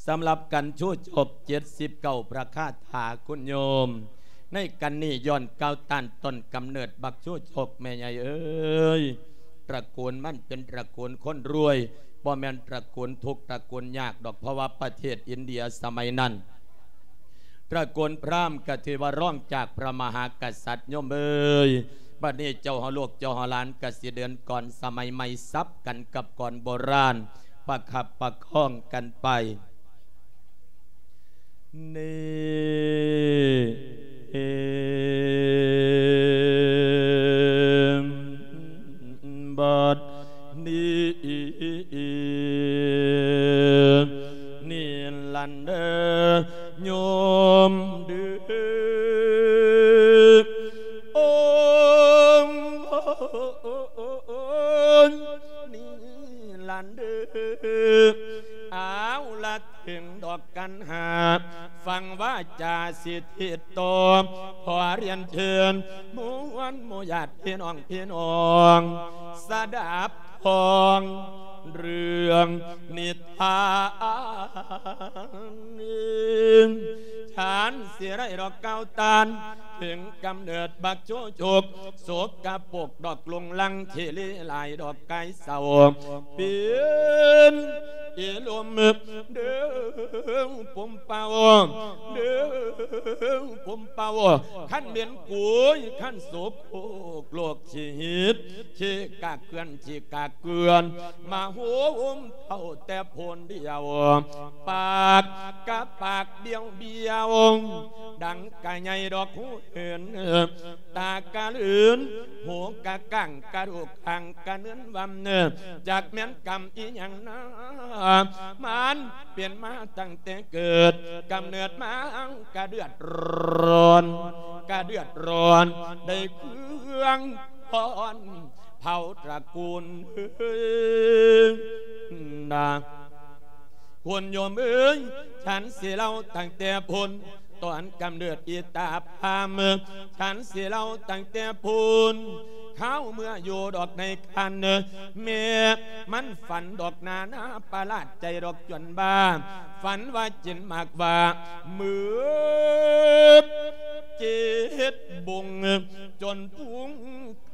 ສຳລັບກັນຊູໂຈກເຈັດສິບເກົ້າ ພະຄາຖາຄຸນໂຍມ ໃນກັນນີ້ຍ້ອນກ່າວຕ້ານຕົ້ນກຳເນີດບັກຊູໂຈກ ແມ່ໃຫຍ່ເອີຍ ຕະກູນມັນເປັນຕະກູນຄົນລວຍ ບໍ່ແມ່ນຕະກູນທຸກຕະກູນຍາກດອກ ເພາະວ່າປະເທດອິນເດຍສະໄໝນັ້ນ ຕະກູນພຣາມກະຖືວ່າຮອງຈາກພຣະມະຫາກະສັດໂຍມເອີຍ. ບັດນີ້ເຈົ້າເຮົາລູກເຈົ້າເຮົາຫຼານກະຊິເດີນກ່ອນສະໄໝໃໝ່ ສັບກັນກັບກ່ອນໂບລານ ປະຄັບປະຄອງກັນໄປ. ນີ້ ບັດນີ້ ນີ້ລະເດີໂຍມເດີ ໂອ ນີ້ລະເດີ ເອົາລະ ເຖິງດອກກັນຫາ ຟັງວາຈາສິທິໂຕ ຂໍລຽນເຊີນໝູ່ມວນໝູ່ຍາດພີ່ນ້ອງ ພີ່ນ້ອງ ສະດັບຟັງເລື່ອງນິທານ ທ່ານຊິໄດ້ດອກກ່າວຕ້ານ ເຖິງກຳເນີດບັກໂຈໂຈກ ສົກກະປົກດອກລຸງລັງ ທີ່ເລຫຼາຍດອກກາຍເສົ້າ ເປັນອີລົມເດີງປຸມເປົ່າ ເດີງປຸມເປົ່າ ຄັນແມ່ນກຸຍ ຄັນໂສໂຄກໂລກຊິຫິດ ທີ່ກາເກືອນ ທີ່ກາເກືອນ ມາໂຮມເທົ່າແຕ່ໂພນດຽວ ປາກກະປາກບຽວໆ ດັງກະໃຫຍ່ດອກຫູເຫັນ ຕາກະເຫຼືນ ຫູກະກ້າງ ກະດູກຂ້າງກະເນີນວຳ ຈັກແມ່ນກຳອີ່ຫຍັງນາ ມັນເປັນມາຕັ້ງແຕ່ເກີດ ກຳເນີດມາກະເດືອດຮ້ອນ ກະເດືອດຮ້ອນ ໄດ້ເຄື່ອງ ພອນເຜົ່າຕະກູນນາ ໂຍມເອີຍ ທ່ານຊິເລົ່າຕັ້ງແຕ່ພຸ້ນ ຕອນກຳເນີດອີຕາພາມ ທ່ານຊິເລົ່າຕັ້ງແຕ່ພຸ້ນ ຄາວເມື່ອຢູ່ດອກໃນຄັນ ແມ່ມັນຝັນດອກນານາ ປະຫຼາດໃຈດອກຈວນບ້າ ຝັນວ່າກິນໝາກຫວ້າ ໝືດເຈັດບົງ ຈົນພຸງ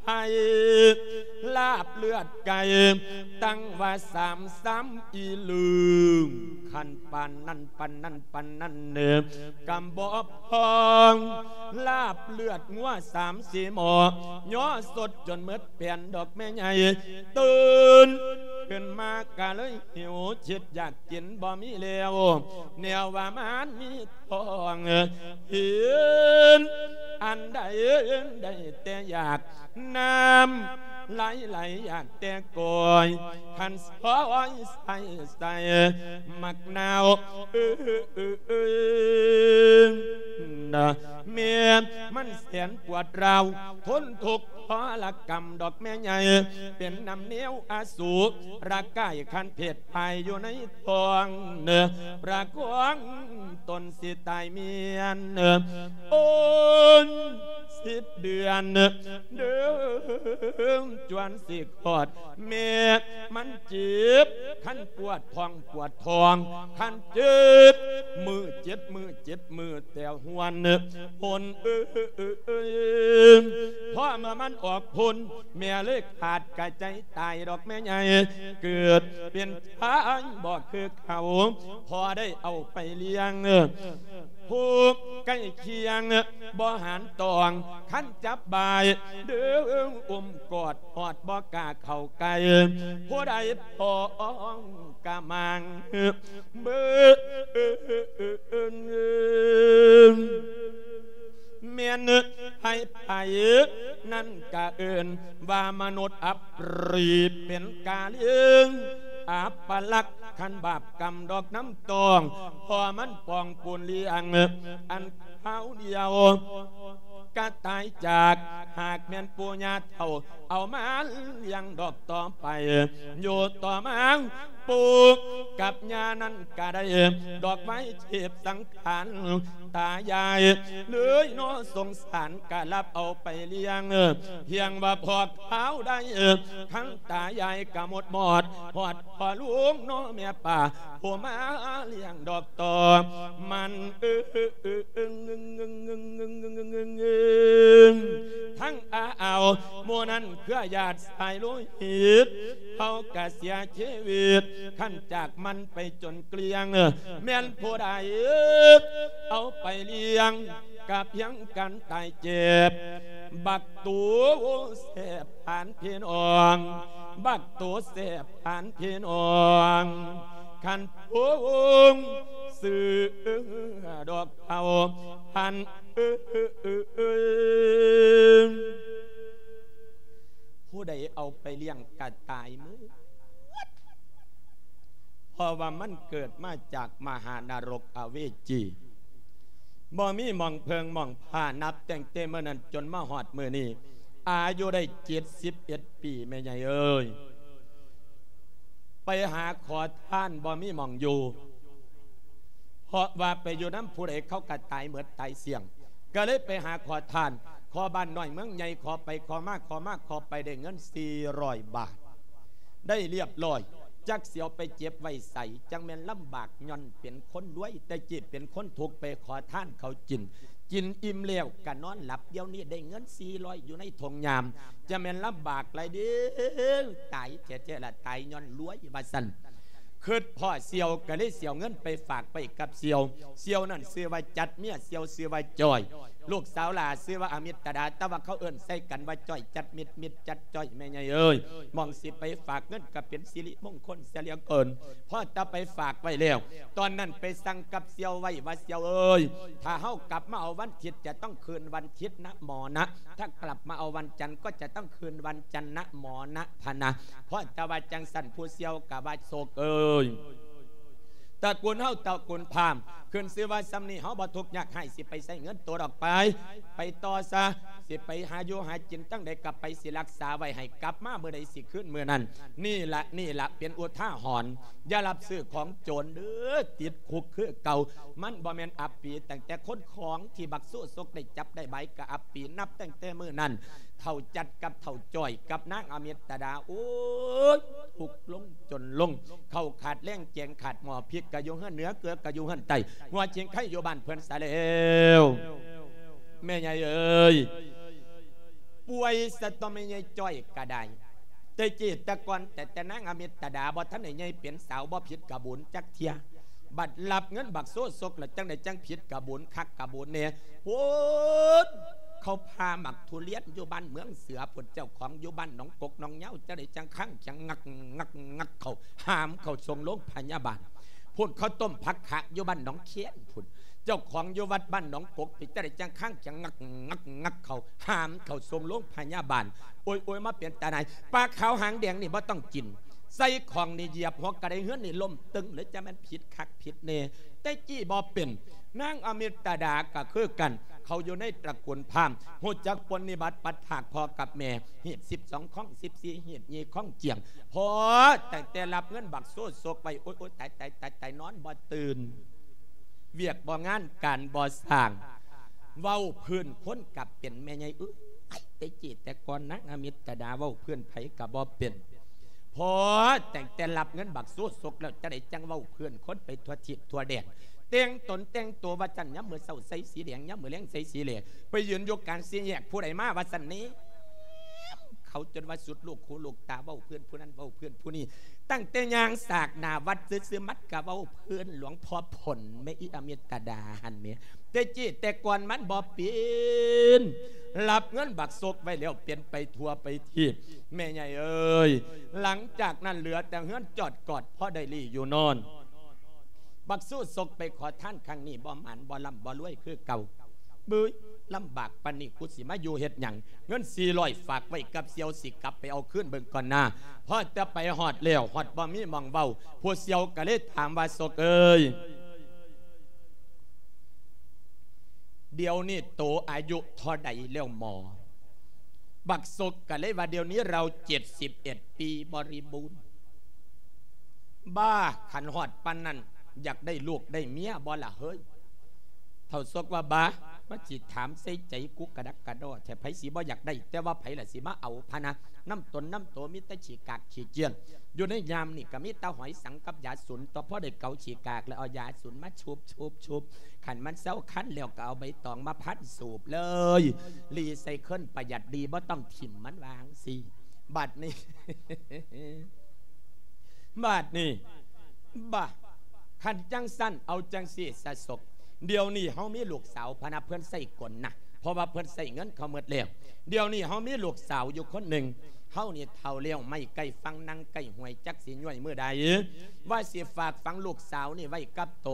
ໄຂ່ ລາບເລືອດໄກ່ ຕັ້ງວ່າສາມຊາມອີລຶງ ຄັນປານນັ້ນປານນັ້ນປານນັ້ນເນີ ກຳບໍ່ພອງ ລາບເລືອດງົວສາມສີ່ໝໍ້ ຍໍສົດຈົນໝົດ ແປນດອກແມ່ໃຫຍ່ ຕື່ນຂຶ້ນມາກະເລີຍຫິວ ຄິດຢາກກິນບໍ່ມີແລ້ວ ແນວວ່າມັນມີທ້ອງ ເຫັນອັນໃດໄດ້ແຕ່ຢາກ ນ້ຳໄຫຼໄຫຼຢາກແຕ່ກ້ອຍ ຄັນຊອຍໃສ່ໃສ່ໝາກນາວ ເອີ ເອີ ເອີ ນະ ແມ່ມັນແສນປວດຮ້າວ ທົນທຸກ ທໍລະກຳດອກແມ່ໃຫຍ່ ເປັນນຳແນວອະສູລະກາຍ ຄັນເພດພາຍຢູ່ໃນທ້ອງເນ ປະຄອງຕົນຊິຕາຍເມຍນ ໂອນສິບເດືອນ ເດີງຈວນຊິຄອດ ແມ່ມັນເຈັບ ຄັນປວດທ້ອງ ປວດທ້ອງ ຄັນເຈັບ ມື້ເຈັດມື້ ເຈັດມື້ແຕ່ຫົນ ຫົນ ເອີ ເອີ ເອີ ພໍເມື່ອມັນອອກພົ້ນ ແມ່ເລີຍຂາດກະໃຈຕາຍດອກແມ່ໃຫຍ່ ເກີດເປັນຊາຍບໍ່ຄືເຂົາ ພໍໄດ້ເອົາໄປລ້ຽງ ຜູ້ໃກ້ຄຽງບໍ່ຫານຕອງ ຄັນຈັບບາຍ ດຶງອຸ້ມກອດ ຮອດບໍ່ກ້າເຂົ້າໃກ້ ຜູ້ໃດພ້ອງກະມັງ ເບິ່ງ ແມ່ນໃຜໆນັ້ນກະເອີ້ນວ່າມະນຸດອັບປຣີ ເປັນກາເລື່ອງອັບປະລັກ ຄັນບາບກຳດອກນ້ຳຕອງ ພໍມັນປອງປູນລ້ຽງ ອັນຄາວດຽວກະຕາຍຈາກ ຫາກແມ່ນປູ່ຍ່າເຖົ້າ ເອົາມາລ້ຽງດອກຕໍ່ໄປ ຢູ່ຕໍ່ມາ ປູກັບຍ່ານັ້ນກະໄດ້ດອກໄມ້ເທບສັງຂານຕາຍາຍເລີຍເນາະ ສົງສານກະຮັບເອົາໄປລ້ຽງ ພຽງວ່າພໍຄາວໄດ້ ທັງຕາຍາຍກະໝົດໝອດ ຮອດພໍ່ລຸງເນາະແມ່ປ້າ ຜູ້ມາລ້ຽງດອກຕໍ່ມັນ ເອີ ທັງອາອາວ ໝູ່ນັ້ນເຄືອຍາດສາຍໂລຫິດ ເຮົາກະເສຍຊີວິດ ຄັນຈາກມັນໄປຈົນເກລ້ຽງ ແມ່ນຜູ້ໃດເອົາໄປລ້ຽງ ກະພຽງກັນຕາຍເຈັບ ບັກໂຕແສບປານພີ່ນ້ອງ ບັກໂຕແສບປານພີ່ນ້ອງ ຄັນຜູ້ວົງຊື້ດອກເຂົ້າພັນ ເອີຍ ຜູ້ໃດເອົາໄປລ້ຽງກະຕາຍໝົດ ເພາະວ່າມັນເກີດມາຈາກມະຫານະລົກອະເວຈີ ບໍ່ມີໝ່ອງເພິ່ງໝ່ອງພາ ນັບຕັ້ງແຕ່ມື້ນັ້ນຈົນມາຮອດມື້ນີ້ ອາຍຸໄດ້ເຈັດສິບເອັດປີ ແມ່ໃຫຍ່ເອີຍ ໄປຫາຂໍທານບໍ່ມີໝ່ອງຢູ່ ເພາະວ່າໄປຢູ່ນຳຜູ້ໃດເຂົາກະຕາຍໝົດຕາຍສ່ຽງ ກະເລີຍໄປຫາຂໍທານ ຂໍບ້ານນ້ອຍເມືອງໃຫຍ່ ຂໍໄປຂໍມາ ຂໍມາຂໍໄປ ໄດ້ເງິນສີ່ຮ້ອຍບາດ ໄດ້ລຽບລ້ອຍ ຈັກຊິເອົາໄປເກັບໄວ້ໃສ ຈັ່ງແມ່ນລຳບາກ ຍ້ອນເປັນຄົນລວຍ ແຕ່ກີ້ເປັນຄົນທຸກ ໄປຂໍທານເຂົາກິນ ກິນອີ່ມແລ້ວກະນອນຫຼັບ ດຽວນີ້ໄດ້ເງິນສີ່ຮ້ອຍ ຢູ່ໃນທົ່ງຫຍ້າ ຈະແມ່ນລຳບາກຫຼາຍເດ້ ຕາຍແທ້ໆລະ ຕາຍຍ້ອນລວຍ ວ່າຊັ້ນ ຄຶດພໍ້ສ່ຽວກະເລີຍຊິເອົາເງິນໄປຝາກໄວ້ກັບສ່ຽວ ສ່ຽວນັ້ນຊື່ວ່າຈັດ ເມຍສ່ຽວຊື່ວ່າຈ້ອຍ ລູກສາວຫຼ້າຊື່ວ່າອາມິດຕະດາ ແຕ່ວ່າເຂົາເອີ້ນໃສ່ກັນວ່າຈ້ອຍຈັດ ມິດ ມິດຈັດຈ້ອຍ ແມ່ໃຫຍ່ເອີຍ ໝ່ອງຊິໄປຝາກເງິນກະເປັນສິລິມົງຄົນເສຍເຫຼືອເກີນ ພໍແຕ່ໄປຝາກໄວ້ແລ້ວ ຕອນນັ້ນໄປສັ່ງກັບສ່ຽວໄວ້ວ່າ ສ່ຽວເອີຍ ຖ້າເຮົາກັບມາເອົາວັນທິດ ຈະຕ້ອງຄືນວັນທິດນະໝໍນະ ຖ້າກັບມາເອົາວັນຈັນ ກໍຈະຕ້ອງຄືນວັນຈັນນະໝໍນະ ພະນະ ພໍແຕ່ວ່າຈັ່ງຊັ້ນ ຜູ້ສ່ຽວກະວ່າ ສົກເອີຍ ຕະກຸນເຮົາຕະກຸນພາມ ຂຶ້ນຊື່ວ່າຊ່ຳນີ້ ເຮົາບໍ່ທຸກຍາກຮ້າຍ ຊິໄປໃຊ້ເງິນໂຕດອກໄປ ໄປຕໍ່ຊະ ຊິໄປຫາຢູ່ຫາກິນຈັ່ງໃດກະໄປ ຊິລັກສາໄວ້ໃຫ້ ກັບມາມື້ໃດຊິຄືນມື້ນັ້ນ ນີ້ລະ ນີ້ລະເປັນອຸທາຫອນ ຢ່າຮັບຊື້ຂອງໂຈນເດີ ຕິດຄຸກຄືເກົ່າ ມັນບໍ່ແມ່ນອັບປີ ຕັ້ງແຕ່ຄົນຂອງທີ່ບັກໂຊສົກໄດ້ຈັບໄດ້ບາຍກະອັບປີ ນັບຕັ້ງແຕ່ມື້ນັ້ນ ເຖົ້າຈັດກັບເຖົ້າຈ້ອຍກັບນາງອາມິດຕະດາ ໂອ້ຍ ທຸກລົງຈົນລົງ ເຂົ້າຂາດແລງແກງຂາດໝໍ້ ພິກກະຢູ່ເຮືອນເໜືອ ເກືອກະຢູ່ເຮືອນໃຕ້ ຫົວຊິງໄຄຢູ່ບ້ານເພິ່ນຊະແລ້ວ ແມ່ໃຫຍ່ເອີຍ ປ່ວຍຊະຕົວະ ແມ່ໃຫຍ່ຈ້ອຍກະໄດ້ ແຕ່ກີ້ແຕ່ກ່ອນ ແຕ່ ແຕ່ນາງອາມິດຕະດາບໍ່ທັນໄດ້ໃຫຍ່ເປັນສາວ ບໍ່ຜິດກະບຸນຈັກເທື່ອ ບັດຮັບເງິນບັກໂຊສົກແລ້ວ ຈັ່ງໃດຈັ່ງຜິດກະບຸນຄັກກະບຸນແນ່ ພຸ້ນ ເຂົາພາໝາກທຸລຽນຢູ່ບ້ານເມືອງເສືອພຸ້ນ ເຈົ້າຂອງຢູ່ບ້ານໜອງກົກໜອງຍາວ ຈັ່ງໃດຈັ່ງຄັງຈັງງັກ ງັກ ງັກເຂົ້າ ຫາມເຂົ້າສົ່ງໂລງພະຍາບານ ພຸ້ນ ເຂົາຕົ້ມຜັກຂະຢູ່ບ້ານໜອງແຄນພຸ້ນ ເຈົ້າຂອງຢູ່ວັດບ້ານໜອງກົກ ເປັນຈັ່ງໃດຈັ່ງຄັງຈັ່ງງັກ ງັກ ງັກເຂົ້າ ຫາມເຂົ້າສົ່ງໂລງພະຍາບານ ໂອ້ຍໆ ມາເປັນຕາໜ່າຍ ປາຂາວຫາງແດງນີ້ບໍ່ຕ້ອງກິນ ໃສ່ຂອງນີ້ຢຽບຫົວກະໄດເຮືອນນີ້ລົ້ມຕຶງເລີຍ ຈະແມ່ນຜິດຄັກຜິດແນ່ ແຕ່ກີ້ບໍ່ເປັນ ນາງອາມິດຕະດາກະຄືກັນ ເຂົາຢູ່ໃນຕະກຸນພາມ ຮູ້ຈັກປົນນິບັດປັດພາກພໍ່ກັບແມ່ ຮີດສິບສອງ ຄອງສິບສີ່ ຮີດຍີ່ ຄອງຈຽງ ພໍຕັ້ງແຕ່ຮັບເງິນບັກໂຊສົກໄວ້ ໂອ້ຍໆ ຕາຍໆໆໆ ນອນບໍ່ຕື່ນ ວຽກບໍ່ງານການບໍ່ສ້າງ ເວົ້າພື້ນຄົນກະເປັນ ແມ່ໃຫຍ່ເອີຍ ແຕ່ກີ້ແຕ່ກ່ອນນາງອາມິດຕະດາເວົ້າພື້ນໃຜກະບໍ່ເປັນ ພໍຕັ້ງແຕ່ຮັບເງິນບັກໂຊສົກແລ້ວ ຈັ່ງໃດຈັ່ງເວົ້າພື້ນຄົນໄປທົ່ວທີບທົ່ວແດນ ແຕ່ງຕົນແຕ່ງຕົວວ່າຊັ້ນ ຍາມມື້ເຊົ້າໃສ່ສີແດງ ຍາມມື້ແລງໃສ່ສີແຫຼ ໄປຢືນຢູ່ກາງສີ່ແຍກ ຜູ້ໃດມາວ່າຊັ້ນນີ້ ເຂົາຈົນວ່າສຸດລູກຫູລູກຕາ ເວົ້າເພື່ອນຜູ້ນັ້ນເວົ້າເພື່ອນຜູ້ນີ້ ຕັ້ງແຕ່ຍ່າງສາກໜ້າວັດຊື່ໆ ມັດກະເວົ້າເພື່ອນຫຼວງພໍ່ຜົນ ແມ່ອີອາມິດຕະດາຫັ້ນແໝ ແຕ່ກີ້ແຕ່ກ່ອນມັນບໍ່ເປັນ ຮັບເງິນບັກສົກໄວ້ແລ້ວເປັນໄປທົ່ວໄປທີບ ແມ່ໃຫຍ່ເອີຍ ຫຼັງຈາກນັ້ນເຫຼືອແຕ່ເຮືອນຈອດກອດ ພໍໄດ້ລີ້ຢູ່ນອນ ບັກໂຊສົກໄປຂໍທານຄັ້ງນີ້ບໍ່ໝານບໍ່ລ່ຳບໍ່ລວຍຄືເກົ່າ ບຶ້ຍ ລຳບາກປານນີ້ ກູຊິມາຢູ່ເຮັດຫຍັງ ເງິນສີ່ຮ້ອຍຝາກໄວ້ກັບສ່ຽວ ຊິກັບໄປເອົາຄືນເບິ່ງກ່ອນນາ ພໍແຕ່ໄປຮອດແລ້ວ ຮອດບໍ່ມີໝ່ອງເວົ້າ ຜູ້ສ່ຽວກະເລີຍຖາມວ່າ ສົກເອີຍ ດຽວນີ້ໂຕອາຍຸເທົ່າໃດແລ້ວໝໍ? ບັກສົກກະເລີຍວ່າ ດຽວນີ້ລາວເຈັດສິບເອັດປີບໍລິບູນ. ບ້າ ຄັນຮອດປານນັ້ນ ຢາກໄດ້ລູກໄດ້ເມຍບໍ່ລະເຮີ້ຍ? ທ້າວສົກວ່າ ບ້າ ມາຊິຖາມໃສ່ໃຈກູກະດັກກະດໍແທ້ ໃຜຊິບໍ່ຢາກໄດ້ ແຕ່ວ່າໃຜລະຊິມາເອົາພະນະ. ນຳຕົນນຳໂຕມີແຕ່ຂີ້ກາກຂີ້ກ້ຽນ ຢູ່ໃນຍາມນີ້ກໍມີແຕ່ຫອຍສັງກັບຢາສູນ ຕໍ່ພໍໄດ້ເກົາຂີ້ກາກແລ້ວເອົາຢາສູນມາຊຸບໆໆ ຄັນມັນເຊົາຄັນແລ້ວກໍເອົາໃບຕອງມາພັນສູບເລີຍ ລີໃສ່ເຄີ້ນປະຢັດດີ ບໍ່ຕ້ອງຖິ້ມມັນ ວ່າຈັ່ງຊີ້. ບາດນີ້ ບາດນີ້ ບາ ຄັນຈັ່ງຊັ້ນເອົາຈັ່ງຊີ້ຊະສົກ ດຽວນີ້ເຮົາມີລູກສາວພະນະ ເພິ່ນໃຊ້ກົນນະ ເພາະວ່າເພິ່ນໃຊ້ເງິນເຂົາໝົດແລ້ວ. ດຽວນີ້ເຮົາມີລູກສາວຢູ່ຄົນໜຶ່ງ ເຮົານີ້ເຖົ້າແລ້ວ ໄມ້ໃກ້ຝັ່ງ ນັ່ງໃກ້ຫ້ວຍ ຈັກຊິຍ້ອຍມື້ໃດ. ວ່າຊິຝາກຝັງລູກສາວນີ້ໄວ້ກັບໂຕ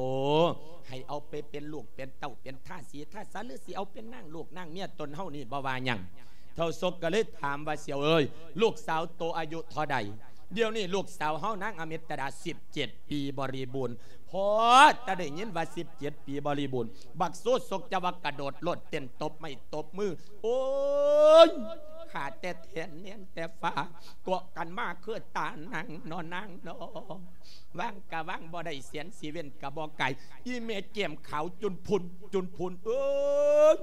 ໃຫ້ເອົາໄປເປັນລູກເປັນເຕົ້າ ເປັນທາສີທາສາ ຫຼືຊິເອົາເປັນນາງລູກນາງເມຍຕົນເຮົານີ້ ບໍ່ວ່າຫຍັງ. ທ້າວສົກກໍເລີຍຖາມວ່າ ສ່ຽວເອີຍ ລູກສາວໂຕອາຍຸເທົ່າໃດ? ດຽວນີ້ລູກສາວເຮົານາງອາມິດຕະດາ ສິບເຈັດປີບໍລິບູນ. ພໍແຕ່ໄດ້ຍິນວ່າ ສິບເຈັດປີບໍລິບູນ ບັກໂຊສົກຈະວ່າກະໂດດໂລດເຕັ້ນ ຕົບໄມ້ຕົບມື ໂອ້ຍ ຂ້າແຕ່ແທ່ນແນນແຕ່ຟ້າ ເກາະກັນມາຄືຕານັ່ງນໍນາງນໍ. ວາງກະວາງບໍ່ໄດ້ ແສນຊີເວັນກະບໍ່ໄກ ອີແມ່ແກ້ມຂາວຈຸນພຸນ ຈຸນພຸນເອີຍ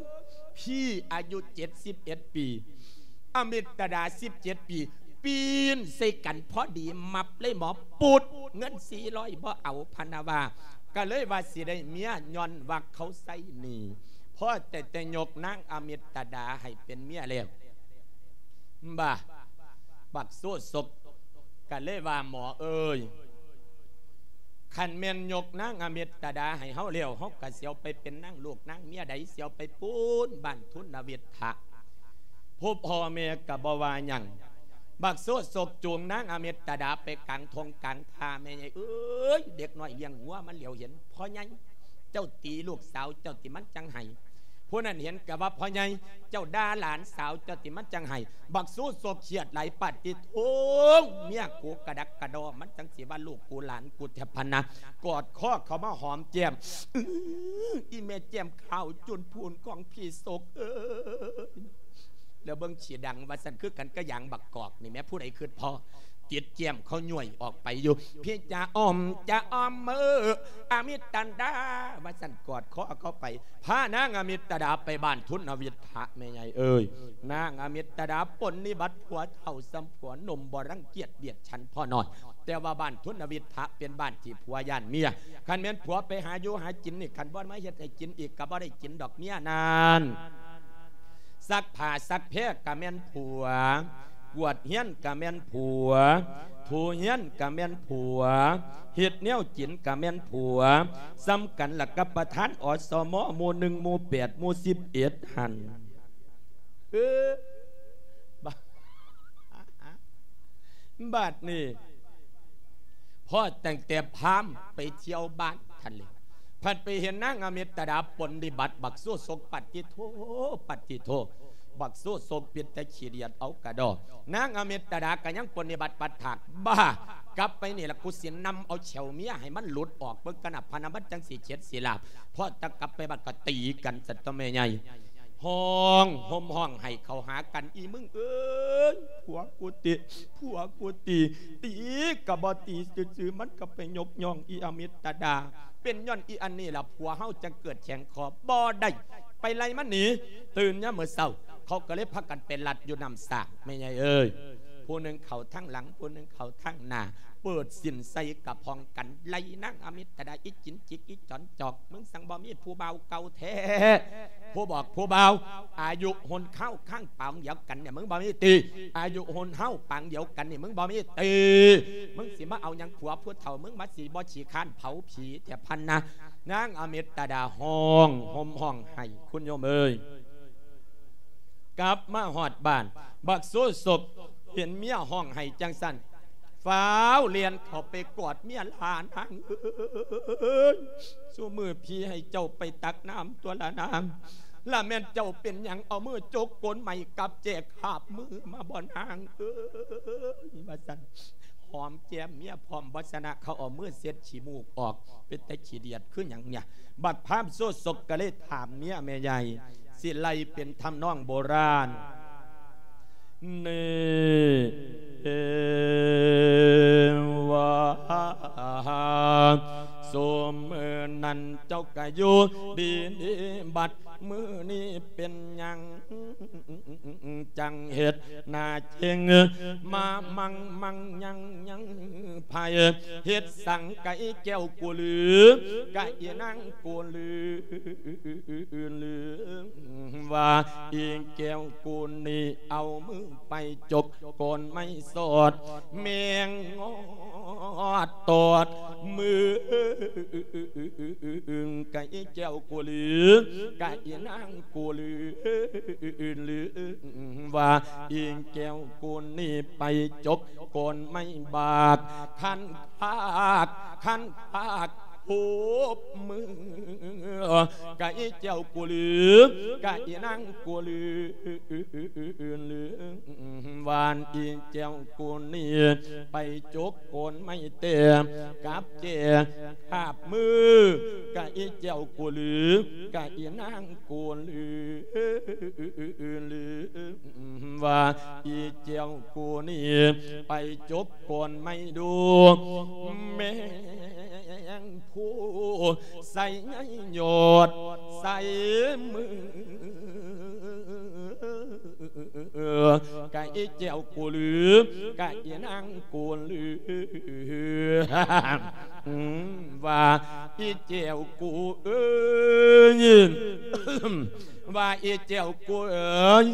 ພີ່ອາຍຸເຈັດສິບເອັດປີ ອາມິດຕະດາສິບເຈັດປີ ປີ້ນໃສ່ກັນພໍດີ ມັບເລີຍໝໍ ປຸດ ເງິນສີ່ຮ້ອຍບໍ່ເອົາ ພະນະວ່າ. ກະເລີຍວ່າຊິໄດ້ເມຍ ຍ້ອນວ່າເຂົາໃຊ້ໜີ້ ພໍແຕ່ ແຕ່ຍົກນາງອາມິດຕະດາໃຫ້ເປັນເມຍແລ້ວ. ບາ ບັກໂຊສົກກະເລີຍວ່າ ໝໍເອີຍ ຄັນແມ່ນຍົກນາງອາມິດຕະດາໃຫ້ເຮົາແລ້ວ ເຮົາກະຊິເອົາໄປເປັນນາງລູກນາງເມຍໃດ ຊິເອົາໄປປູນບ້ານທຸນນະວິດທະ ຜູ້ພໍ່ແມ່ກະບໍ່ວ່າຫຍັງ. ບັກໂຊສົກຈູງນາງອາມິດຕະດາໄປກາງທົ່ງກາງທ່າ ແມ່ໃຫຍ່ເອີຍ ເດັກນ້ອຍລ້ຽງງົວມັນຫຼຽວເຫັນ ພໍ່ໃຫຍ່ ເຈົ້າຕີລູກສາວເຈົ້າຕິມັນຈັ່ງໄຫ້. ຜູ້ນັ້ນເຫັນກະວ່າ ພໍ່ໃຫຍ່ ເຈົ້າດ່າຫຼານສາວເຈົ້າຕິມັນຈັ່ງໄຫ້. ບັກໂຊສົກຄຽດຫຼາຍ ປາດຕິໂທ ເມຍກູກະດັກກະດໍ ມັນຈັ່ງຊິວ່າລູກກູຫຼານກູແທ້ພະນະ. ກອດຄໍເຂົ້າມາຫອມແກ້ມ ອື ອີແມ່ແກ້ມຂາວຈຸນພູນຂອງພີ່ສົກເອີຍ ແລ້ວເບິ່ງຂີ້ດັງວ່າຊັ້ນ ຄືກັນກັບຢາງບັກກອກນີ້ແໝ່ ຜູ້ໃດຄຶດພໍ້ ຕິດແກ້ມເຂົາຍ້ອຍອອກໄປຢູ່ ພີ່ຈະອ້ອມຈະອ້ອມເອີ ອາມິດຕະດາ ວ່າຊັ້ນ ກອດຄໍເຂົ້າໄປ ພານາງອາມິດຕະດາໄປບ້ານທຸນນະວິດທະ ແມ່ໃຫຍ່ເອີຍ. ນາງອາມິດຕະດາປົນນິບັດ ຜົວເຖົ້າສ່ຳຜົວໜຸ່ມ ບໍ່ລັງກຽດບຽດ ຊັ້ນພໍ່ນ້ອຍ ແຕ່ວ່າບ້ານທຸນນະວິດທະເປັນບ້ານທີ່ຜົວຢ້ານເມຍ ຄັນແມ່ນຜົວໄປຫາຢູ່ຫາກິນນີ້ ຄັນບໍ່ມາເຮັດໃຫ້ກິນອີກກໍບໍ່ໄດ້ກິນດອກເມຍນັ້ນ. ຊັກຜ້າຊັກແພກໍແມ່ນຜົວ ກວດເຮືອນກໍແມ່ນຜົວ ຖູເຮືອນກໍແມ່ນຜົວ ເຮັດແນວກິນກໍແມ່ນຜົວ ສ່ຳກັນລະກັບປະທານ ອສມ ໝູ່ໜຶ່ງ ໝູ່ແປດ ໝູ່ສິບເອັດຫັ້ນ. ເອີ ບາດ ບາດນີ້ ພໍຕັ້ງແຕ່ພາມໄປທ່ຽວບ້ານຫັ້ນແຫຼະ ພັດໄປເຫັນນາງອາມິດຕະດາປົນນິບັດ ບັກໂຊສົກ ປາດຕິໂທ ປາດຕິໂທ ບັກໂຊສົກເປັນຕາຂີ້ດຽດເອົາກະດໍ. ນາງອາມິດຕະດາກໍຍັງປົນນິບັດປັດຖາກ ບ້າ ກັບໄປນີ້ລະ ກູຊິນຳເອົາແຂ້ວເມຍໃຫ້ມັນຫຼຸດອອກເບິ່ງກັນນະ ພະນະ ມັນຈັ່ງຊິເຂັດຊິລາບ. ພໍຕະກັບໄປບ້ານກໍຕີກັນຊັ້ນຕົວະແມ່ໃຫຍ່ ຮ້ອງໂຮມຮ້ອງໄຫ້ເຂົ້າຫາກັນ ອີມຶງເອີຍ ຜົວກູຕິ ຜົວກູຕິ ຕີກໍບໍ່ຕີຊື່ໆ ມັນກໍໄປຍົກຍ້ອງອີອາມິດຕະດາ ເປັນຍ້ອນອີອັນນີ້ລະ ຜົວເຮົາຈັ່ງເກີດແຂງຄໍ ບໍ່ໄດ້ ໄປໄລ່ມັນໜີ. ຕື່ນຍາມມື້ເຊົ້າ ເຂົາກໍເລີຍພາກັນໄປລັດຢູ່ນ້ຳສາກ ແມ່ໃຫຍ່ເອີຍ ຜູ້ໜຶ່ງເຂົ້າທາງຫຼັງ ຜູ້ໜຶ່ງເຂົ້າທາງໜ້າ ເປີດສິ້ນໃສ່ກະພອງກັນ ໄລ່ນາງອາມິດຕະດາ ອີຈິນຈິກ ອີຈອນຈອກ ມຶງຈັ່ງບໍ່ມີຜູ້ບ່າວເກົ່າແທ້ ຜູ້ບອກຜູ້ບ່າວ ອາຍຸຮຸ່ນຄາວຄາງປາງດຽວກັນນີ້ ມຶງບໍ່ມີຕີ ອາຍຸຮຸ່ນເຮົາປາງດຽວກັນນີ້ ມຶງບໍ່ມີຕີ ມຶງຊິມາເອົາຫຍັງຜົວຜູ້ເຖົ້າ ມຶງມາຊິບໍ່ຂີ້ຄ້ານເຜົາຜີແທ້ພະນະ. ນາງອາມິດຕະດາຮ້ອງໂຮມຮ້ອງໄຫ້ ຄຸນໂຍມເອີຍ. ກັບມາຮອດບ້ານ ບັກໂຊສົກເຫັນເມຍຮ້ອງໄຫ້ຈັ່ງຊັ້ນ ຟ້າວແລ່ນເຂົ້າໄປກອດເມຍ ຫຼ້ານາງເອີຍ ຊຸມື້ພີ່ໃຫ້ເຈົ້າໄປຕັກນ້ຳຕົວະລະນາງ ລະແມ່ນເຈົ້າເປັນຫຍັງເອົາມືຈົກກົ້ນໄໝ້ກັບແຈກຄາບມືມາບໍ່ນາງເອີຍ ວ່າຊັ້ນ. ຫອມແກ້ມເມຍພ້ອມ ບໍ່ຊະນະ ເຂົາເອົາມືເຊັດຂີ້ມູກອອກ ເປັນຕາຂີ້ດຽດຄືຫຍັງເນຍ. ບັກພາມໂຊສົກກໍເລີຍຖາມເມຍແມ່ໃຫຍ່ ຊິໄລ່ເປັນທຳນອງໂບລານ ນີ້ ເອ ວ່າ ຊຸມມື້ນັ້ນເຈົ້າກະຢູ່ດີໆ ບັດມື້ນີ້ເປັນຫຍັງ ຈັ່ງເຮັດໜ້າເຈັງ ມາມັງມັງຍັງຍັງ ໃຜເຮັດສັງກະອີແກ້ວກູລື ກະອີນາງກູລື ລືວ່າອີແກ້ວກູນີ້ ເອົາມືໄປຈົກ ໂກນໄມ້ສອດ ແມງງອດຕອດມື ກະອີແກ້ວກູລື ກະອີນາງກູລື ລືວ່າອີແກ້ວກູນີ້ໄປຈົກໂກນໄມ້ບາກ ຄັນຄາກ ຄັນຄາກ ຮູບມື ກະອີແກ້ວກູລື ກະອີນາງກູລື ລືວ່າອີແກ້ວກູນີ້ ໄປຈົກໂກນໄມ້ແຕ່ກັບແຈຄາບມື ກະອີແກ້ວກູລື ກະອີນາງກູລື ລືວ່າອີແກ້ວກູນີ້ ໄປຈົກໂກນໄມ້ດູ ແມງພູໃສ່ໃຍຍອດໃສ່ມື ກະອີແກ້ວກູລື ກະອີນາງກູລື ວ່າອີແກ້ວກູເອີຍ ວ່າອີແກ້ວກູເອີຍ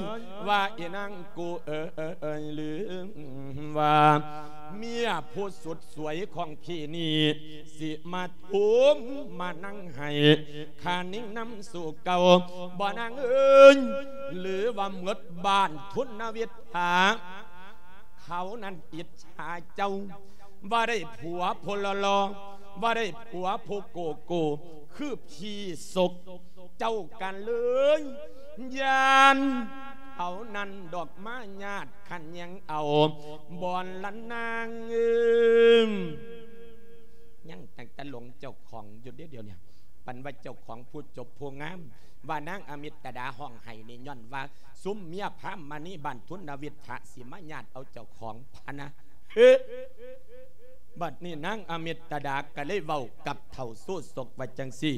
ວ່າອີນາງກູເອີຍ ລືວ່າເມຍຜູ້ສຸດສວຍຂອງພີ່ນີ້ ຊິມາທຸມມານັ່ງໃຫ້ຂ້ານິ້ງນຳສູ່ເກົ່າ ບໍ່ນາງເອີຍ ຫຼືວ່າໝົດບ້ານທຸນນະວິດຖາ ເຂົານັ້ນອິດສາເຈົ້າ ວ່າໄດ້ຜົວຜູ້ຫຼໍ່ໆ ວ່າໄດ້ຜົວຜູ້ໂກໂກ້ ຄືພີ່ສົກ ເຈົ້າກະເລີຍຢ້ານ ເຂົານັ້ນດອກມາຍາດຂັດແຍ່ງເອົາ ບ່ອນລະນາງເອີຍ ຍັງຕັ້ງແຕ່ຫຼົງເຈົ້າຂອງຢູ່ເດ້ດຽວນີ້ ປານວ່າເຈົ້າຂອງຜູ້ຈົບຜູ້ງາມ ວ່ານາງອາມິດຕະດາຮ້ອງໄຫ້ນີ້ ຍ້ອນວ່າຊຸມເມຍພາມມະນີບ້ານທຸນນະວິດຖະ ຊິມາຍາດເອົາເຈົ້າຂອງພະນະ ເອີ ບັດນີ້ນາງອາມິດຕະດາກະເລີຍເວົ້າກັບເຖົ້າໂຊສົກວ່າຈັ່ງຊີ້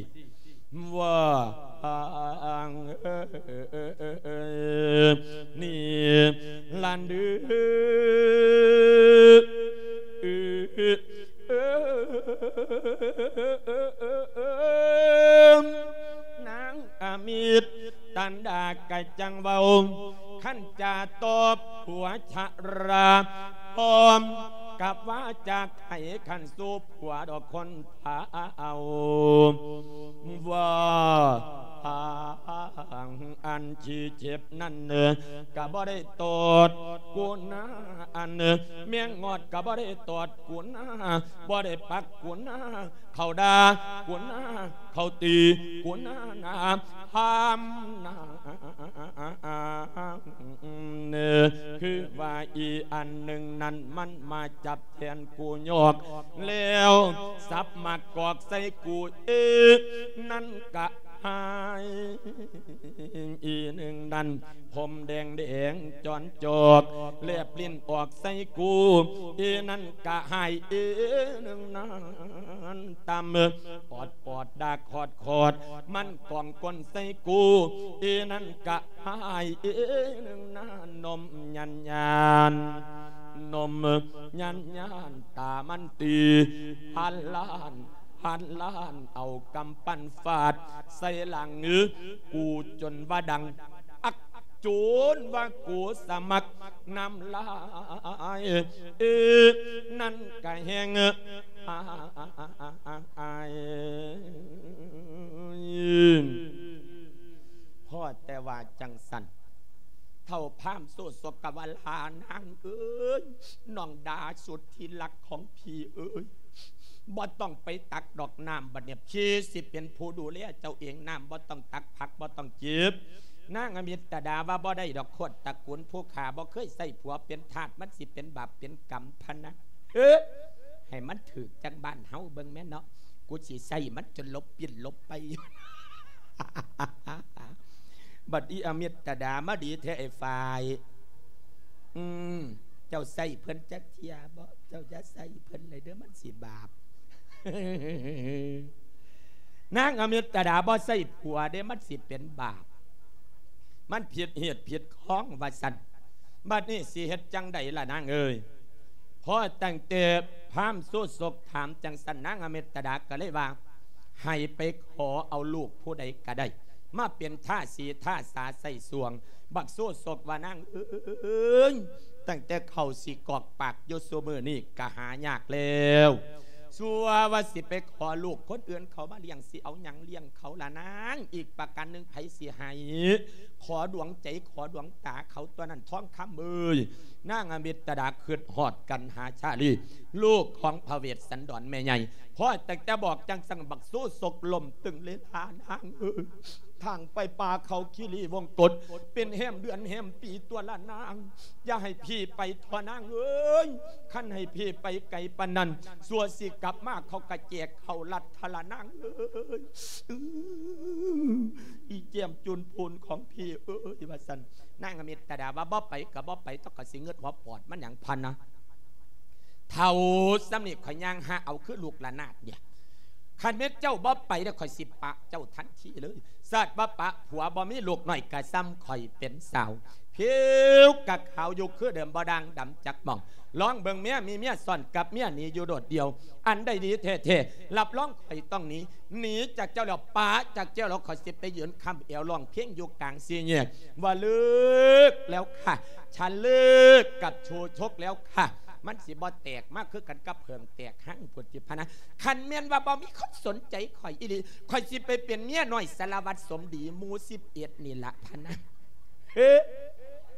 ວ່າ ນີ້ລະເດີ ນາງອາມິດຕະດາກະຈັ່ງເວົ້າ ຄັນຈະຕອບຜົວຊະລາ ພ້ອມກັບວ່າຈະໄຂຂັນສູ່ຜົວດອກຄົນພາເອົາ ວ່າອັນທີ່ເຈັບນັ້ນ ກະບໍ່ໄດ້ຕອດກູນາ ອັນແມງງອດກະບໍ່ໄດ້ຕອດກູນາ ບໍ່ໄດ້ປັກກູນາ ເຂົາດ່າກູນາ ເຂົາຕີກູນາ ນາພາມນາ ຄືວ່າອີອັນໜຶ່ງນັ້ນ ມັນມາຈັບແທນກູຍອກ ແລ້ວສັບມາກອກໃສ່ກູເອ ນັ້ນກະຫາຍ ອີໜຶ່ງນັ້ນ ຜົມແດງແດງຈອນຈອກ ແລບລິ້ນອອກໃສ່ກູ ເອນັ້ນກະຫາຍ ເອໜຶ່ງນັ້ນຕຳ ອອດປອດດາກຂອດຂອດ ມັນກອງກົ້ນໃສ່ກູ ເອນັ້ນກະຫາຍ ເອໜຶ່ງນັ້ນນົມຍານຍານ ນົມຍານຍານ ຕາມັນຕີ ຫັນລ້ານ ຫັນລ້ານ ເອົາກຳປັ້ນຟາດໃສ່ຫຼັງກູ ຈົນວ່າດັງອັກ ຈົນວ່າກູສະໝັກນ້ຳລາຍ ເອ ນັ້ນກະແຮງອາຍ ພໍແຕ່ວ່າຈັ່ງຊັ້ນ ເຖົ້າພາມໂຊສົກກະວ່າ ຫຼ້ານາງເອີຍ ນ້ອງດາສຸດທີ່ລັກຂອງພີ່ເອີຍ ບໍ່ຕ້ອງໄປຕັກດອກນ້ຳ ບັດນີ້ພີ່ຊິເປັນຜູ້ດູແລເຈົ້າເອງ ນ້ຳບໍ່ຕ້ອງຕັກ ຜັກບໍ່ຕ້ອງເກັບ. ນາງອາມິດຕະດາວ່າ ບໍ່ໄດ້ດອກ ໂຄດຕະກູນຜູ້ຂ້າບໍ່ເຄີຍໃຊ້ຜົວເປັນທາດ ມັນຊິເປັນບາບເປັນກຳພະນະ. ເອີ ໃຫ້ມັນຖືກຈັກບ້ານເຮົາເບິ່ງແມ່ນເນາະ ກູຊິໃຊ້ມັນຈົນຫຼົບປິ່ນຫຼົບໄປຢູ່. ບັດອີອາມິດຕະດາມາດີແທ້ ອ້າຍຝ້າຍ ອືມ ເຈົ້າໃຊ້ເພິ່ນຈັກເທື່ອບໍ່? ເຈົ້າຢ່າໃຊ້ເພິ່ນເລີຍເດີ້ ມັນຊິບາບ. ນາງອາມິດຕະດາບໍ່ໃຊ້ຜົວເດ້ ມັນຊິເປັນບາບ ມັນຜິດຮີດຜິດຄອງວ່າຊັ້ນ. ບັດນີ້ຊິເຮັດຈັ່ງໃດລະນາງເອີຍ? ພໍຕັ້ງແຕ່ພາມໂຊສົກຖາມຈັ່ງຊັ້ນ ນາງອາມິດຕະດາກໍເລີຍວ່າ ໃຫ້ໄປຂໍເອົາລູກຜູ້ໃດກໍໄດ້ ມາເປັນທາສີທາສາໃຊ້ສວງ. ບັກໂຊສົກວ່າ ນາງເອີຍ ຕັ້ງແຕ່ເຂົ້າຊິກອກປາກຢູ່ຊຸມື້ນີ້ກໍຫາຍາກແລ້ວ ຊົ່ວວ່າຊິໄປຂໍລູກຄົນອື່ນເຂົາມາລ້ຽງ ຊິເອົາຫຍັງລ້ຽງເຂົາລະນາງ? ອີກປະການໜຶ່ງ ໃຜຊິໃຫ້? ຂໍດວງໃຈ ຂໍດວງຕາເຂົາຕົວະນັ້ນ ທອງຄຳເອີຍ. ນາງອາມິດຕະດາຄຶດຮອດກັນຫາຊາລີ ລູກຂອງພະເວດສັນດອນແມ່ໃຫຍ່. ພໍຕັ້ງແຕ່ບອກຈັ່ງຊັ້ນ ບັກໂຊສົກລົ້ມຕຶງເລີຍລະນາງເອີຍ. ທາງໄປປ່າເຂົາຄີລີວົງກົດ ເປັນແຮມເດືອນແຮມປີຕົວະລະນາງ ຢ່າໃຫ້ພີ່ໄປເຖາະນາງເອີຍ. ຄັນໃຫ້ພີ່ໄປໄກປານນັ້ນ ຊົ່ວຊິກັບມາເຂົາກະແຈກເຂົ້າລັດທະລະນາງເອີຍ. ອື ອີແກ້ມຈູນພູນຂອງພີ່ເອີຍ ວ່າຊັ້ນ. ນາງອາມິດຕະດາວ່າ ບໍ່ໄປກໍບໍ່ໄປ ເຈົ້າກໍຊິງຶດຫົວປອດມັນຫຍັງພະນະ. ເຖົ້າສ່ຳນີ້ຂ້ອຍຍ່າງຫາເອົາຄືລູກລະນາດເດ. ຄັນແມ່ນເຈົ້າບໍ່ໄປແລ້ວ ຂ້ອຍຊິປະເຈົ້າທັນທີເລີຍ. ຊາດວ່າປະຜົວບໍ່ມີລູກນ້ອຍກະສ່ຳຂ້ອຍເປັນສາວ. ຜິວກະຂາວຢູ່ຄືເດີມ ບໍ່ດ່າງດຳຈັກໝ່ອງ. ລອງເບິ່ງເມຍມີເມຍຊ້ອນກັບເມຍໜີຢູ່ໂດດດ່ຽວ. ອັນໃດດີແທ້ໆ ຮັບຮອງຂ້ອຍຕ້ອງໜີ. ໜີຈາກເຈົ້າແລ້ວ ປະຈາກເຈົ້າແລ້ວ ຂ້ອຍຊິໄປຢືນຄ້ຳແອວຮ້ອງເພງຢູ່ກາງສີ່ແຍກ ວ່າເລີກແລ້ວຄ່ະ ສັນເລີກກັບໂຊຊົກແລ້ວຄ່ະ. ມັນຊິບໍ່ແຕກມາຄືກັນກັບເຜິ້ງແຕກຮັງພຸ້ນຕິພະນະ. ຄັນແມ່ນວ່າບໍ່ມີຄົນສົນໃຈຂ້ອຍອີ່ຫຼີ ຂ້ອຍຊິໄປເປັນເມຍນ້ອຍສາລະວັດສົມດີໝູ່ສິບເອັດນີ້ລະພະນະ. ເອີ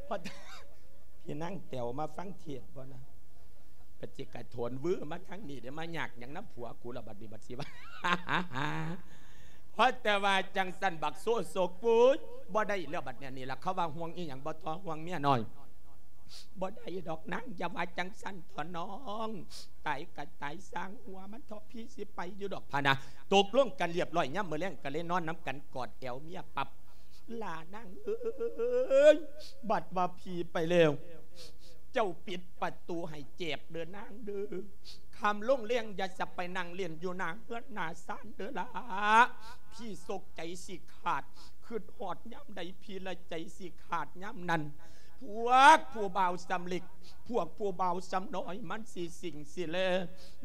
ພໍ່ ພີ່ນາງແຕວມາຟັງເທດບໍ່ນະ? ປະຈິກະໂຖນວືມາທາງນີ້ເດ້ ມາຍາກຫຍັງນຳຜົວກູລະ ບັດນີ້ບັດຊິວ່າ. ພໍແຕ່ວ່າຈັ່ງຊັ້ນ ບັກໂຊໂຊກປຸ້ຍ ບໍ່ໄດ້ແລ້ວບັດນີ້. ນີ້ລະເຂົາວ່າຫ່ວງອີ່ຫຍັງບໍ່ ເທາະຫ່ວງເມຍນ້ອຍ. ບໍ່ໄດ້ດອກນາງ ຢ່າວ່າຈັ່ງຊັ້ນເຖາະນ້ອງ. ຕາຍກະຕາຍ ຊ່າງຫົວມັນເຖາະ ພີ່ຊິໄປຢູ່ດອກພະນະ. ຕົກລົງກັນລຽບຮ້ອຍ ຍາມມື້ແລງກໍເລີຍນອນນຳກັນ ກອດແອວເມຍປັບ. ລານາງເອີຍ ບັດວ່າພີ່ໄປແລ້ວ ເຈົ້າປິດປະຕູໃຫ້ແຈບເດີນາງເດີ. ຄ່ຳລົງແລງຢ່າສະໄປນັ່ງຫຼິ້ນຢູ່ໜ້າເຮືອນໜ້າຊານເດີລະ. ພີ່ສົກໃຈຊິຂາດ ຄຶດຮອດຍາມໃດ ພີ່ລະໃຈຊິຂາດຍາມນັ້ນ. ພວກຜູ້ບ່າວສ່ຳເລັກ ພວກຜູ້ບ່າວສ່ຳນ້ອຍ ມັນຊິຊິງຊິແລ.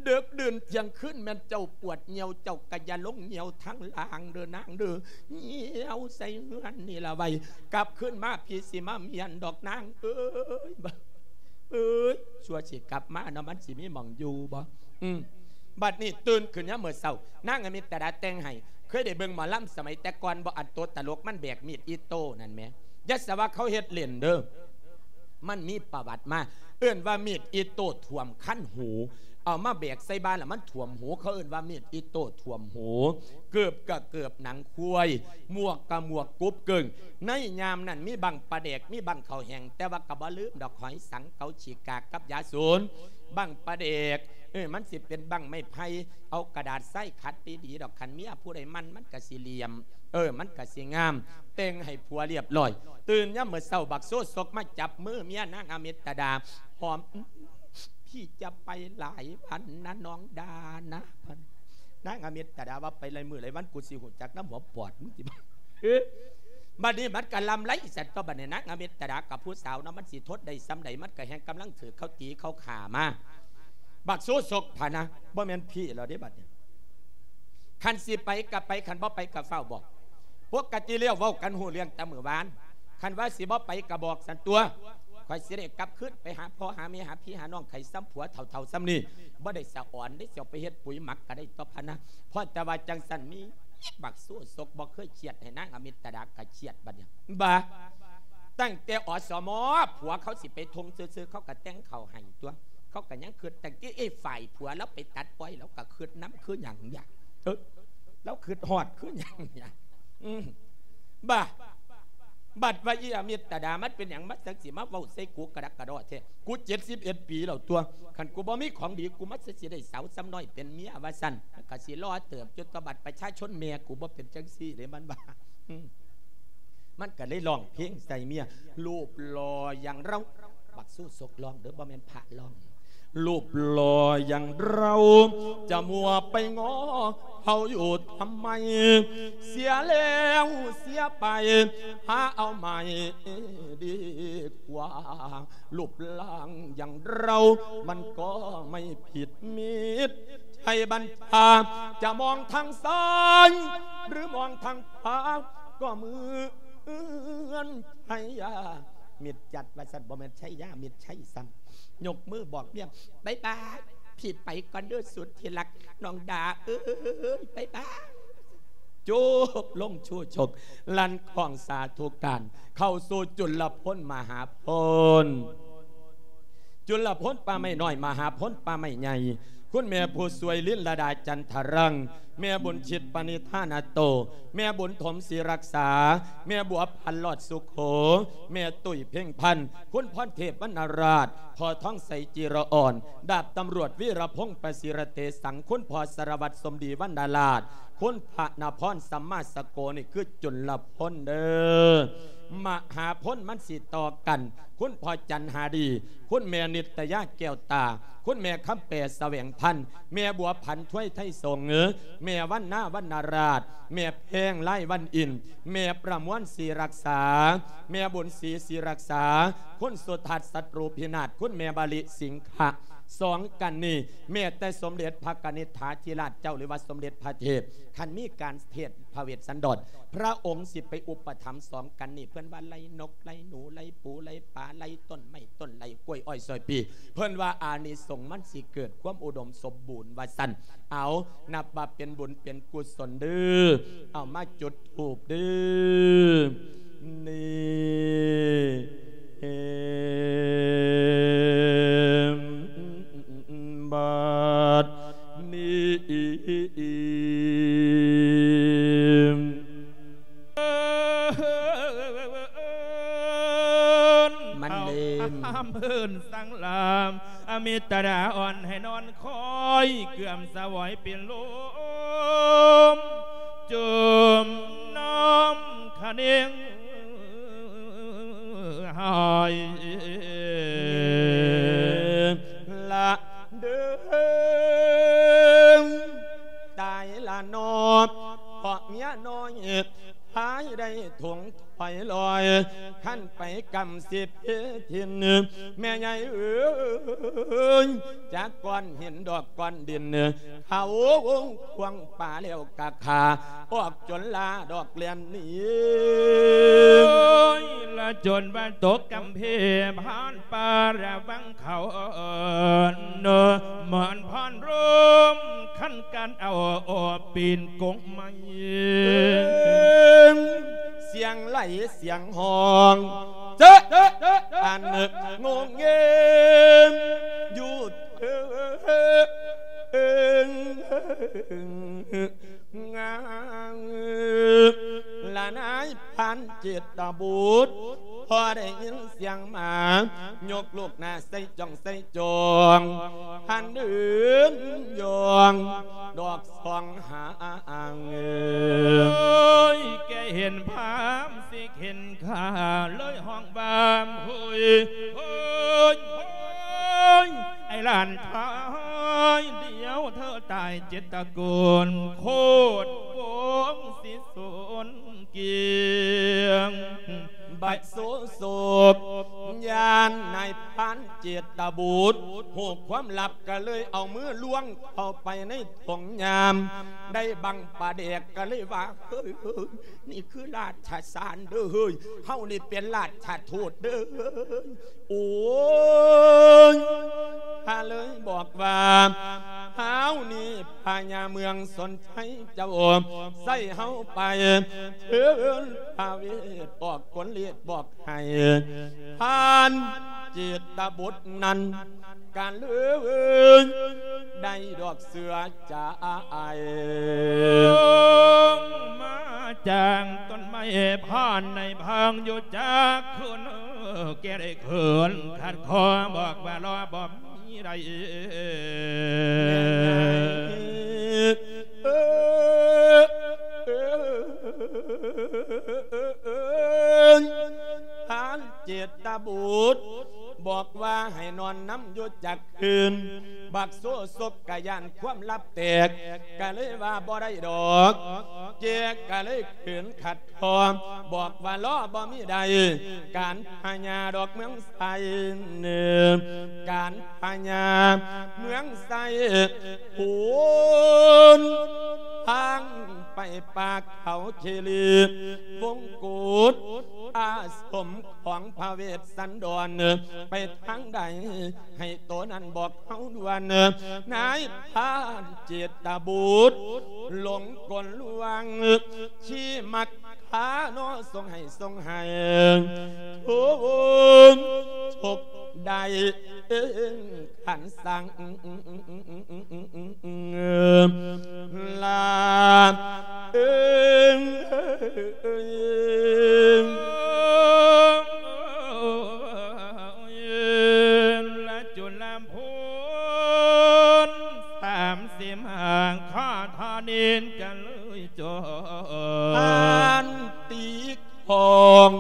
ເດິກດື່ນທ່ຽງຄືນແມ່ນເຈົ້າປວດຍ່ຽວ ເຈົ້າກະຢ່າລົງຍ່ຽວທາງລ່າງເດີນາງເດີ. ຍ່ຽວໃສ່ເຮືອນນີ້ລະໄວ້ ກັບຄືນມາພີ່ຊິມາມ້ຽນດອກນາງເອີຍ. ເອີຍ ຊົ່ວຊິກັບມາເນາະ ມັນຊິມີໝ່ອງຢູ່ບໍ່? ອືມ ບັດນີ້ຕື່ນຂຶ້ນຍາມມື້ເຊົ້າ ນາງອາມິດຕະດາແຕ່ງໃຫ້. ເຄີຍໄດ້ເບິ່ງໝໍລຳສະໄໝແຕ່ກ່ອນບໍ່? ອັນໂຕຕະຫຼົກມັນແບກມີດອີໂຕ້ນັ້ນແໝ. ຢ່າສະວ່າເຂົາເຮັດຫຼິ້ນເດີ ມັນມີປະຫວັດມາ. ເອີ້ນວ່າມີດອີໂຕ້ຖ້ວມຄັນຫູ ເອົາມາແບກໃສ່ບ່າແລ້ວມັນຖ້ວມຫູ ເຂົາເອີ້ນວ່າມີດອີໂຕ້ຖ້ວມຫູ. ເກີບກະເກີບໜັງຄວາຍ ໝວກກະໝວກກົບເກີ້ງ. ໃນຍາມນັ້ນມີບັ້ງປາແດກ ມີບັ້ງເຂົ້າແຫ້ງ ແຕ່ວ່າກະບໍ່ລືມດອກ ຫອຍສັງ ເກົາຂີ້ກາກກັບຢາສູນ. ບັ້ງປາແດກ ເອີ ມັນຊິເປັນບັ້ງໄມ້ໄຜ່ ເອົາກະດາດຊາຍຂັດດີໆດອກ. ຄັນເມຍຜູ້ໃດໝັ່ນ ມັນກະຊິຫຼຽມ ເອີ ມັນກະຊິງາມ. ແຕ່ງໃຫ້ຜົວລຽບຮ້ອຍ ຕື່ນຍາມມື້ເຊົ້າ ບັກໂຊໂຊກມາຈັບມືເມຍນາງອາມິດຕະດາ ຫອມ. ພີ່ຈະໄປຫຼາຍວັນນະນ້ອງດານະ. ນາງອາມິດຕະດາວ່າ ໄປຫຼາຍມື້ຫຼາຍວັນ ກູຊິຮູ້ຈັກນຳຫົວປອດມຶງຕິ. ບັດນີ້ມັນກະລຳໄລສັນຕົວະ ບັດນີ້ນາງອາມິດຕະດາກັບຜູ້ສາວເນາະ ມັນຊິທົນໄດ້ສ່ຳໃດ ມັນກະແຮ່ງກຳລັງຖືກເຂົາຕີເຂົາຂ້າມາ. ບັກໂຊໂຊກພະນະ ບໍ່ແມ່ນພີ່ແລ້ວເດ້ບັດນີ້. ຄັນຊິໄປກະໄປ ຄັນບໍ່ໄປກະຟ້າວບອກ. ປົກກະຕິແລ້ວເວົ້າກັນຮູ້ເລື່ອງແຕ່ມື້ວານ. ຄັນວ່າຊິບໍ່ໄປກະບອກສັນຕົວະ ຂ້ອຍຊິໄດ້ກັບຄືນໄປຫາພໍ່ຫາແມ່ ຫາພີ່ຫານ້ອງ ໄຂ້ສ່ຳຜົວເຖົ້າໆສ່ຳນີ້ ບໍ່ໄດ້ສະອອນເດ້ ຊິເອົາໄປເຮັດປຸ໋ຍໝັກກະໄດ້ຕົວະພະນະ. ພໍແຕ່ວ່າຈັ່ງຊັ້ນ ມີບັກໂຊໂຊກບໍ່ເຄີຍຄຽດໃຫ້ນາງອາມິດຕະດາກະຄຽດບັດນີ້. ບາ ຕັ້ງແຕ່ ອສມ ຜົວເຂົາຊິໄປທົ່ງຊື່ໆ ເຂົາກະແຕ່ງເຂົ້າໃຫ້ຕົວະ. ເຂົາກະຍັງຄຶດ ຕັ້ງແຕ່ໄອ້ຝ່າຍຜົວລາວໄປຕັດປ່ອຍ ລາວກະຄຶດນຳຄືຫຍັງຫຍັງ. ເອີ ລາວຄຶດຮອດຄືຫຍັງຫຍັງ. ອືມ ບາ ບັດວ່າອີອາມິດຕະດາ ມັນເປັນຫຍັງມາຈັ່ງຊິມາເວົ້າໃສ່ກູກະດັກກະດໍ້ແທ້? ກູເຈັດສິບເອັດປີແລ້ວຕົວະ ຄັນກູບໍ່ມີຂອງດີ ກູມາຊິໄດ້ສາວສ່ຳນ້ອຍເປັນເມຍວ່າຊັ້ນ. ມັນກະຊິຫຼໍ່ເຕີບຢູ່ຕົວະ ບັດປະຊາຊົນແມ່ກູບໍ່ເປັນຈັ່ງຊີ້ເດ້ ມັນວ່າ. ອືມ ມັນກະເລີຍຮ້ອງເພງໃສ່ເມຍ ຮູບຫຼໍ່ຢ່າງເຮົາ ປັກຊູ່ສົກຮ້ອງເດີ້ ບໍ່ແມ່ນພະຮ້ອງ. รูปหล่ออย่างเราจะมัวไปง้อเขาอยู่ทำไม เสียแล้วเสียไป หาเอาใหม่ดีกว่า รูปร่างอย่างเรามันก็ไม่ผิด มิตรชัยบัญชา จะมองทางซ้ายหรือมองทางขวา ก็เหมือนชัยยา มิตรจัดว่าซั่น บ่แม่นชัยยา มิตรชัยซ้ำ ยกมือบอกเมีย บ๊ายบาย พี่ไปก่อนเด้อสุดที่รัก น้องดาเอ้ย บ๊ายบาย จบลงชูชก ลั่นของสาธุการ เข้าสู่จุลพลมหาพล จุลพลป่าไม้น้อย มหาพลป่าไม้ใหญ่ คุณแม่ผู้สวยลินลดาจันทรัง แม่บุญชิตปณิธานาโต แม่บุญถมศรีรักษา แม่บัวพันธ์ลอดสุโข แม่ตุ้ยเพ็งพันธ์ คุณพรเทพวรรณราช พ่อทองใสจิรอ่อน ดาบตำรวจวีรพงษ์ประสิทธิ์เตสัง คุณพ่อสารวัตรสมดีวรรณราช คุณพระนพรสัมมาสโก นี่คือจุลพลเด้อ มหาพลมันสิต่อกัน คุณพ่อจันหาดี คุณแม่นิตยาแก้วตา คุณแม่คำแปแสวงพันธ์ แม่บัวผันถ้วยไทยสงฆ์ แม่วรรณาวรรณราช แม่แพงไลวันอินทร์ แม่ประมวลศรีรักษา แม่บุญศรีศรีรักษา คุณสุทัศน์ศัตรูพินาศ คุณแม่บาลิสิงขะ สองกันนี้ แม้แต่สมเด็จพระกนิษฐาธิราชเจ้า หรือว่าสมเด็จพระเทพ คันมีการเทศน์พระเวสสันดร พระองค์สิไปอุปถัมภ์สองกันนี้ เพิ่นว่าไล่นก ไล่หนู ไล่ปู ไล่ปลา ไล่ต้นไม้ ต้นไล่กล้วยอ้อยซอยปี เพิ่นว่าอานิสงส์มันสิเกิดความอุดมสมบูรณ์ว่าซั่น เอา นับว่าเป็นบุญเป็นกุศลเด้อ เอามาจุดธูปเด้อ นี่ บัดนี้ มันลืม ห้ามเพิ่นสั่งลาม อมิตรดาอ่อนให้นอนคอย เกื่อมสวอยเป็นลม จมน้ำคะเนงหาย ละเด้อ ตายละนอ เพราะเมียน้อย พายได้ถงถอยลอย คันไปกำสิบเพทิน แม่ใหญ่เอ๋ย จากก้อนหินดอกก้อนดิน เขาวงควงป่าแล้วกะขา ออกจนลาดอกแล่นหนี โอ้ย ละจนว่าตกกำเพ ผ่านป่าระวังเขา เนาะ หมอนพรร่ม คันกันเอาออกปีนกงไม้ เสียงไหลเสียงฮ้อง เจ๊ะ อันงงเงง อยู่เถิง งาม ละนายพรานเจตบุตร พอได้ยินเสียงหมา ยกลูกหน้าใส่จ้องใส่จอง หันเดินย่อง ดอกสองหาง โอ้ย แกเห็นพรามสิเข็น ข้าเลยฮ้องว่า โฮ้ย โฮ้ย โฮ้ย ไอ้หลานพาย เดี๋ยวเธอตายเจ็ดตระกูล โคตรโกงสิสูญเกลี้ยง บัดโสโศก ย่านนายพรานเจตบุตร ฮู้ความลับก็เลยเอามือล้วงเข้าไปในถงยาม ได้บังปลาแดกก็เลยว่า เฮ้ย เฮ้ย นี่คือราชสารเด้อเฮ้ย เฮานี่เป็นราชทูตเด้อ โอ้ย ข้าเลยบอกว่า เฮานี่พญาเมืองสนชัยเจ้า ใส่เฮาไป เชิญพระเวทบอกกลเลียดบอกให้ พรานเจตบุตรนั้น กันเลยได้ดอกเสือจ่าย มาจากต้นไม้พรานในพังอยู่จากคืน แกได้คืนขัดคอบอกว่ารอบ่มีใด พรานเจตบุตรบอก ຢູ່ຈັກຄືນ ບັກໂສສົບກະຢ້ານຄວາມລັບແຕກ ກະເລີຍວ່າບໍ່ໄດ້ດອກ ແກກະເລີຍຂືນຂັດ ພໍບອກວ່າລໍບໍ່ມີໄດ້ ການພະຍາດອກເມືອງໄຊ ການພະຍາເມືອງໄຊພຸ້ນ ທາງໄປປ່າເຂົາຄີລີ ວົງກຸດອາສົມຂອງພະເວດສັນດອນ ໄປທາງໃດ ໃຫ້ໂຕນັ້ນບອກເຮົາດ່ວນ ນາຍພານເຈດຕະບຸດ ຫຼົງກົນລວງ ຂີ້ມັກຄານໍ ສົ່ງໃຫ້ ສົ່ງໃຫ້ ໂທມຊົກໄດ້ ຄັນສັ່ງ ລາເອີງ ລະຈຸລະພຸນ ສາມສິບຫ້າ ຂໍທານິນກະເລີຍຈົບ ທ່ານຕິຂອງ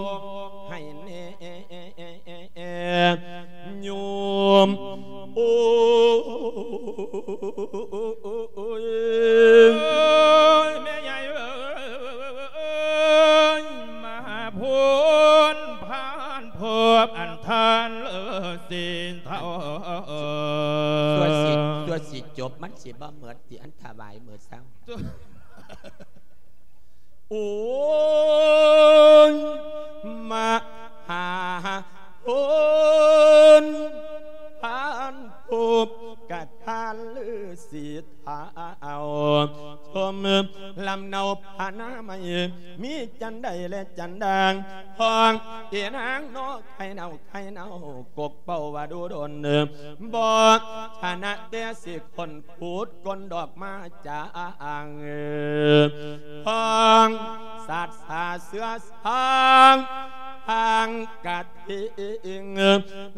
ໃຫ້ແນ່ ໂຍມ ໂອ້ຍ ແມ່ໃຫຍ່ເອີຍ ມາຫາພຸນພານພົບອັນທ່ານເລີສີເທົາ ຕົວະຊິ ຕົວະຊິຈົບ ມັນຊິບໍ່ໝົດຕິ ອັນຖະຫວາຍມື້ເຊົ້າ. ໂອ້ຍ ມະຫາໂພນ ທ່ານພົບກະທ່ານລືສີເທົາ ຊົມລຳເນົາພະນາໄມ ມີຈັນໃດແລະຈັນດາງ ຂອງເອນາງນໍ ໄຂ່ເນົາ ໄຂ່ເນົາ ກົກເປົ້າວ່າດູດົນ ບໍ່ຊະນະແຕ່ຊິຄົ້ນຂຸດກົ້ນດອກມາຈາງ ຂອງສາດສາເສືອສາງ ທາງກະທິງ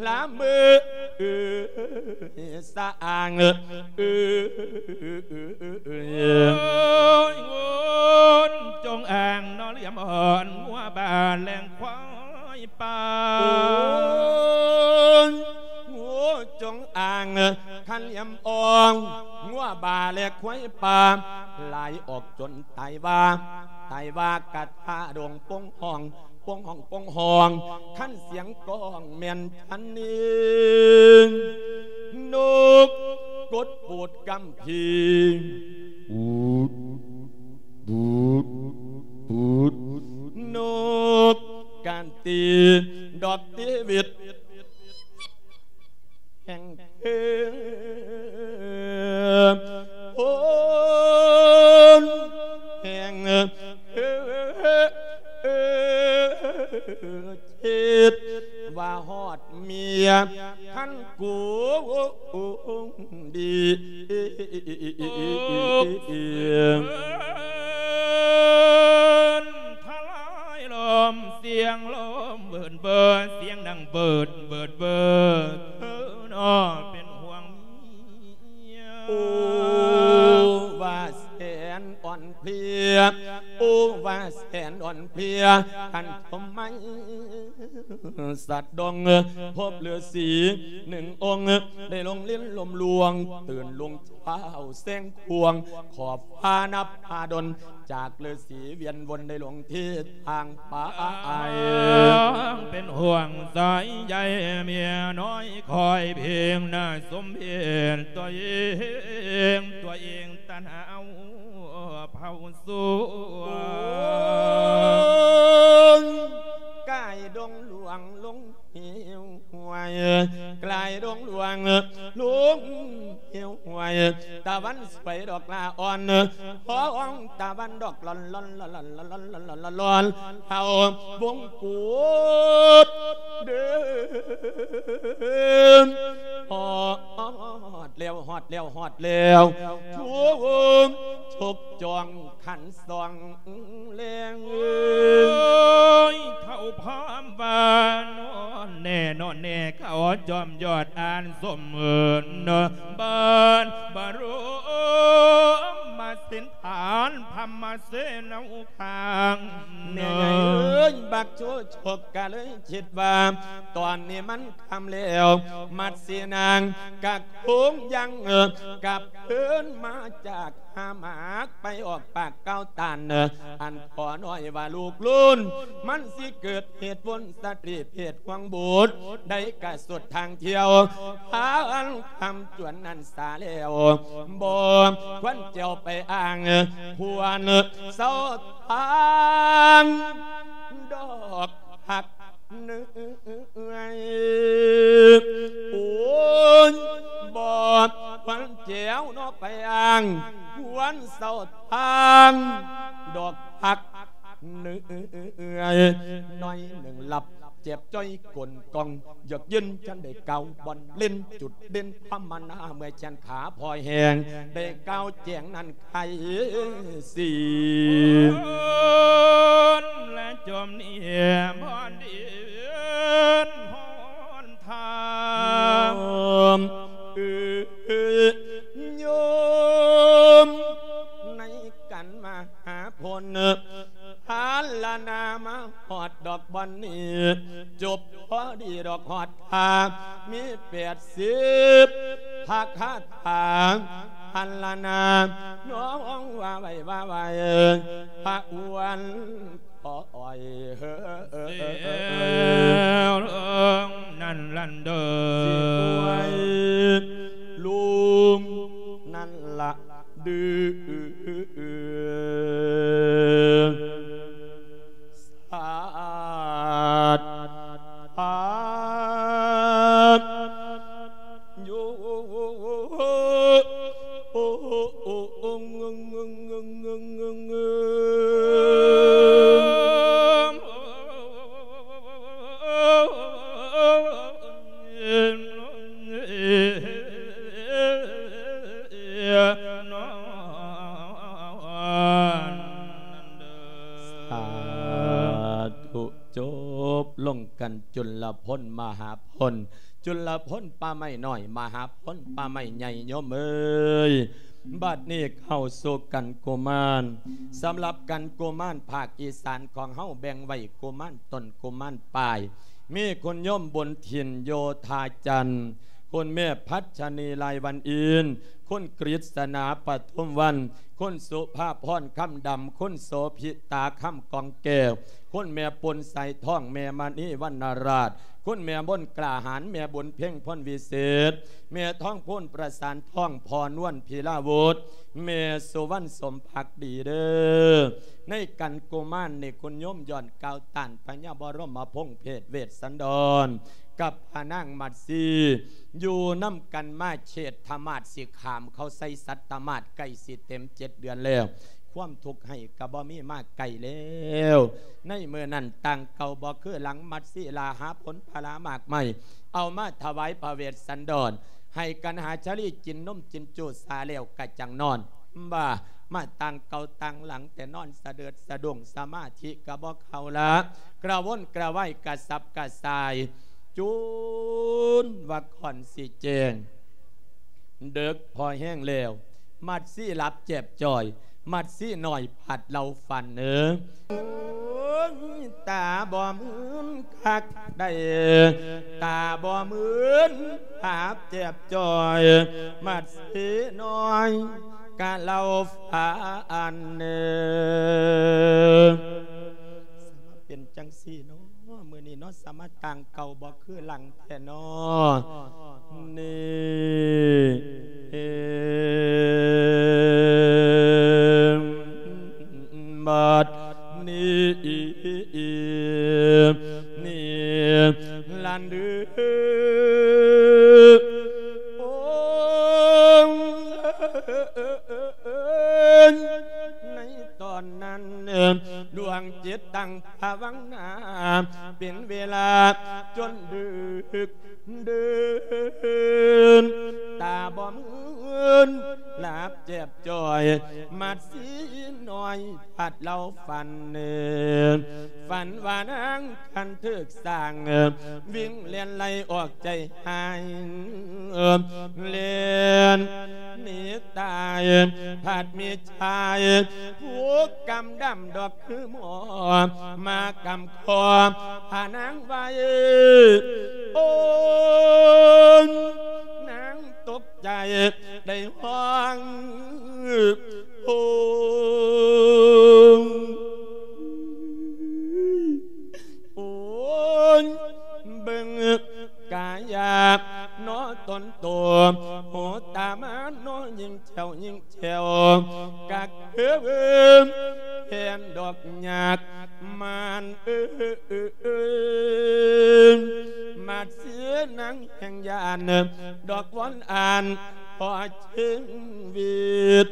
ລະມືສະອາງ ເອີ ໂອ້ຍ ງົວຈົງອາງ ນໍ ລຽມອ່ອນ ງົວບາແລງ ຄວາຍປ່າ ໂອ້ຍ ງົວຈົງອາງ ຄັນລຽມອ່ອນ ງົວບາແລະຄວາຍປ່າ ຫຼາຍອອກຈົນຕາຍວ່າ ຕາຍວ່າກະທາດົງ ປົງຫ້ອງ ປົງຫ້ອງ ປົງຫ້ອງ ຄັນສຽງກ້ອງແມ່ນທັນນີ້ ນົກກົດປູດກຳພີ ປູດ ປູດ ປູດ ນົກການຕີດອກຕີວິດ ແຫ່ງເທີ ໂພນ ແຫ່ງເທີ ຄິດວ່າຮອດເມຍ ຄັນກູດີ ທະລາຍລົມ ສຽງລົມເບີດເບີດ ສຽງດັງເບີດເບີດເບີດ ເທີນໍເປັນຫ່ວງເມຍ ໂອ້ ວ່າແສນອ່ອນເພຍ ໂອ້ ວ່າແສນອ່ອນເພຍ ທ່ານສົມໄໝ ສັດດົງ ພົບລືສີໜຶ່ງອົງ ໄດ້ລົງຫຼິ້ນລົມລວງ ຕື່ນລຸງທ້າວແສງຂວາງ ຂອບຟ້ານັບພາດົນ ຈາກລືສີວຽນວົນ ໄດ້ລົງທິດທາງໄປ ເປັນຫ່ວງໃຈໃຫຍ່ເມຍນ້ອຍ ຄອຍເພງໜ້າສົມເພດຕົວເອງ ຕົວເອງ ຕັນຫາເອົາເຜົາສວນ ກາຍດົງຫຼວງລົງເຫວຫ້ວຍ ກາຍດົງຫຼວງລົງເຫວຫ້ວຍ ຕາວັນສວຍດອກຫຼ້າອ່ອນ ຮອງຕາວັນດອກຫຼອນ ເຮົາວົງກຸດເດີ ຮອດແລ້ວ ຮອດແລ້ວ ຮອດແລ້ວ ໂຊກຈອງຂັນສອງແລງເອີຍ ເຂົາພ້ອມວ່ານອນແນ່ ນອນແນ່ ເຂົາຈອມຍອດອານສົມເອີນ ເນາະ ບ້ານບະລົມມະສິນຖານ ມມະເສນາຄັງ ແມ່ໃຫຍ່ເອີຍ ບັກໂຈໂຈກກະເລີຍຄິດວ່າ ຕອນນີ້ມັນຄ່ຳແລ້ວ ມັດສີນາງກະຄົງຍັງ ເອີ ກັບຄືນມາຈາກ ຫາໝາກໄປອອກປາກກ່າວຕ້ານ ອັນພໍ່ນ້ອຍວ່າລູກລຸນ ມັນຊິເກີດເຫດວົນສະຕຣີເພດຂອງບຸດ ໄດ້ກະສຸດທາງທ່ຽວ ພາອັນຄຳຈວນນັ້ນສາແລ້ວ ບໍ່ຄວນຈະເອົາໄປອ້າງ ຄວນເຊົາທາງດອກຮັກ ເອີຍ ໂອ້ຍ ບໍ່ຄວນແຈວເນາະໄປອ້າງ ຄວນເຊົາທາງດອກຮັກ ເອີຍ ໜ້ອຍໜຶ່ງຫຼັບ ເຈັບຈ້ອຍກົ້ນກ່ອງ ຢາກຢືນຈັ່ງໃດກ່າວບ່ອນເຫຼັ້ນ ຈຸດເດັ່ນຄວາມມານາ ເມື່ອຍແຂນຂາພໍແຮງ ໄດ້ກ່າວແຈ້ງນັ້ນ ໄຄສີ ແລະຈົມນີ້ບ່ອນດິນຮອນທາງ ໂຍມເອີຍ ໂຍມ ໃນກັນມະຫາພົນ ພາລະນາມາຮອດດອກບ່ອນນີ້ ຈົບພໍດີດອກຮອດ ຖ້າມີແປດສິບພະຄາຖາ ພັນລະນາ ນ້ອງວ່າໄວ້ວ່າໄວ້ ພະອວນຂໍອ້ອຍເຮີ ເຊວເລີງນັ້ນລັນເດີ ຊິອວຍລຸງນັ້ນລະ ດື ສາດ ພາດ ໂຍ ໂອ ໂອ ໂອ ໂອ ສາທຸ ຈົບລົງກັນຈຸນລະພົນມະຫາພົນ ຈຸນລະພົນປ່າໄມ້ນ້ອຍ ມະຫາພົນປ່າໄມ້ໃຫຍ່ ໂຍມເອີຍ. ບັດນີ້ເຂົ້າສູ່ກັນກຸມານ. ສຳລັບກັນກຸມານພາກອີສານຂອງເຮົາ ແບ່ງໄວ້ກຸມານຕົ້ນ ກຸມານປາຍ ມີຄຸນໂຍມບຸນຖິ່ນ ໂຍທາຈັນ ຄຸນແມ່ພັດຊະນີ ລາຍວັນອິນ ຄຸນກຣິດສະໜາ ປະທຸມວັນ ຄຸນສຸພາພອນ ຄຳດຳ ຄຸນໂສພິຕາ ຄຳກອງແກ້ວ ຄຸນແມ່ປົນ ສາຍທອງ ແມ່ມະນີ ວັນນະລາດ ຄຸນແມ່ມົນ ກ້າຫານ ແມ່ບຸນເພັງ ພົນວິເສດ ແມ່ທອງພູນ ປະສານທອງ ພໍ່ນວນ ພິລາວຸດ ແມ່ສຸວັນ ສົມພັກດີເດີ. ໃນກັນກຸມານນີ້ ຄຸນໂຍມຍ້ອນກ່າວຕ້ານພະຍາບໍລົມມະພົງເພດເວດສັນດອນ ກັບພະນາງມັດສີ ຢູ່ນຳກັນມາເຂດທະມາດ ຊິຂ້າມເຂົ້າໃສ່ສັດຕະມາດ ໃກ້ຊິເຕັມເຈັດເດືອນແລ້ວ ຄວາມທຸກໄຮ້ກະບໍ່ມີມາໄກແລ້ວ. ໃນມື້ນັ້ນຕ່າງເກົ່າບໍ່ຄືຫຼັງ ມັດສີລາຫາຜົນຜະລາໝາກໄມ້ ເອົາມາຖວາຍພະເວດສັນດອນ ໃຫ້ກັນຫາຊາລີກິນນົມກິນຈູສາແລ້ວກະຈັ່ງນອນ ວ່າມາຕ່າງເກົ່າຕ່າງຫຼັງ ແຕ່ນອນສະເດີດສະດຸ້ງ ສະມາທິກະບໍ່ເຂົ້າລະ ກະວົນກະວາຍກະສັບກະສ່າຍ ຈົນວ່າກ່ອນຊິແຈ້ງ ເດິກພໍແຮງແລ້ວ ມັດສີຫຼັບແຈບຈ່ອຍ ມັດສີນ້ອຍພັດເລົ່າຝັນເອີ ໂອ້ຍ ຕາບໍ່ມື່ນຄັກໃດ ຕາບໍ່ມື່ນ ພາບແຈບຈ່ອຍ ມັດສີນ້ອຍກະເລົ່າຝັນເອີ ເປັນຈັ່ງຊີ້ເນາະ ມື້ນີ້ເນາະ ສາມາດຕ່າງເກົ່າບໍ່ຄືຫຼັງແທ້ເນາະ ນີ້ ບັດນີ້ ນີ້ລະເດີ ໂອ້ຍ ໃນຕອນນັ້ນ ດວງຈິດຕັ້ງພາວະນາ ເປັນເວລາຈົນດຶກເດີນ ຕາບໍ່ມື່ນ ຫຼັບແຈບຈ່ອຍ ໝາດສີນ້ອຍ ພັດເລົ່າຝັນ ຝັນວ່ານາງຄັນຖືກສ້າງ ວິ່ງແລ່ນໄລ່ອອກໃຈຫາຍ ແລ່ນໜີຕາຍ ພັດມີຊາຍ ຜູ້ກຳດຳດອກຄືໝໍ ມາກຳຄໍພານາງໄວ້ ໂອ້ຍ ນາງຕົກໃຈໄດ້ຮ້ອງ ໂອ້ຍ ໂອ້ຍ ເບິ່ງກາຍາເນາະຕົນໂຕ ໂຫຕາມາເນາະ ຍິງແຈວຍິງແຈວ ກະຄືເຫັນດອກຍາກມານເອີຍ ມາດເສຍນາງແຫ່ງຢ້ານ ດອກວອນອ່ານ ພໍຊີວິດ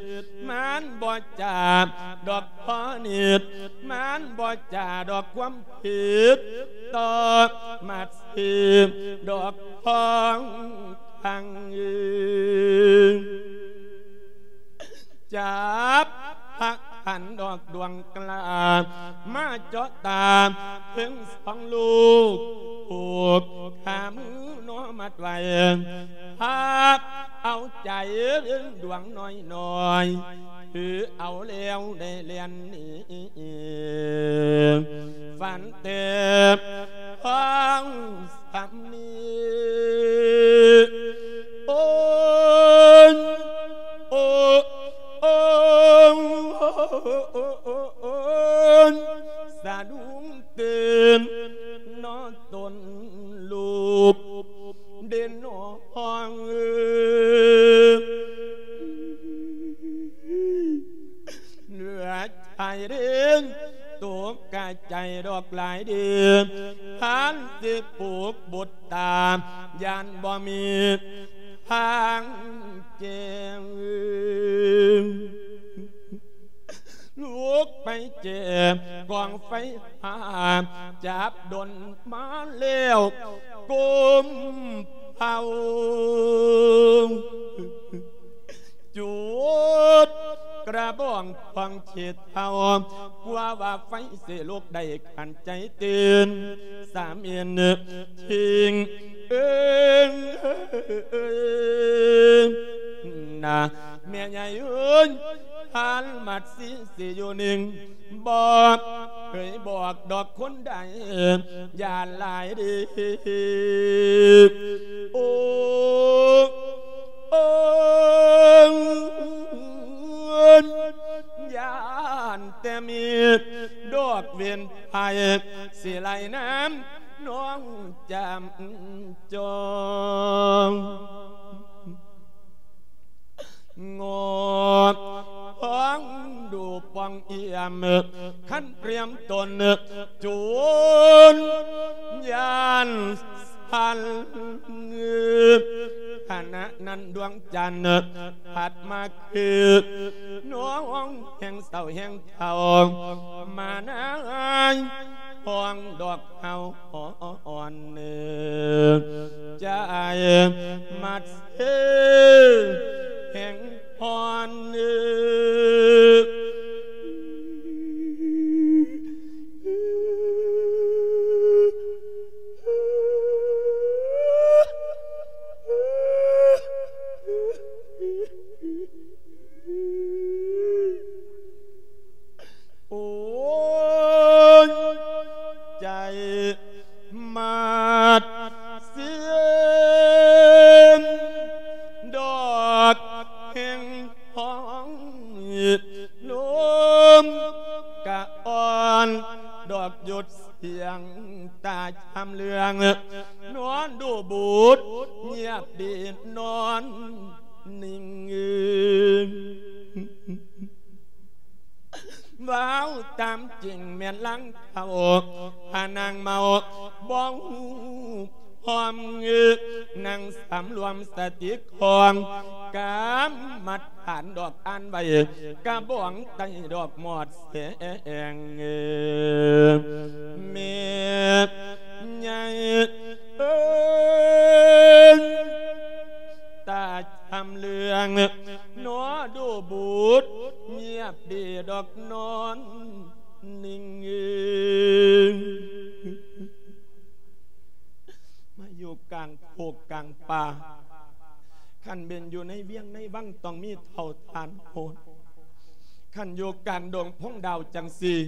ມັນບໍ່ຈາດອກພໍນິດ ມັນບໍ່ຈາດອກຄວາມຜິດ ຕໍ່ມາດຊີດອກຂອງທາງອື່ນ ຈັບພະຂັນດອກດວງກລ້າ ມາເຈາະຕາເທິງສອງລູກ ຜູກຂາມືເນາະມັດໄວ້ ພາເອົາໃຈດວງນ້ອຍໆ ຖືເອົາແລ້ວໄດ້ແລ່ນໜີ ຝັນແຕ່ຂອງສາມີ ໂອ້ຍ ໂອ້ ໂອ້ ສະດຸ້ງຕື່ນເນາະຕົນລູກ ເດນນອງເອີ ເຫຼືອໃຈເດນ ຕົກກະໃຈດອກຫຼາຍເດ ທ່ານຊິປູກບຸດຕາ ຢ້ານບໍ່ມີທາງແກ້ ລຸກໄປແຈກກອງໄຟຟ້າ ຈັບດົນມາແລ້ວກົ້ມເຜົາ ຈູດກະບອງພອງເຂດເຜົາ ກົວວ່າໄຟຊິລຸກໄດ້ຂັນໃຈຕື່ນ ສາມເອັນທິງເອີງນາ ແມ່ໃຫຍ່ເອີຍ ທ່ານມັດສີຊິຢູ່ນິ່ງ ບໍ່ເຄີຍບອກດອກຄົນໃດ ຢ້ານຫຼາຍເດ ໂອ້ ໂອ້ ຢ້ານແຕ່ມີດອກເວັນໄພ ຊິໄລ່ນຳນ້ອງຈຳຈອງ ງອກພອງດູປ່ອງອຽມ ຄັນຕຽມຕົນຈູນຢ້ານສັ່ນ ຂະນະນັ້ນດວງຈັນພັດມາຄື ນ້ອງແຫ່ງເສົ້າແຫ່ງເຖົ້າ ມານາຍຫ້ອງດອກເຫົ່າ ອ່ອນໃຈມັດເຊແຫ່ງອ່ອນ ໂອ້ຍ ໃຈມາດເສຍນ ດອກແຫ່ງຫ້ອງ ລົມກະອ່ອນ ດອກຢຸດສຽງຕາຈຳເລື່ອງ ນອນດູບຸດງຽບດີນອນ ນິ່ງເອີງ ເວົ້າຕາມຈິງແມ່ນລາງເທົ້າ ພານາງເມົາບໍ່ຮູ້ພ້ອມ ນັ່ງສຳລວມສະຕິຂອງ ກຳມັດ ານດອກອ່ານໄວ້ ກະບອງໃຕ້ດອກໝອດແສງ ແມ່ໃຫຍ່ເອີຍ ຕາຈຳເລື່ອງ ໜໍດູບຸດ ງຽບດີດອກນອນນິ່ງເອີຍ ມາຢູ່ກາງໂຄກກາງປ່າ ຄັນແມ່ນຢູ່ໃນວຽງໃນວັງ ຕ້ອງມີເຖົ້າທ່ານໂພດ ຄັນຢູ່ກາງດົງພົງດາວຈັ່ງຊີ້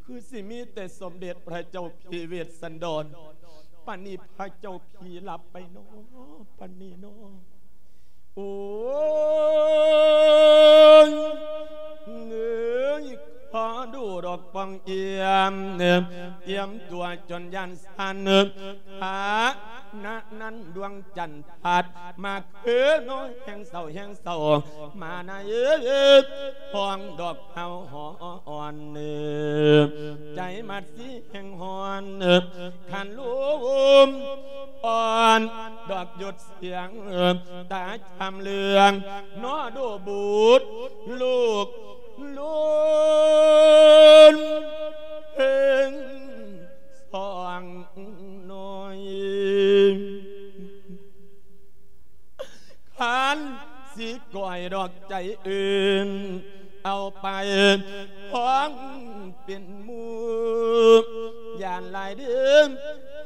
ຄືຊິມີແຕ່ສົມເດັດພະເຈົ້າພີເວດສັນດອນ ປານນີ້ພະເຈົ້າພີຫຼັບໄປນໍ ປານນີ້ນໍ. ໂອ້ຍ ເງີຍຂໍດູດອກປ່ອງອ່ຽມ ອ່ຽມຕົວຈົນຢ້ານສັ່ນ ຂະນະນັ້ນດວງຈັນພັດມາຄືນ້ອຍ ແຮງເສົ້າແຮງເສົ້າ ມາໃນຫ້ອງດອກເຫົ່າຮ້ອນ ໃຈມັດສີແຮງຮ້ອນ ຄັນລົມອ່ອນດອກຢຸດສຽງ ຕາຈຳເລື່ອງ ໜໍດູບຸດ ລູກລຸນເພັງສອງນ້ອຍ ຄັນຊິກ້ອຍດອກໃຈອື່ນ ເອົາໄປພ້ອງເປັນໝູ່ ຢ້ານຫຼາຍເດີ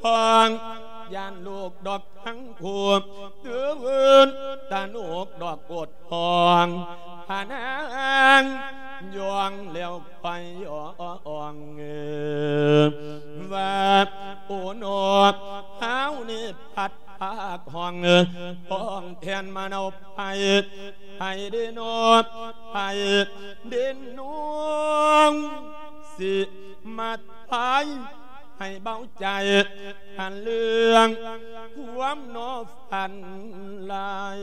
ພ້ອງ ຢ້ານລູກດອກທັງຄູ່ ຕື່ນຕາໜູກດອກໂອດຮ້ອງ ພານາງຢ່ອງແລ້ວຄ່ອຍຮ້ອງ ວ່າ ໂອ ນອ ເຮົານີ້ພັດ ພາກຫ້ອງ ຫ້ອງແທນມາເນົາໄພ ໃຜເດນອ ໃຜເດນອງ ຊິມາທາຍໃຫ້ເບົາໃຈ ຄັນເລື່ອງຄວາມນອຝັນລາຍ.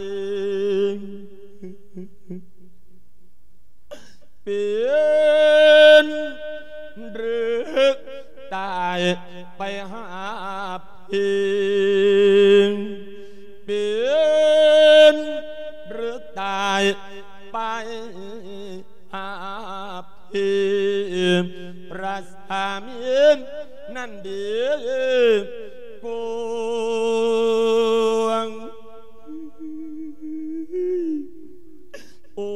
ເປັນຫຼືຕາຍໄປຫາເພງ ເປັນຫຼືຕາຍໄປຫາເພງ ພະສາມີນັ້ນເດກວງ. ໂອ້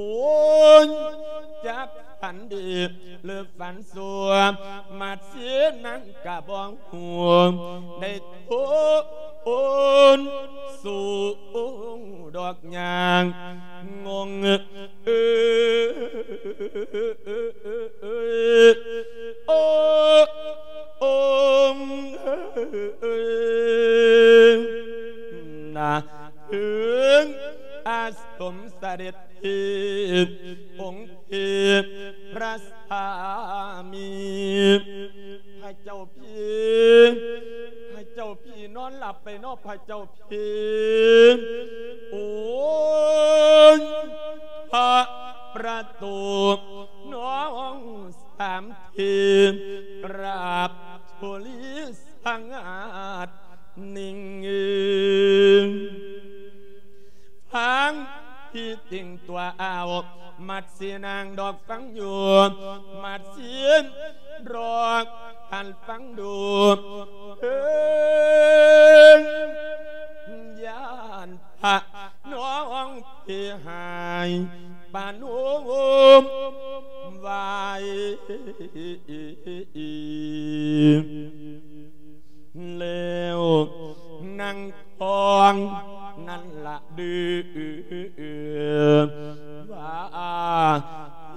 ຍ ຈັກຝັນດີຫຼືຝັນຊົ່ວ ມາດເສຍນັງກະບໍ່ຮູ້ ໄດ້ໂທນສູງດອກຍາງງົງ ເອີຍ ໂອ້ ໂອ້ ນາ ເຖິງອາສົມສະເດັດເທບ ອົງເທບພະສາມີ ພະເຈົ້າພີ ພະເຈົ້າພີນອນຫຼັບໄປເນາະ ພະເຈົ້າພີ ໂອ້ຍ ພະປະຕູນ້ອງສາມທີ ກາບທຸລີສະຫງາດນິ່ງ ຟັງທີ່ຕິງຕົວອາວ ມັດສີນາງດອກຟັງຢູ່ ມັດສີດອກທ່ານຟັງດູ ເອີ ຢ້ານພະນ້ອງເພຫາຍປາໂນມວາຍ ແລ້ວນາງທອງນັ້ນລະດືວ່າ ເພ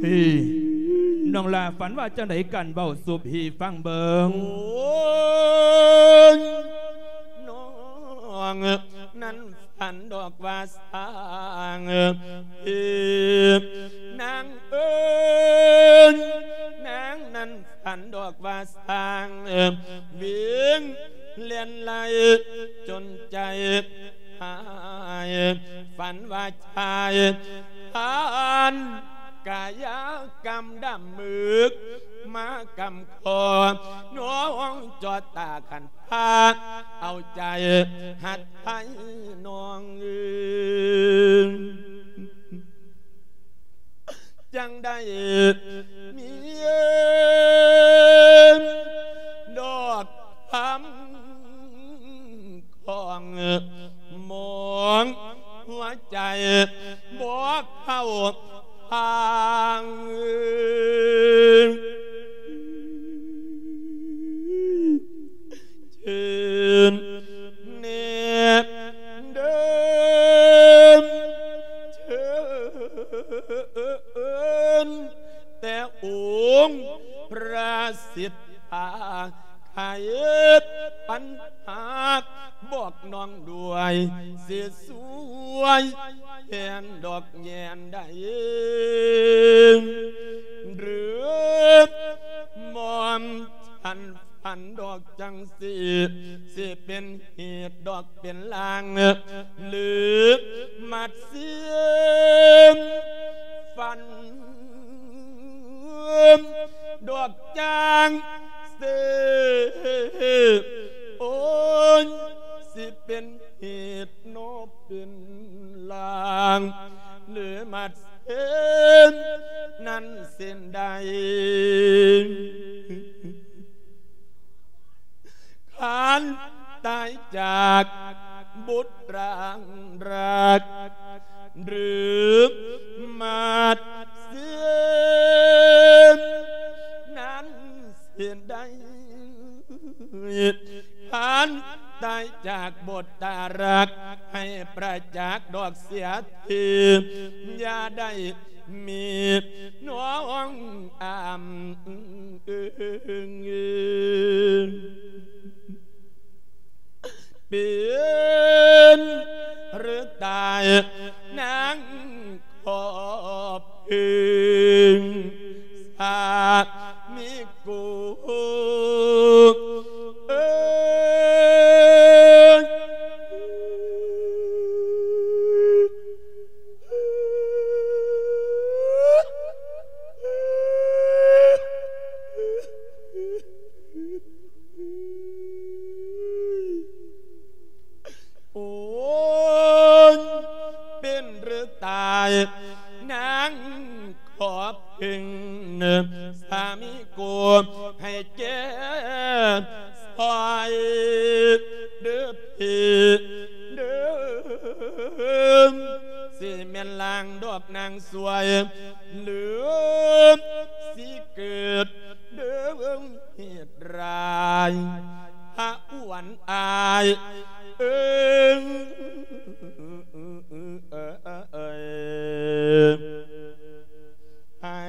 ສີ ນ້ອງຫຼ້າຝັນວ່າຈັ່ງໃດກັນ ເວົ້າສູ່ພີ່ຟັງເບິ່ງ. ໂອ້ຍ ນ້ອງນັ້ນຝັນດອກວ່າຊ້າງ ເອີ ນາງເອີຍ ນາງນັ້ນຝັນດອກວ່າຊ້າງ ເອີ ວິ່ງແລ່ນໄລ່ຈົນໃຈຫາຍ ຝັນວ່າຊາຍຜ່ານ ກາຍະກຳດຳມຶກ ມາກຳຄໍ ນ້ອງຈອດຕາຂັນພາ ເອົາໃຈຫັດໄທນ້ອງເອີຍ ຈັ່ງໄດ້ມີດອກຄຳ ຂອງມອງຫົວໃຈບໍ່ເຂົ້າທາງ ເຊີນແນ່ເດີ ເຊີນແຕ່ອົງພະສິດ ພາໃຫ້ປັນຫາ ບອກນ້ອງດ້ວຍ ຊິຊ່ວຍແທນດອກແຍນໃດ ຫຼືໝອມສັນຝັນດອກຈັ່ງຊີ້ ຊິເປັນເຫດດອກເປັນລາງ ຫຼືມັດເຊື່ອມຝັນ ດອກຈາງເສ ໂອ້ຍ ຊິເປັນເຫດເນາະເປັນລາງ ຫຼືມັດເຊນນັ້ນເຊັ່ນໃດ ຄັນຕາຍຈາກບຸດຣາງຮັກ ຫຼືໝາດເຊນນັ້ນເຊັ່ນໃດ ຄັນຕາຍຈາກບຸດຕາຮັກ ໃຫ້ປະຈັກດອກເສຍທີ ຢ່າໄດ້ ມີນ້ອງອາມເອີງ ເປັນຫຼືຕາຍນາງຂໍເພິ່ງສາມີກູ ເອີຍ ໂອ້ຍ ເປັນຫຼືຕາຍ ນາງຂໍເພິ່ງສາມີກູ ໃຫ້ແກ້ຊ່ອຍເດີພີ່ເດີ ຊິແມ່ນລາງດອກນາງຊ່ວຍ ຫຼືຊິເກີດເດີເຫດຮ້າຍ ພະອວນອາຍເອີງ ເອີຍ ໃຫ້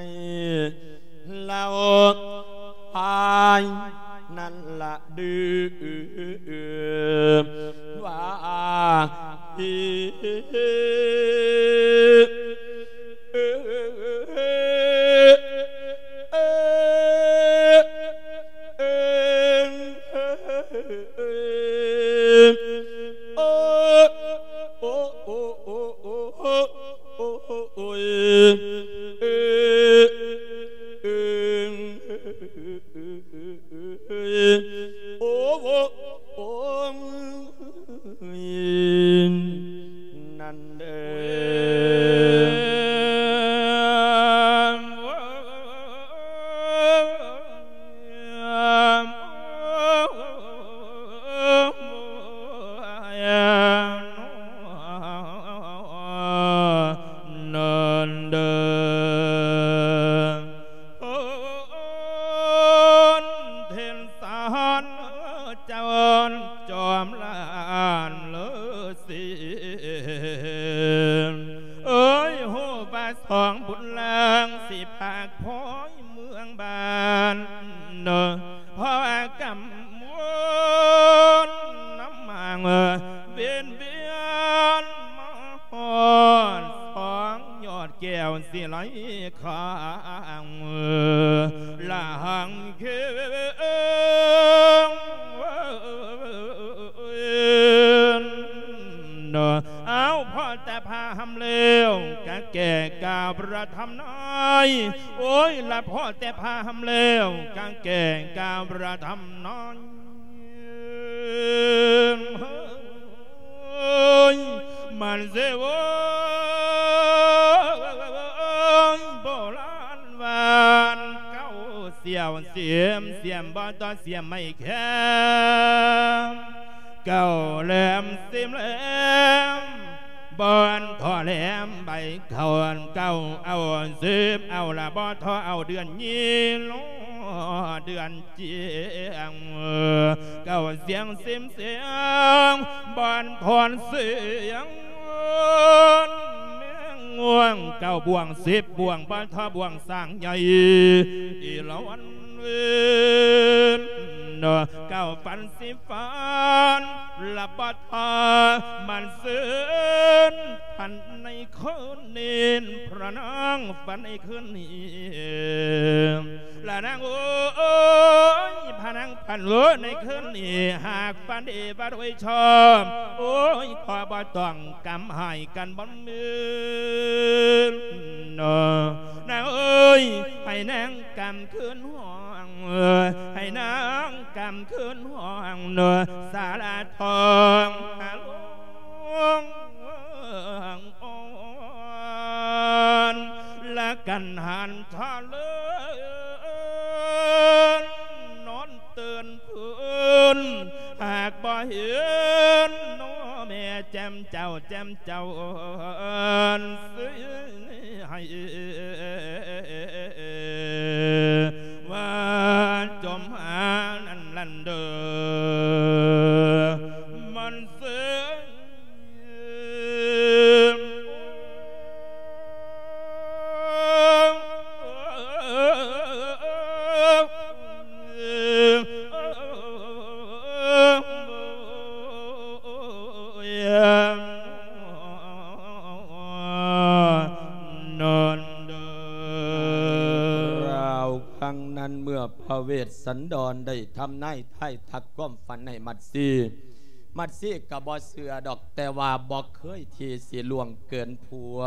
ລາວພາຍນັ້ນລະດື ວ່າ ໂອ້ ໂອ້ ໂອ້ຍ ນັ້ນເດີ ນັ້ນເດີ. ໂອນເທນສອນເຈົ້າຈອມລານເລີສີ ເອີຍ ຮູ້ວ່າສອງບຸນລາງ ຊິພາກພອຍເມືອງບ້ານ ເນາະ ເພາະວ່າກຳວົນນຳມາງ ເວນວຽນມາຮອດສອງຍອດແກ້ວ ຊິໄຫຼ ຂ້າງ ລະຫັງເຄີງ ເນາະ ເອົາ ພໍແຕ່ພາຫຳແລ້ວ ກະແກ່ກ່າວ ພະທຳນາຍ ໂອ້ຍ ລະພໍແຕ່ຜ້າຫຳແລ້ວ ກາງແກງກາພະທຳນາຍ ມັນເສຍໂວ້ຍ ໂບລານວ່າ ເຂົ້າສຽວສຽມ ສຽມບໍ່ຕໍ່ສຽມໄມ້ແຄມ ເຂົ້າແຫຼມສຽມແຫຼມ ບ່ອນທໍ່ແຫຼມໃບເຂົ້າ ເຂົ້າເອົາສືບເອົາລະບໍ່ທໍ່ເອົາເດືອນຍີ່ລໍເດືອນ ຈຽງ ເຂົ້າສຽງຊິມສຽງ ບ້ານພອນສຽງ ແມງງວງ ເກົ້າບ່ວງສິບບ່ວງ ບ້ານທ່າບ່ວງ ສ້າງໃຫຍ່ ອີລະວັນເວນ ເກົ້າຝັນສິບຝັນ ລະບັດພາ ມັນເຊີນ ພັນໃນຄືນນີ້ ພະນາງຝັນໃນຄືນນີ້ ລະນາງເອີຍ ພະນາງຝັນເອີຍ ໃນຄືນນີ້ ຫາກຝັນດີບໍ່ໂດຍຊອບ ໂອ້ຍ ຂໍບໍ່ຕ້ອງກຳຫາຍກັນບໍ່ມີນາງເອີຍ ໃຫ້ນາງກຳຄືນຫ້ອງ ໃຫ້ນາງກຳຄືນຫ້ອງ ສາລາທອງ ລະກັນຫັນທະເລີນ ນອນເຕີນພື້ນ ຫາກບໍ່ເຫັນນ້ອແມ່ແຈ່ມເຈົ້າ ແຈ່ມເຈົ້າ ເອີນ ໃຫ້ວ່າຈົ່ມຫານັ້ນລັນເດີ ມັນເຊີນ ນອນເດີ ຄາວຄັ້ງນັ້ນເມື່ອພະເວດສັນດອນໄດ້ທຳນາຍທາຍທັກຄວາມຝັນໃຫ້ມັດຊີ ມັດຊີກໍບໍ່ເຊື່ອດອກ ແຕ່ວ່າບໍ່ເຄີຍທີ່ຊິລ່ວງເກີນຜົວ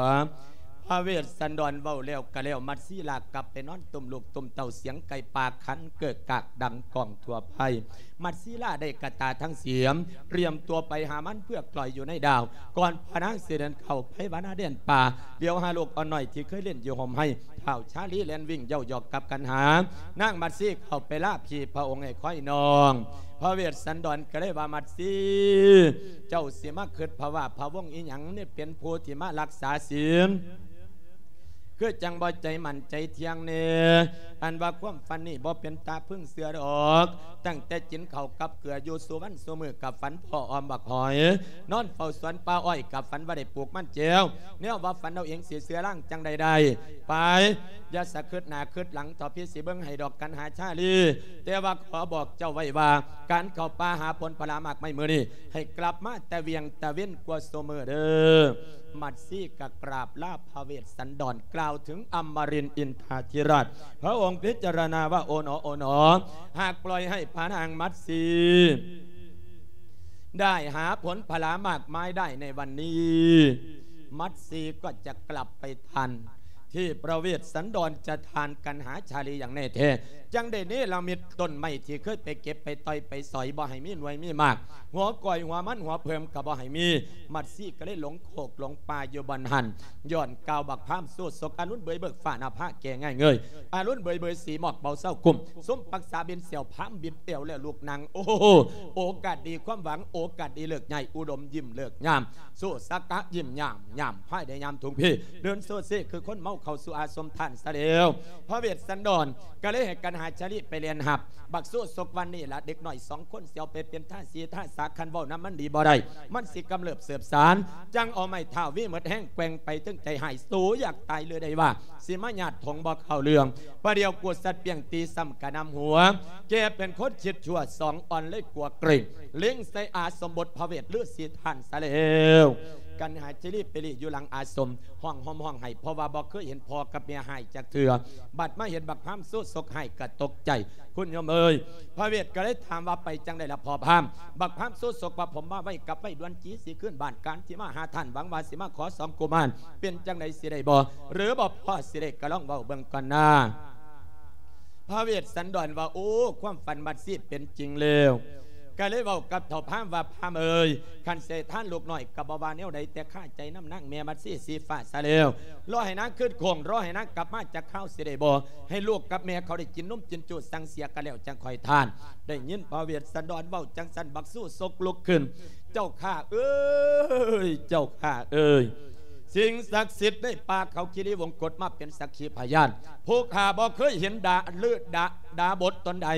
ພະເວດສັນດອນເວົ້າແລ້ວກໍແລ້ວ ມັດຊີລາກັບໄປນອນຕຸ້ມລູກຕຸ້ມເຕົ້າ ສຽງໄກ່ປ່າຂັນເກີກກາກດັງກ້ອງທົ່ວໄພ ມັດຊີລາໄດ້ກະຕາທັງສຽມ ຕຽມຕົວໄປຫາມັນເພື່ອກລອຍຢູ່ໃນດາວ ກ່ອນພະນາງຊິເດີນເຂົ້າໄປຫວ່ານາແດນປ່າ ຫຼຽວຫາລູກອ່ອນນ້ອຍທີ່ເຄີຍຫຼິ້ນຢູ່ຮົ່ມໄຮ ທ້າວຊາລີແລ່ນວິ່ງເຍົາະຢອກກັບກັນຫາ ນາງມັດຊີເຂົ້າໄປລາພີ່ພະອົງໃຫ້ຄອຍນ້ອງ ພະເວດສັນດອນກໍເລີຍວ່າ ມັດຊີ ເຈົ້າຊິມາຄິດພະວາພະວົງອີ່ຫຍັງ ນີ້ເປັນຜູ້ທີ່ມາລັກສາສິນ ຄືຈັ່ງບໍ່ໃຈໝັ້ນໃຈທ່ຽງແດ່ ອັນວ່າຄວາມຝັນນີ້ບໍ່ເປັນຕາເພິ່ງເຊື່ອດອກ ຕັ້ງແຕ່ກິນເຂົ້າກັບເກືອຢູ່ສູ່ວັນສູ່ມື້ ກໍຝັນພໍ້ອອມບັກຫອຍ ນອນເຝົ້າສວນປ່າອ້ອຍ ກໍຝັນວ່າໄດ້ປູກມັນແຈວ ແນວວ່າຝັນເອົາເອງຊິເຊື່ອລາງຈັ່ງໃດໄດ້ ໄປ ຢ່າສະຄຶດໜ້າຄຶດຫຼັງ ເຖົ້າພີ່ຊິເບິ່ງໃຫ້ດອກກັນຫາຊາລີ ແຕ່ວ່າຂໍບອກເຈົ້າໄວ້ວ່າ ການເຂົ້າປ່າຫາຜົນຜະລາໝາກໄມ້ມື້ນີ້ ໃຫ້ກັບມາແຕ່ວຽງແຕ່ເວັນກວ່າຊຸມື້ເດີ ມັດຊີກະກາບລາພະເວດສັນດອນ ກ່າວເຖິງອຳມະລິນອິນທາທິລາດ ພະອົງພິຈາລະນາວ່າ ໂອໜໍ ໂອໜໍ ຫາກປ່ອຍໃຫ້ພະນາງມັດຊີ ໄດ້ຫາຜົນຜະລາໝາກໄມ້ໄດ້ໃນວັນນີ້ ມັດຊີກໍຈະກັບໄປທານ ທີ່ພະເວດສັນດອນຈະທານກັນຫາຊາລີຢ່າງແນ່ແທ້ ຈັ່ງໄດ້ເນລະມິດຕົ້ນໄມ້ທີ່ເຄີຍໄປເກັບໄປຕ່ອຍໄປສອຍ ບໍ່ໃຫ້ມີໜ່ວຍມີໝາກ ຫົວກ້ອຍຫົວມັນຫົວເຜິ້ມກໍບໍ່ໃຫ້ມີ ມັດຊີກໍເລີຍຫຼົງໂຄກຫຼົງປ່າຢູ່ບ່ອນຫັ້ນ ຍ້ອນກ່າວບັກພາມໂຊສົກ ອາລຸນເບີຍເບີກຟ້າໜ້າຜາແກ່ງ່າຍເງີຍ ອາລຸນເບີຍເບີຍສີໝອກເບົາເຊົາກຸ້ມ ສົມປັກສາບິນແຊວພາມບິດແອວແລ້ວລູກນາງ ໂອ້ໂຫ ໂອກາດດີຄວາມຫວັງ ໂອກາດດີເລີກງ່າຍ ອຸດົມຍິ້ມເລີກຍາມ ໂຊສະກະຍິ້ມຍາມ ຍາມພາຍໄດ້ຍາມທຸງພີ ເດີນໂຊເຊຄືຄົນເມົາເຂົ້າສູ່ອາສົມທ່ານຊະແລ້ວ ພະເວດສັນດອນກໍເລີຍໃຫ້ກັນຫາຊາລີໄປແລ່ນຮັບ ບັກໂຊສົກວັນນີ້ລະ ເດັກນ້ອຍສອງຄົນຊິເອົາໄປເປັນທ່າສີທ່າສາ ຄັນເວົ້ານຳມັນດີບໍ່ໄດ້ ມັນຊິກຳເລີບເສີບສານ ຈັ່ງເອົາໄມ້ທ້າວວີໝົດແຮງແກວ່ງໄປເຖິງໃຈຮ້າຍ ໂຕຢາກຕາຍຫຼືໃດວ່າ ຊິມາຍາດຖົງບໍ່ເຂົ້າເລື່ອງ ປະດຽວກູສັດປ່ຽງຕີຊ້ຳກະນຳຫົວ ແກເປັນຄົນຄິດຊົ່ວສອງອ່ອນເລີຍກົວເກຣັງ ເລັງໃສ່ອາສົມບົດພະເວດລືສີທ່ານຊະແລ້ວ ກັນຫາຊີລີໄປຫຼີ້ຢູ່ຫຼັງອາສົມ ຮ້ອງຫ່ມຮ້ອງໄຫ້ ເພາະວ່າບໍ່ເຄີຍເຫັນພໍ່ກັບແມ່ຮ້າຍຈັກເທື່ອ. ບັດມາເຫັນບັກພາມຊູ່ສົກຮ້າຍກໍຕົກໃຈ. ຄຸນໂຍມເອີຍ, ພະເວດກໍເລີຍຖາມວ່າ ໄປຈັ່ງໃດລະພໍ່ພາມ? ບັກພາມຊູ່ສົກວ່າ ຜົມມາໄວກັບໄວດ່ວນ ຈີຊິຂຶ້ນບ້ານການ ຊິມາຫາທ່ານ ຫວັງວ່າຊິມາຂໍສອງກຸມານ ເປັນຈັ່ງໃດ ຊິໄດ້ບໍ່ ຫຼືບໍ່ພໍຊິໄດ້ ກໍລອງເວົ້າເບິ່ງກ່ອນນາ. ພະເວດສັນດອນວ່າ ໂອ້ ຄວາມຝັນບັດຊິເປັນຈິງແລ້ວ. ກໍເລີຍເວົ້າກັບເຖົ້າພາມວ່າ ພາມເອີຍ, ຄັນຊິໃຫ້ທານລູກນ້ອຍກໍບໍ່ວ່າແນວໃດ ແຕ່ຄາໃຈນຳນາງແມ່ບັດຊີສີຟ້າຊະແລ້ວ. ລໍໃຫ້ນາງຄືນໂຄ້ງ, ລໍໃຫ້ນາງກັບມາຈັກຄາວຊິໄດ້ບໍ່? ໃຫ້ລູກກັບແມ່ເຂົາໄດ້ກິນນົມກິນຈູ່ ສັງເສຍກັນແລ້ວຈັ່ງຄ່ອຍທານ. ໄດ້ຍິນພະເວດສັນດອນເວົ້າຈັ່ງຊັ້ນ ບັກຊູ່ສົກລຸກຂຶ້ນ. ເຈົ້າຂ້າເອີຍ, ເຈົ້າຂ້າເອີຍ, ສິ່ງສັກສິດໃນປ່າເຂົາຄີຣີວົງກົດມາເປັນສັກຂີພະຍານ. ຜູ້ຂ້າບໍ່ເຄີຍເຫັນດາ ລືດາ ດາບົດຕົນໃດ,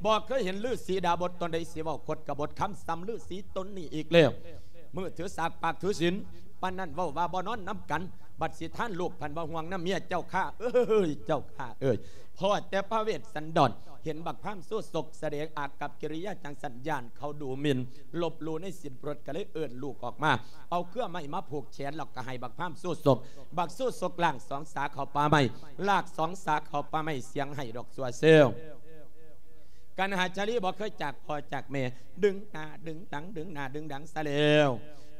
ບໍ່ເຄີຍເຫັນລືສີດາບົດຕົນໃດ ຊິເວົ້າຄົດກະບົດຄຳສ່ຳລືສີຕົນນີ້ອີກແລ້ວ. ມື້ຖືສາກປາກຖືສິນ ປານນັ້ນເວົ້າວ່າບໍ່ນອນນຳກັນ, ບັດຊິທານລູກພັນວ່າຫ່ວງນຳເມຍ. ເຈົ້າຂ້າເອີຍ, ເຈົ້າຂ້າເອີຍ. ພໍແຕ່ພະເວດສັນດອນເຫັນບັກພາມຊູ່ສົກສະແດງອາກັບກິລິຍາຈັ່ງຊັ້ນ ຢ້ານເຂົາດູໝິ່ນ ລົບຫຼູ່ໃນສິນໂປດ ກໍເລີຍເອີ້ນລູກອອກມາ ເອົາເຄືອໄມ້ມາຜູກແຂນ ແລ້ວກໍໃຫ້ບັກພາມຊູ່ສົກ. ບັກຊູ່ສົກລາກສອງສາເຂົ້າປ່າໄມ້, ລາກສອງສາເຂົ້າປ່າໄມ້ ສຽງໄຫ້ດອກຊົ່ວເຊວ. ກັນຫາຊາລີບໍ່ເຄີຍຈາກພໍ່ຈາກແມ່ ດຶງໜ້າດຶງຫຼັງ ດຶງໜ້າດຶງຫຼັງຊະແລ້ວ.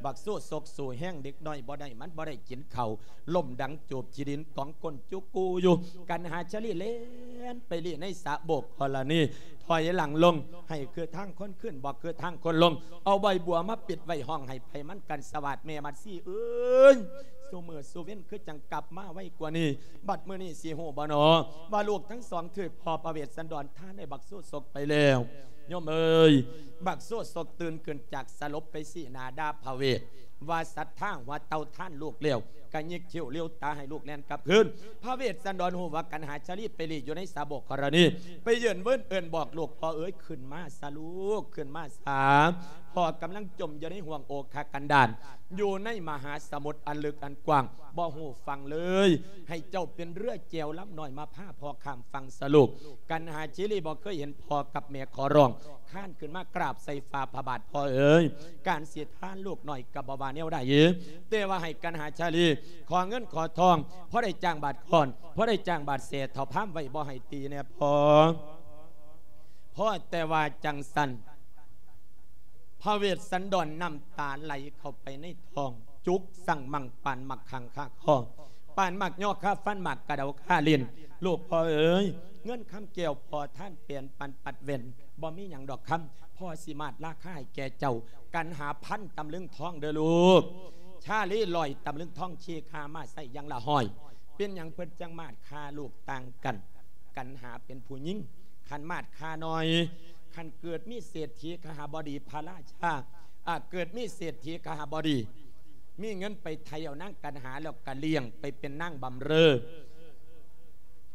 ບັກຊູ່ສົກສູ້ແຮງເດັກນ້ອຍບໍ່ໄດ້ ມັນບໍ່ໄດ້ກິນເຂົ້າ, ລົ້ມດັງຈູບຂີ້ດິນ ກອງກົ້ນຈຸກູຢູ່. ກັນຫາຊາລີແລ່ນໄປລີ້ໃນສະໂບກກໍລະນີ ຖອຍຫຼັງລົງ ໃຫ້ຄືທາງຄົນຂຶ້ນ ບໍ່ຄືທາງຄົນລົງ. ເອົາໃບບົວມາປິດໄວ້ ຮ້ອງໄຫ້ໄພມັນກັນສະຫວາດ. ແມ່ມັດຊີເອີຍ, ຊຸມື້ຊຸເວັນຄືຈັ່ງກັບມາໄວກວ່ານີ້. ບັດມື້ນີ້ຊິຮູ້ບໍ່ນໍ ວ່າລູກທັງສອງຖືກພໍ່ພະເວດສັນດອນທານໃຫ້ບັກຊູ່ສົກໄປແລ້ວ. ໂຍມເອີຍ, ບັກຊູ່ສົກຕື່ນຂຶ້ນຈາກສະຫຼົບໄປຊີ້ໜ້າດ່າພະເວດ ວ່າສັດທາຫົວເຕົ່າທານລູກແລ້ວ ກະຍິກຄິ້ວຫຼຽວຕາໃຫ້ລູກແລ່ນກັບຄືນ. ພະເວດສັນດອນຮູ້ວ່າກັນຫາຊາລີໄປລີ້ຢູ່ໃນສາໂບກກໍລະນີ ໄປເຢິນເວີນເອີ້ນບອກລູກ, ພໍ່ເອີຍ, ຂຶ້ນມາຊະລູກ, ຂຶ້ນມາຊະ. ພໍ່ກຳລັງຈົມຢູ່ໃນຫ່ວງໂອຄະກັນດານ ຢູ່ໃນມະຫາສະໝຸດອັນເລິກອັນກວ້າງ ບໍ່ຮູ້ຝັ່ງເລີຍ. ໃຫ້ເຈົ້າເປັນເຮືອແຈວລຳນ້ອຍມາພາພໍ່ຂ້າມຝັ່ງຊະລູກ. ກັນຫາຊາລີບໍ່ເຄີຍເຫັນພໍ່ກັບແມ່ຂໍຮ້ອງ ຄານຂຶ້ນມາກາບໃສ່ຝ່າພະບາດ, ພໍ່ເອີຍ, ການຊິທານລູກນ້ອຍກໍບໍ່ວ່າແນວໃດ, ແຕ່ວ່າໃຫ້ກັນຫາຊາລີຂໍເງິນຂໍທອງ ພໍໄດ້ຈ້າງບາດຄ້ອນ, ພໍໄດ້ຈ້າງບາດແສ, ເຖົ້າພາມໄວ້ບໍ່ໃຫ້ຕີແດ່ພໍ່. ພໍແຕ່ວ່າຈັ່ງຊັ້ນ ພະເວດສັນດອນນ້ຳຕາໄຫຼເຂົ້າໄປໃນທ້ອງ, ຈຸກສັງມັງປານໝາກຂັງຄາຄໍ, ປານໝາກຍໍຄາຟັນ, ໝາກກະເດົາຄາຫຼິ້ນ. ລູກພໍ່ເອີຍ, ເງິນຄຳແກ້ວພໍ່ທານແປນປັນປັດແວ່ນ, ບໍ່ມີຫຍັງດອກຄຳ, ພໍ່ຊິມາດລາຄາໃຫ້ແກ່ເຈົ້າ, ກັນຫາພັນຕຳລຶງທອງເດີ້ລູກ. ຊາລີຮ້ອຍຕຳລຶງທອງ ທີ່ຄາມາໃຊ້ຢ່າງລະຮ້ອຍ. ເປັນຫຍັງເພິ່ນຈັ່ງມາດຄາລູກຕ່າງກັນ? ກັນຫາເປັນຜູ້ຍິງ, ຄັນມາດຄານ້ອຍ, ຄັນເກີດມີເສດຖີຄະຫະບໍດີພະລາຊາ, ອາ, ເກີດມີເສດຖີຄະຫະບໍດີ, ມີເງິນໄປໄຖ່ເອົານາງກັນຫາແລ້ວກະລ້ຽງໄປເປັນນາງບຳເລີ.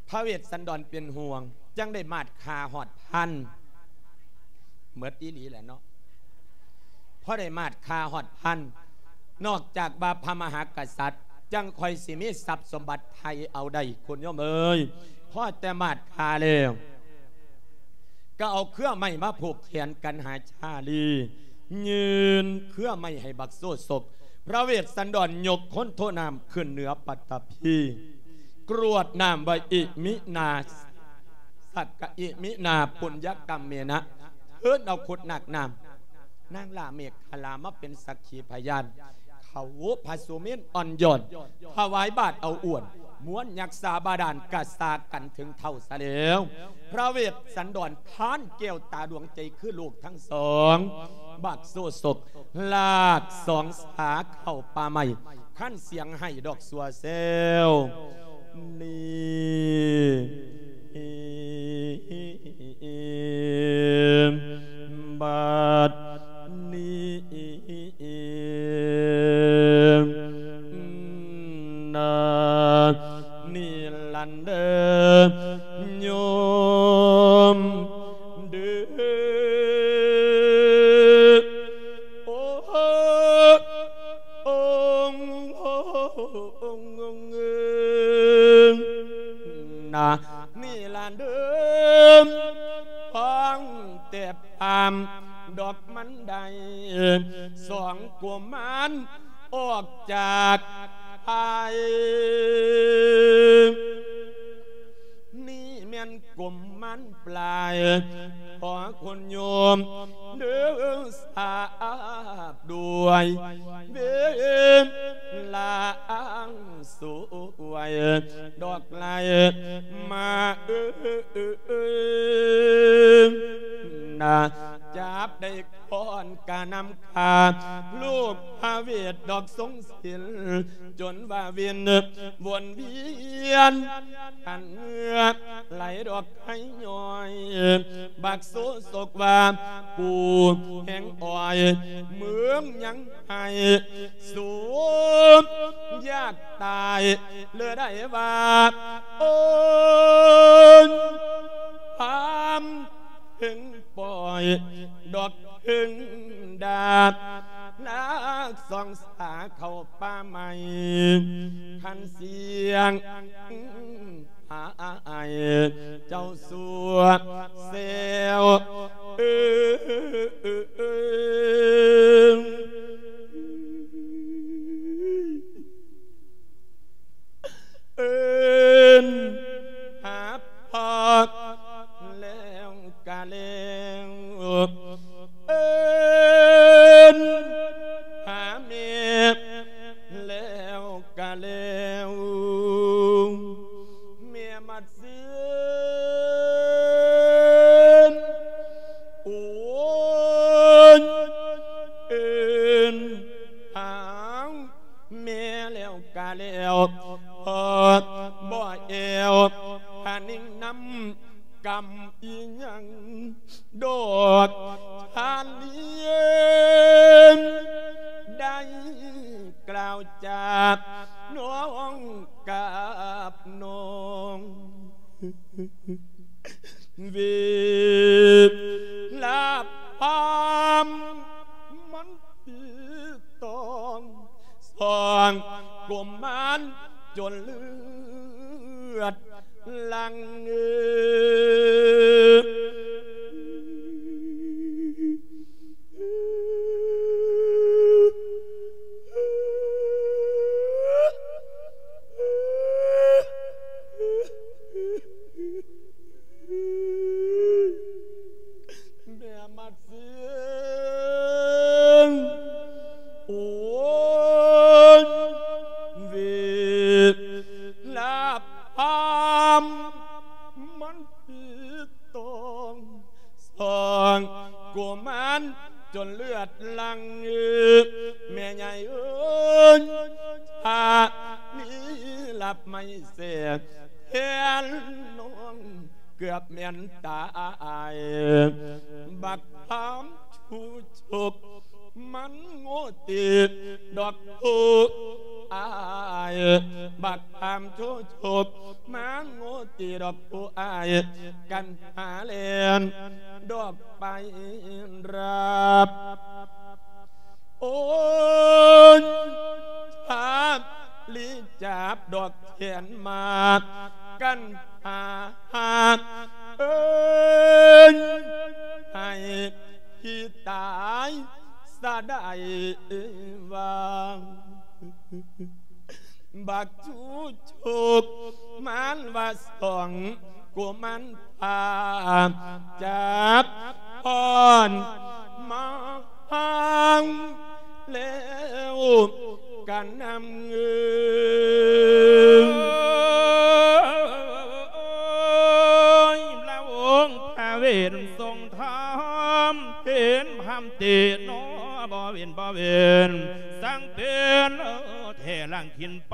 ພະເວດສັນດອນເປັນຫ່ວງ, ຈັ່ງໄດ້ມາດຄາຮອດພັນ. ເໝິດອີ່ຫຼີແຫຼະເນາະ. ພໍໄດ້ມາດຄາຮອດພັນ, ນອກຈາກວ່າພະມະຫາກະສັດຈັ່ງຄ່ອຍຊິມີຊັບສົມບັດໄຖ່ເອົາໄດ້, ຄຸນໂຍມເອີຍ. ພໍແຕ່ມາດຄາແລ້ວ ກໍເອົາເຄືອໄມ້ມາຜູກແຂນກັນຫາຊາລີ, ຍື່ນເຄືອໄມ້ໃຫ້ບັກໂຊສົກ. ພະເວດສັນດອນຍົກຄົນໂທນ້ຳຂຶ້ນເໜືອປັດຕະພີ, ກຣວດນ້ຳວ່າ ອິມິນາ ສັກກະ ອິມິນາ ປຸນຍະກຳເມນະ, ເທີນເອົາຂຸດໜາກນ້ຳ ນາງຫຼ້າເມກຂະລາມາເປັນສັກຂີພະຍານ, ເຂົາພະສຸເມນອ່ອນຢອນ ຖວາຍບາດເອົາອວນ, ມວນຍັກສາບາດານກະສາກັນເຖິງເທົ້າຊະແລ້ວ. ພະເວດສັນດອນທານແກ້ວຕາດວງໃຈຄືລູກທັງສອງ, ບັກໂຊສົກ ລາກສອງສາເຂົ້າປ່າໄມ້, ຄັນສຽງໄຫ້ດອກຊົ່ວແຊວ. ນີ້ ບັດນີ້ ນາ ນີລັນເດີ ໂຍມເດີ ໂອ ໂອ ນາ ນີລັນເດີ ຟັງແຕ່ພາມດອກມັນໄດ້ ສອງກຸມານ ອອກຈາກພາຍ ນີ້ແມ່ນກຸມມານປາຍ ຂໍຄຸນໂຍມເດີ ສາບດ້ວຍເວລາອັນສວຍ ດອກໄຫຼມາເອີນນາ ຈັບໄດ້ ຄອນກະນຳຂ້າ ລູກພະເວດດອກຊົງສິນ ຈົນວ່າວິນວົນວຽນ ຫັນເຫື່ອໄຫຼດອກໄຫ້ຍ້ອຍ ບັກໂຊໂສກວ່າ ກູແຮງອ້ອຍ ເມືອງຍັງໃຫ້ສູນຍາກຕາຍ ເລີໄດ້ວ່າ ໂອ້ຍ ພາມ ເພິ່ງປ່ອຍດອກເພິ່ງດາດ ນາກສອງສາເຂົ້າປ່າໄມ້ ຄັນສຽງຫາອ້າຍເຈົ້າຊົ່ວແຊວ ເອີ ເອີ້ນຫາພໍ່ແລ້ວກະແລ້ວ ເອີ້ນຫາແມ່ແລ້ວກະແລ້ວ ແມ່ມາເຊືອນ ໂອ້ຍ ເອີ້ນຫາ ແມ່ແລ້ວກະແລ້ວ ພໍບໍ່ແອວ ພານິງນຳກຳອີຫຍັງ ດອກທານເນນ ໄດ້ກ່າວຈານ້ອງກັບນ້ອງ ເວລາພາມມັນຕີຕອງ ສອງກຸມມານຈົນເລືອດຫຼັ່ງ ແມ່ມາເຊືອນ ໂອ້ຍ ເວລາພາມມັນຕີຕອງ ສອງກຸມານຈົນເລືອດຫຼັ່ງ ແມ່ໃຫຍ່ເອີຍ ຖ້າມີລັບໄມ້ແສ ແທນນ້ອງເກືອບແມ່ນຕາຍ ບັກພາມຊູຊົກ ມັນໂງ່ຕີດອກຜູ້ອ້າຍ ບັກພາມຊູຊົກ ມາໂງ່ຕີດອກຜູ້ອ້າຍ ກັນຫາແລ່ນດອກໄປຮັບ ໂອ້ຍ ພາບລີຈັບດອກແຂນມາດ ກັນຫາ ເອີ້ນໃຫ້ທີ່ຕາຍສະໄດວ່າ ບັກຊູຊົກ ມານວ່າສອງ ກຸມານພາ ຈັບພ້ອນມາຫາງແລ້ວກັນນຳເງິນ ລະອົງພະເວນຊົງທຳ ເຫັນພາມເຕນອ ບໍ່ເວັນບໍ່ເວັນ ສັງເປັນແທ້ຫຼັງ ຂຶ້ນໄປ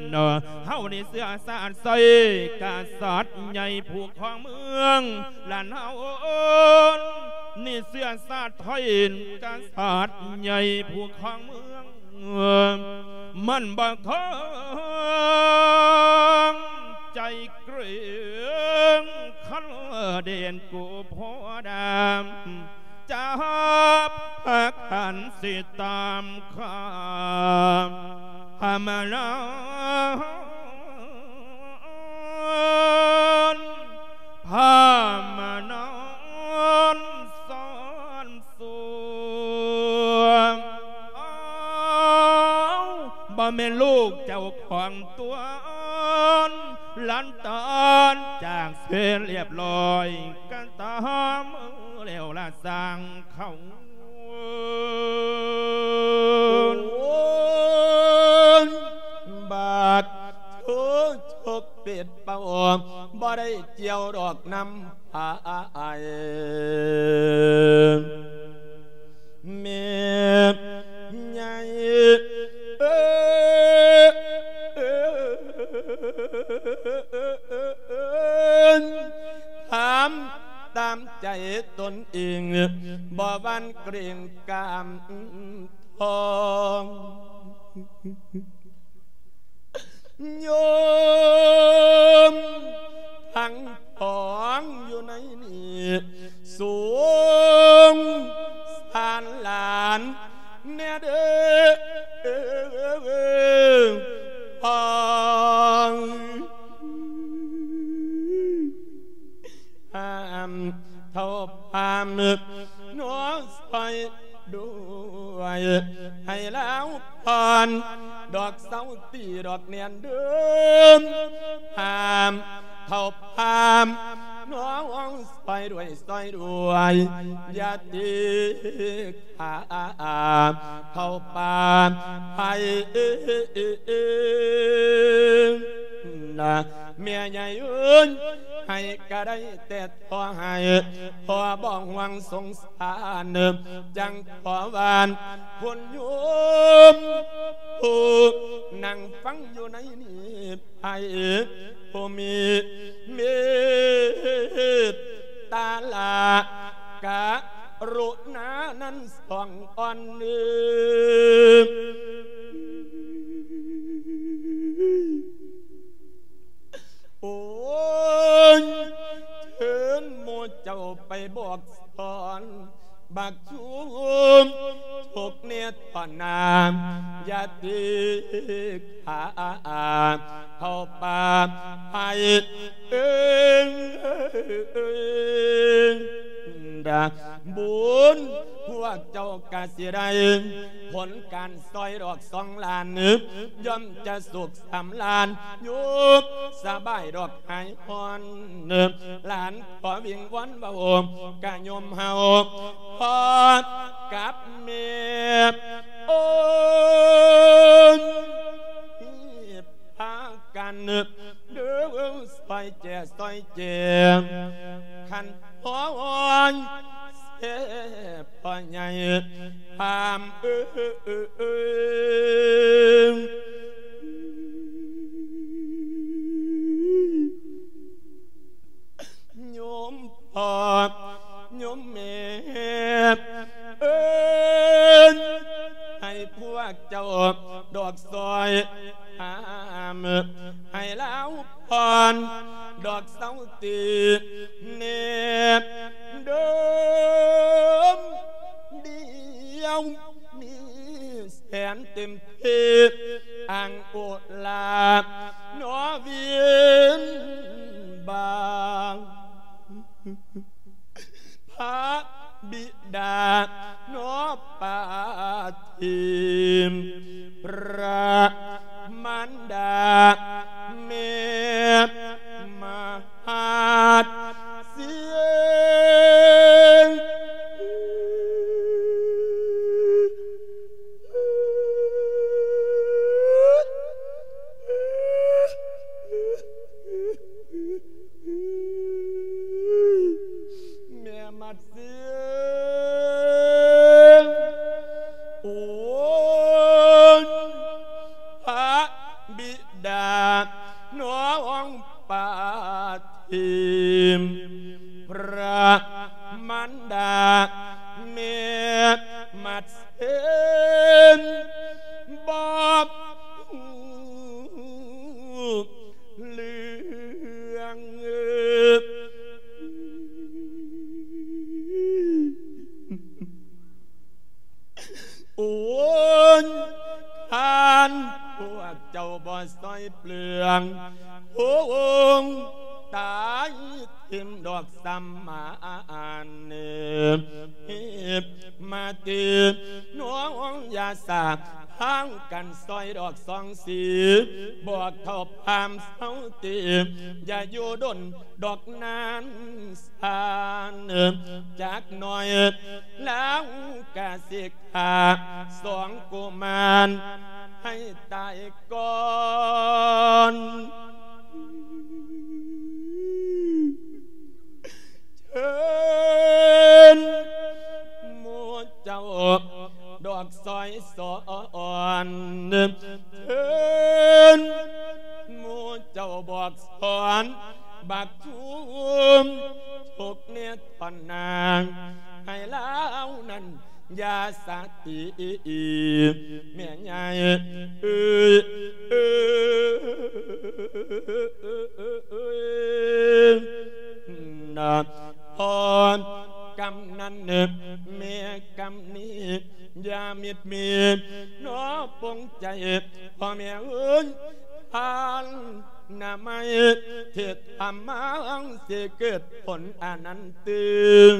ເນາະ ເຮົານີ້ເຊື້ອຊາດໄຊ ກະສັດໃຫຍ່ຜູ້ຄອງເມືອງ ລະເຮົານີ້ເຊື້ອຊາດໄທ ກະສັດໃຫຍ່ຜູ້ຄອງເມືອງ ມັນບໍ່ຄອງໃຈເກຣົງ ຄັນເດນກູໂພດຳ ຈັບພາກັນຊິຕາມຂ້າ ພາມານອນ ພາມານອນສອນສວມ ແມ່ລູກເຈົ້າຂອງຕົວອ່ອນ ຫຼັງຈາກເສຍລຽບຮ້ອຍ ກໍຕາມແລ້ວລະຊ່າງເຂົາ. ໂອ້ຍ ບາດໂທ ຈົກເປັດເປົ່າ ບໍ່ໄດ້ກ່ຽວດອກນຳ ອ້າຍ ແມ່ໃຫຍ່ເອີຍ ຖາມຕາມໃຈຕົນເອງ ບໍ່ຫວັ່ນເກຣົງກ້າມທ້ອງ. ໂຍມທັງສອງຢູ່ໃນນີ້ ສົງສານຫຼານແດ່ເດີພໍ່. ຫ້າມເຖົ້າພາມນ້ອງຊ່ອຍດ້ວຍ ໃຫ້ລາວຜ່ອນດອກເຊົາຕີດອກແໜ່ນເດີ. ຫ້າມເຖົ້າພາມນ້ອງຊ່ອຍດ້ວຍ ຊ່ອຍດ້ວຍ ຢ່າຕີ ຂ້າເຂົ້າປ່າໄພນະ ແມ່ໃຫຍ່ເອີຍ ໃຫ້ກໍໄດ້ແຕ່ຂໍໃຫ້ ພໍ່ບໍ່ຫວັງສົງສານ ຈັ່ງຂໍວານຄຸນໂຍມ ຜູ້ນັ່ງຟັງຢູ່ໃນນີ້ ໃຫ້ຜູ້ມີເມດຕາລາກະລຸນານັ້ນສອງອ່ອນເນີ. ໂອ້ຍ ເຊີນໝູ່ເຈົ້າໄປບອກສອນ ບັກຊຸມ ທຸກເນດພະນາມ ຢ່າຕິກຂາເຂົ້າປ່າໄພເອີງດາ ບຸນພວກເຈົ້າກະຊິໄດ້ຜົນການ ຊອຍດອກສອງລ້ານ ຍ່ອມຈະສຸກສຳລານ ຢູ່ສະບາຍດອກຫາຍຮ້ອນ ຫຼານຂໍວິງວອນເວົ້າກະໂຍມເຮົາ ພໍ່ກັບແມ່ ໂອ້ຍ ພາກັນເດີ ຊ່ອຍແຈຊ່ອຍແຈ ຄັນ ໂອ້ຍ ເສບພໍ່ໃຫຍ່ພາມເອີຍ ໂຍມພໍ່ໂຍມແມ່ເອີຍ ໃຫ້ພວກເຈົ້າດອກຊ່ອຍຫ້າມ ໃຫ້ລາວ ພອນດອກເສົາຕີເນັດເດີມ ດຽວມີແສນເຕັມທີ່ ອ່າງໂອລານອວິນບາງ ພະບິດານອປາທີມ ພະມານດາແມ່ມະຫາດເຊງ ແມ່ມັດເຊງ ໂອ້ຍ ພະບິດານ້ອງປາທີມ ພະມານດາແມ່ມັດເຊງ ບໍ່ຮູ້ ເລື່ອງ ໂອ້ຍ ຄັນພວກເຈົ້າບໍ່ຊ່ອຍເປືອງ ຄົງຕາຍຖິ້ມດອກສຳມານ ມາຕີນ້ອງຢ່າສາ ທາງກັນຊ່ອຍດອກສອງສີ ບອກເຖົ້າພາມເຊົາຕີ ຢ່າຢູ່ດົນດອກນານຊານ ຈັກໜ້ອຍລາວກະຊິຂ້າສອງກຸມານໃຫ້ຕາຍກ່ອນ ເຊີນໝູ່ເຈົ້າດອກຊອຍສອນ ເຊີນໝູ່ເຈົ້າບອກສອນ ບັກທຸ່ມທຸກເນຕອນນາງ ໃຫ້ລາວນັ້ນ ຢ່າສະຕິ ແມ່ໃຫຍ່ເອີຍ ເອີຍ ເອີຍ ເອີຍ ນະ ພໍ່ກຳນັນ ແມ່ກຳນີ ຢ່າມິດມີນໍປົງໃຈ ພໍ່ແມ່ເອີຍ ທານນະໄມ ທີ່ທຳມາ ຊິເກີດຜົນອະນັນຕຶງ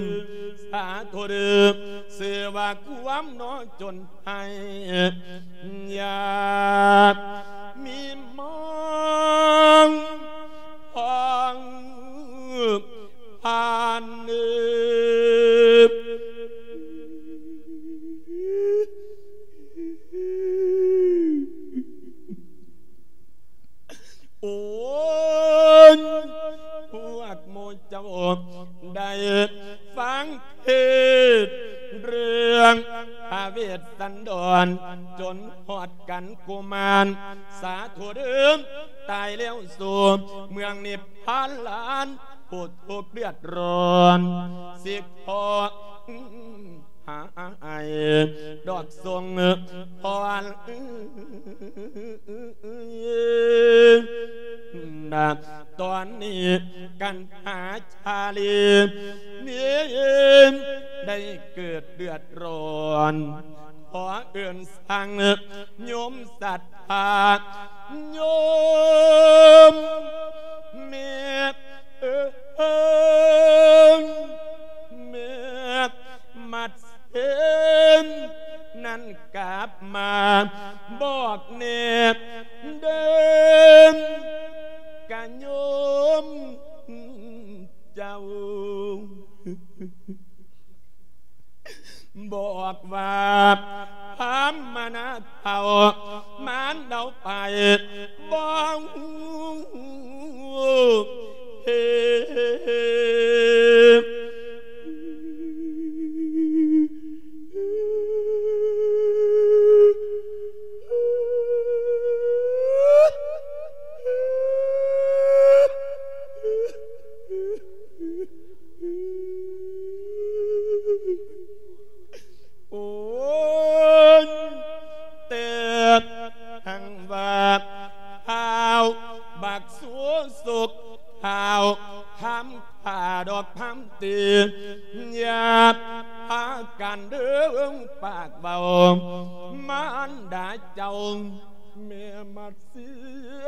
ສາທຸເດີ ຊື່ວ່າຄວາມໜໍຈົນໄຫ້ ຢ່າມີມອງພອງຜ່ານເດີ ໂອ້ຍ ພວກໝູ່ເຈົ້າໄດ້ຟັງເທດເລື່ອງພະເວດສັນດອນ ຈົນຮອດກັນກຸມານ ສາທຸເດີ ຕາຍແລ້ວສູ່ເມືອງນິບພານລານ ຜູ້ທຸກເດືອດຮ້ອນ ຊິຂໍ ຫາອ້າຍດອກສົ່ງພອນນະ ຕອນນີ້ກັນຫາຊາລີ ມີໄດ້ເກີດເດືອດຮ້ອນ ຂໍເອີ້ນສັ່ງໂຍມສັດທາ ໂຍມແມ່ ເອີຍ ແມ່ມັດເຊນ ນັ້ນກັບມາບອກແນ່ເດີ ກະໂຍມເຈົ້າ ບອກວ່າພາມມະນາເຖົ້າ ມານເດົາໄປບໍ່ຮູ້ເພ ໂອ້ຍ ແຕ່ທັງວ່າທ້າວບັກສຸສຸກ ທ້າວຄຳຂ້າດອກພາມຕີ ຢ່າພາກັນເດີປາກເວົ້າ ມານດາເຈົ້າ ແມ່ມັດ ເສຍ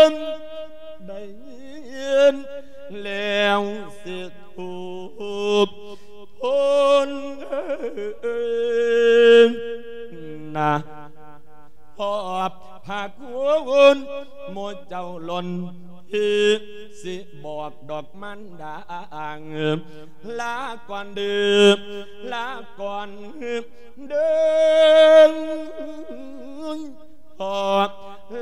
ງໄດ້ຍິນແລ້ວຊິທຸບທົນນະ ຂອບພະຄຸນໝູ່ເຈົ້າລົ້ນທີ່ຊິບອກດອກມັນດາ ລາກ່ອນເດີ ລາກ່ອນເດີ ຂໍ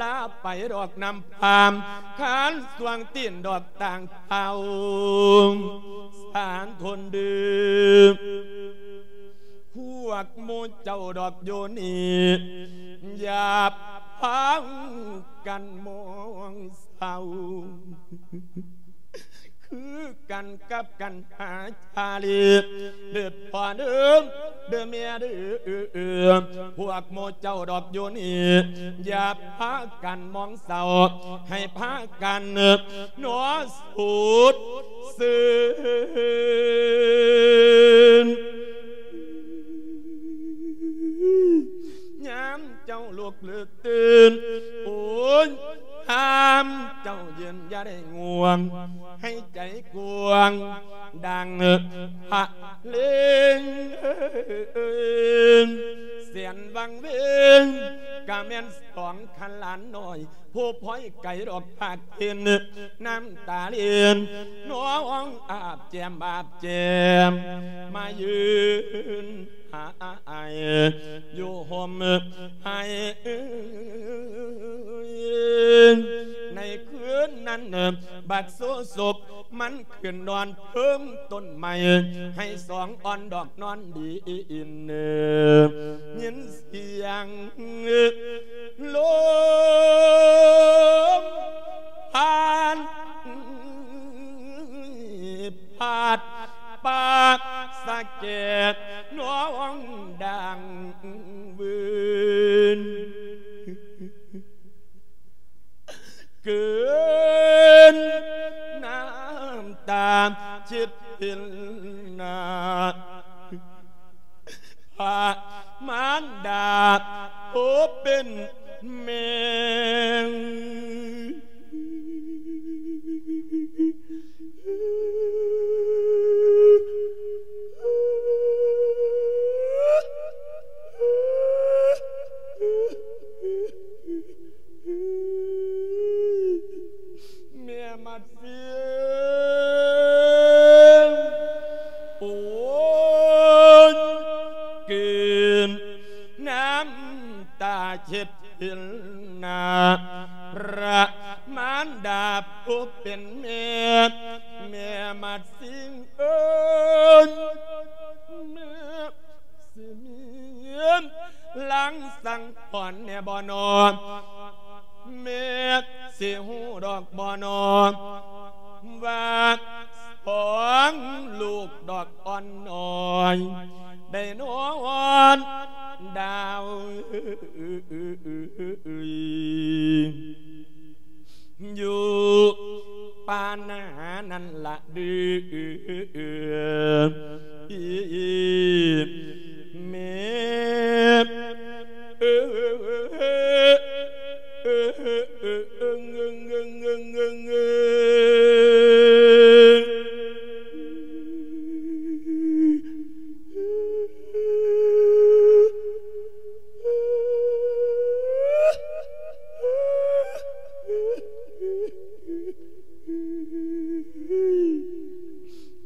ລາໄປດອກນຳພາມ ຄານສວງຕີນດອກຕ່າງເພົາ ສານທົນເດີ ພວກໝູ່ເຈົ້າດອກຢູ່ນີ້ ຢ່າພາກັນມອງເສົ້າ ຄືກັນກັບກັນຫາຊາລີ ເດີພໍ່ເດີ ເດີແມ່ເດີ ພວກໝູ່ເຈົ້າດອກຢູ່ນີ້ ຢ່າພາກັນມອງເສົ້າ ໃຫ້ພາກັນໜໍສູດຊື່ນ ຍາມເຈົ້າລຸກຫຼືຕື່ນ ໂອ້ຍ ຫາມເຈົ້າຢືນຢ່າໄດ້ງ່ວງ ໃຫ້ໃຈກວ້າງ ດັ່ງພະເລງ ອັນວັງເວງ ກະແມ່ນສອງຄັນຫຼານນ້ອຍ ຜູ້ພອຍໄກດອກພາກເຫັນ ນ້ຳຕາເລນ ນ້ອງອາບແກ້ມອາບແກ້ມ ມາຢືນຫາອ້າຍຢູ່ຮົ່ມໄຮ່. ໃນຄືນນັ້ນ ບັກໂສສົກມັນຂຶ້ນນອນເທິງຕົ້ນໄມ້ ໄຮ່ສອງອ່ອນດອກນອນດີນ ຍິນສຽງລົມພັດ ພັດປາກສະແກດ ນ້ອງດັງວືນ ເກີນນ້ຳຕາເຈັດເຫັນໜ້າ ພະມານດາຜູ້ເປັນແມ່. ແມ່ໝັດຊິງ ໂອ້ຍ ກືນນ້ຳຕາເຈັດເຫັນໜ້າ ພະມານດາຜູ້ເປັນແມ່ ແມ່ໝັດຊິງເອີຍ ແມ່ ຊິມີຫຼັງສັງຫອນແດ່ບໍ່ນໍ ແມ່ຊິຮູ້ດອກບໍ່ນໍ ວ່າສອງລູກດອກອ່ອນນ້ອຍ ໄດ້ນອນດາວ ຢູ່ປ່ານານັ້ນລະເດີ ແມ່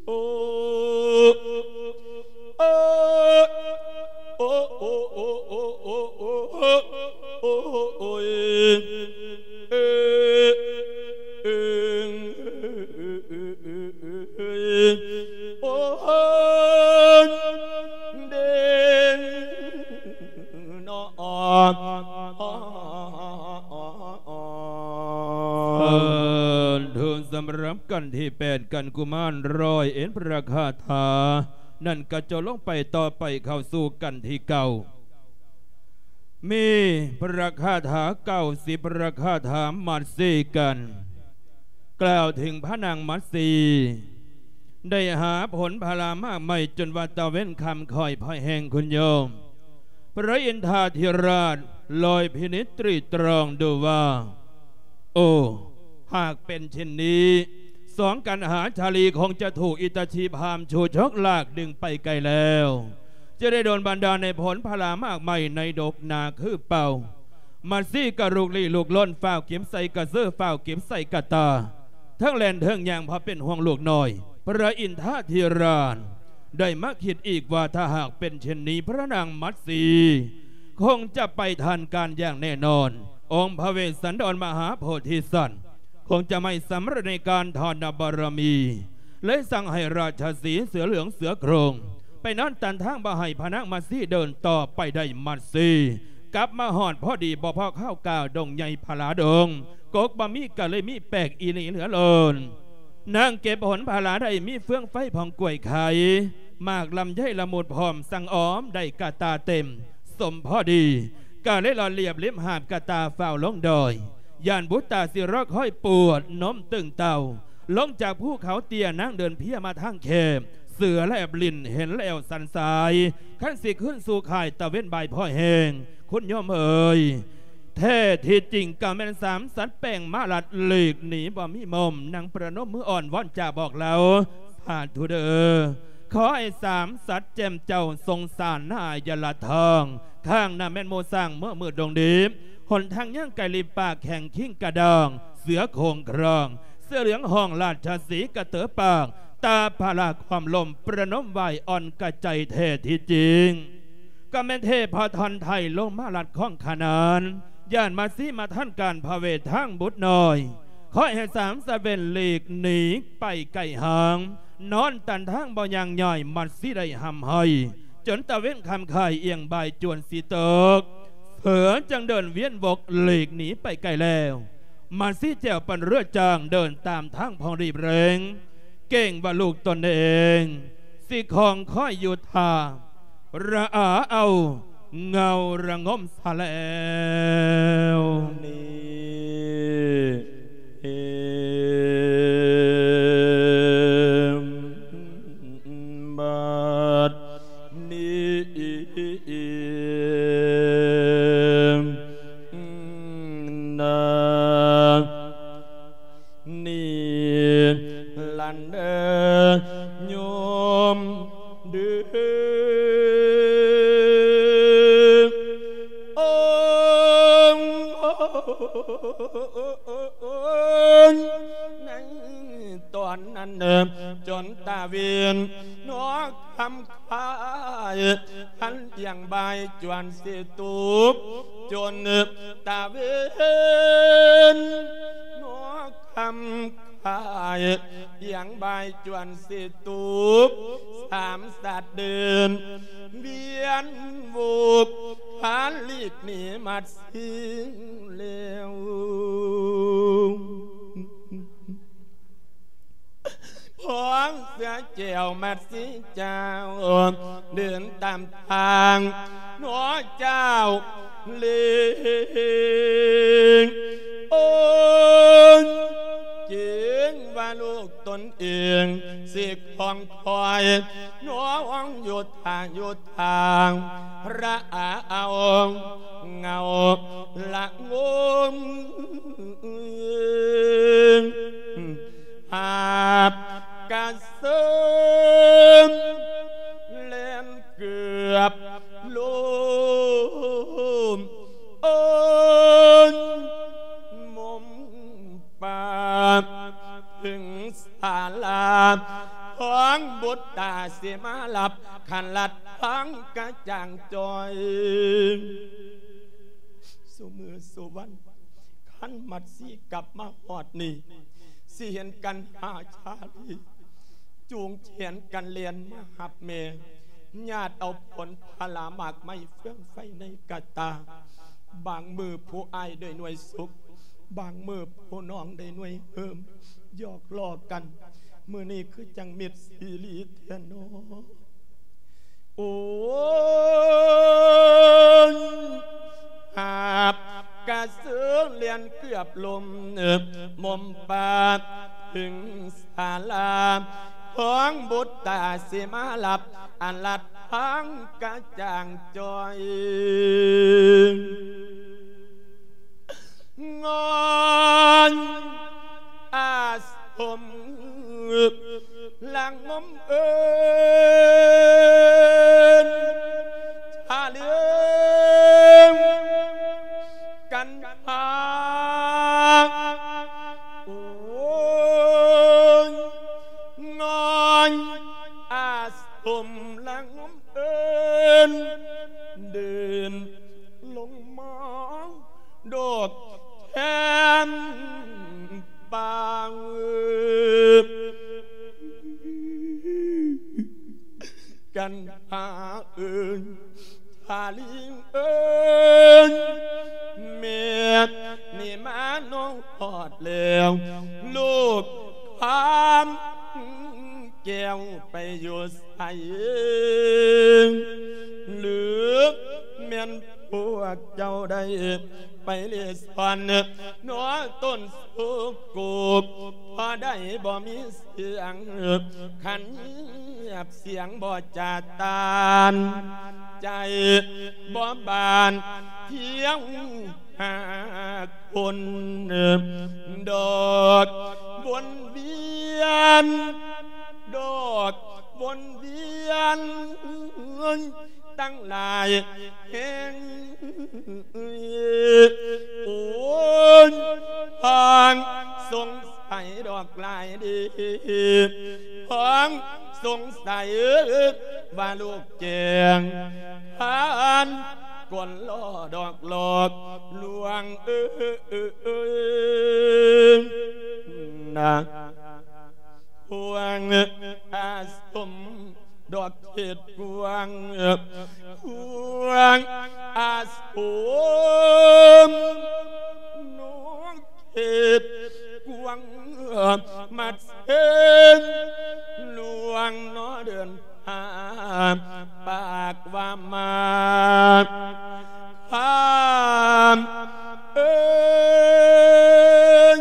ໂອ້ ໂອ້ ໂອ້ ໂອ້ ໂອ້ ໂອ້ ໂອ້ ໂອ້ ໂອ້ຍ ເອີ ເອີ ໂອ້ຍ ເດ້ງນໍ. ສາທຸ ສຳລັບກັນທີແປດ ກັນກຸມານຮ້ອຍເອັດພະຄາຖາ ນັ້ນກະຈົບລົງໄປ ຕໍ່ໄປເຂົ້າສູ່ກັນທີເກົ້າ ມີພະຄາຖາເກົ້າສິບພະຄາຖາ ໝັດຊີກັນ ກ່າວເຖິງພະນາງໝັດຊີ ໄດ້ຫາຜົນພະລາມາກໄມ້ ຈົນວ່າຕາເວັນຄ່ຳຄ່ອຍພອຍແຮງ ຄຸນໂຍມ ພະອິນທາທິລາດລອຍພິນິດຕຣີຕຣອງດູວ່າ ໂອ້ ຫາກເປັນເຊັ່ນນີ້ ສອງກັນຫາຊາລີຄົງຈະຖືກອິດຕະຊີພາມຊູ້ຊົກລາກດຶງໄປໄກແລ້ວ ຈະໄດ້ໂດນບັນດານໃຫ້ຜົນພະລາມາກໄມ້ໃນດົກນາຄືເກົ່າ. ໝັດຊີກະລຸກລີລຸກລົນ ຟ້າວກິບໃສ່ກະເຊີ ຟ້າວກິບໃສ່ກະຕາ ເທິງແລ່ນເທິງຍ່າງ ເພາະເປັນຫ່ວງລູກນ້ອຍ. ພະອິນທາທິລາດ ໄດ້ມາຄິດອີກວ່າ ຖ້າຫາກເປັນເຊັ່ນນີ້ ພະນາງໝັດຊີຄົງຈະໄປທັນການຢ່າງແນ່ນອນ. ອົງພະເວດສັນດອນມະຫາໂພທິສັດ ຄົງຈະໄມ່ສຳເລັດໃນການທານບາລະມີ ເລີຍສັ່ງໃຫ້ລາຊະສີເສືອເຫຼືອງເສືອໂຄງ ໄປນອນຕັນທາງບໍ່ໃຫ້ພະນາງໝັດຊີເດີນຕໍ່ໄປໄດ້. ໝັດຊີກັບມາຮອດພໍດີ ບໍ່ພໍຄາວກາວ ດົງໃຫຍ່ພະລາດົງ ກົກບໍ່ມີກະເລີຍມີແປກອີ່ຫຼີເຫຼືອລົ້ນ. ນາງເກັບຜົນພະລາໄດ້ ມີເຟືອງໄຟພອງກ້ວຍໄຂ່ ໝາກລຳໄຍລະມຸດພ້ອມ ສັ່ງອອມໄດ້ກະຕາເຕັມ ສົມພໍດີ ກະເລີຍລອດລຽບເລັບຫາບກະຕາຟ້າວລົງດອຍ ຢ້ານບຸດຕາຊິລໍຄອຍປວດນົມຕຶງເຕົ້າ ລົງຈາກພູເຂົາເຕ້ຍ ນາງເດີນເພຍມາທາງແຄບ ເສືອແລບຫຼິ້ນເຫັນແລ້ວສັນສາຍ ຄັນຊິຄືນສູ່ຄ້າຍຕາເວັນບ່າຍພອຍແຮງ ຄຸນໂຍມເອີຍ. ແທ້ທີ່ຈິງກະແມ່ນສາມສັດແປ້ງມາລັດ ຫຼີກໜີບໍ່ມີມຸມ. ນາງປະນົມມືອ້ອນວອນຈາບອກລາວ ສາທຸເດີ. ຂໍໃຫ້ສາມສັດແຈ່ມເຈົ້າ ສົງສານນາຍະລະທອງ ຂ້າງໜ້າແມ່ນໝູ່ຊ້າງເມືອມືດດົງດີ ຫົນທາງຍ່າງໄກລີບປາກແຂງຄີງກະດອງ ເສືອໂຂງຄຣອງ ເສືອເຫຼືອງຫ້ອງລາດທະສີກະເຕີປາກ ຕາພະລາຄວາມລົມ ປະນົມໄຫວ້ອ່ອນກະໃຈແທ້ທີ່ຈິງ ກໍແມ່ນເທພະທອນໄທລົງມາລັດຂອງຂະໜານ ຢ້ານມາຊີມາທັນການພະເວດທາງບຸດນ້ອຍ ຂໍໃຫ້ສາມສະເວັນຫຼີກໜີໄປໄກຫ່າງ ນອນຕັນທາງບໍ່ຍ່າງຍ່ອຍ ມາຊີໄດ້ຮ່ຳໄຫ້ ຈົນຕາເວັນຄ່ຳຄ້າຍ ອຽງບ່າຍຈວນຊິຕົກ ເສືອຈຶ່ງເດີນວຽນວົກຫຼີກໜີໄປໄກແລ້ວ ມາຊີແຈ່ວປັ່ນເຮືອຈ້າງ ເດີນຕາມທາງພອງລີບເລັ່ງ ເກງວ່າລູກຕົນເອງ ຊິຄອງຄອຍຢູ່ທ່າ ລະອາເອົາເຫງົາລະງົມຊະແລ້ວ ນີ້ ບັດນີ້ນາ ນີ້ລັນເດີໂຍມເດີ ໂອ້ຍ ໃນຕອນນັ້ນ ຈົນຕາເວັນນອກ ຄ່ຳຄ້າຍ ຫັນອຽງບ່າຍຈວນຊິຕົກ ຈົນຕາເວັນນອກຄ່ຳຄ້າຍ ອຽງບ່າຍຈວນຊິຕົກ ສາມສັດເດີນວຽນວົກ ພາລີກໜີມາຊິງແລ້ວ. ພວກເສືອແກ້ວມາຊີເຈົ້າ ເດີນຕາມທາງໜໍເຈົ້າເລງ ໂອ້ຍ ເກງວ່າລູກຕົນເອງຊິຄອງຄອຍ ໜໍຫວັງຢູ່ທ່າຢູ່ທາງ ລະອາເອົາເຫງົາລະງົມ ຫາບກະເສີມ ແລ່ນເກືອບລົ້ມ ໂອ້ຍ ໝົມປາກ ເຖິງສາລາ ຂອງບຸດຕາຊິມາລັບ ຄັນລັດທາງກະຈ່າງຈ່ອຍ ຊຸມື້ຊຸວັນ ຄັນມັດຊີກັບມາຮອດນີ້ ຊິເຫັນກັນຫາຊາລີ ຈູງແຂນກັນແລ່ນມາຮັບແມ່ ຍາດເອົາຜົນຜະລາໝາກໄມ້ເຟືອງໄຟໃນກະຕ່າ ບາງມື້ຜູ້ອ້າຍໄດ້ໜ່ວຍສຸກ ບາງມື້ຜູ້ນ້ອງໄດ້ໜ່ວຍເຫີມ ຫຍອກລໍ້ກັນ ມື້ນີ້ຄືຈັ່ງມິດຊີລີແທ້ນໍ. ໂອ້ຍ ຫາບກະເສີມແລ່ນເກືອບລົ້ມ ໝົມປາກເຖິງສາລາ ຂອງບຸດຕາຊິມາລັບ ອັນລັດທາງກະຈ່າງຈ່ອຍ ງອນອາສົມ ລະງົມເອີ້ນ ຊາເຫຼືອງກັນຫາ ໂອ້ຍ ງອນອາສົມ ລະງົມເອີ້ນ ເດີນລົງມາ ດອກແຄມປາງ ກັນຫາເອີ້ນ ທາລີເອີ້ນ ແມ່ນີ້ມານ້ອງຮອດແລ້ວ ລູກຄຳແກ້ວໄປຢູ່ໃສ ຫຼືແມ່ນ ພວກເຈົ້າໄດ້ໄປເລ່ຮ່ອນ ໜໍຕົ້ນໂສໂກກ ພໍໄດ້ບໍ່ມີສຽງ ຄັນງຽບສຽງບໍ່ຈາຕານ ໃຈບໍ່ບານ ທ່ຽວຫາຄົນ ດອກວົນວຽນ ດອກ ວົນວຽນຕັ້ງຫຼາຍແຫ່ງ ໂອ້ຍ ທາງສົງໄສດອກຫຼາຍເດ ທາງສົງໄສວ່າລູກແຈງ ທ່ານກວນລໍ້ດອກຫຼອກລວງເອີຍນະ ພວງອາສົມດອກເຂດກວ້າງ ພວງອາສົມນອກເຂດກວ້າງ ມາເຊີນຫຼວງນອເດີນ ຫາປາກວ່າມາ ຂ້າມເອີຍ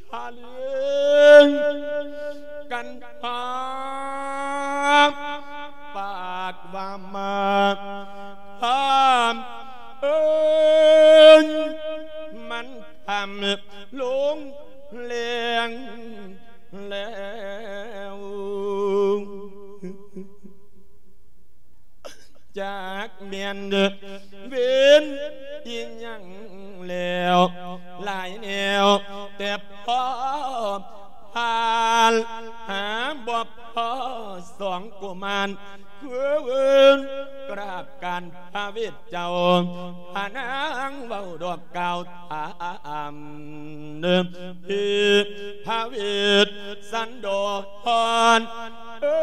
ຊາລີກັນຫາປາກວ່າມາ ຂ້າມເອີຍ ມັນຄ່ຳລົງແລງແລ້ວ ຈັກແມ່ນເວນອີ່ຫຍັງແລ້ວ ຫຼາຍແນວແຕ່ພໍຜ່ານ ຫາບໍ່ພໍສອງກຸມານ ຄືເອີ້ນກາບການພະເວດເຈົ້າ ພະນາງເວົ້າດອກກ່າວຖາມ ເອີ ພະເວດສັນດອນ ເອີ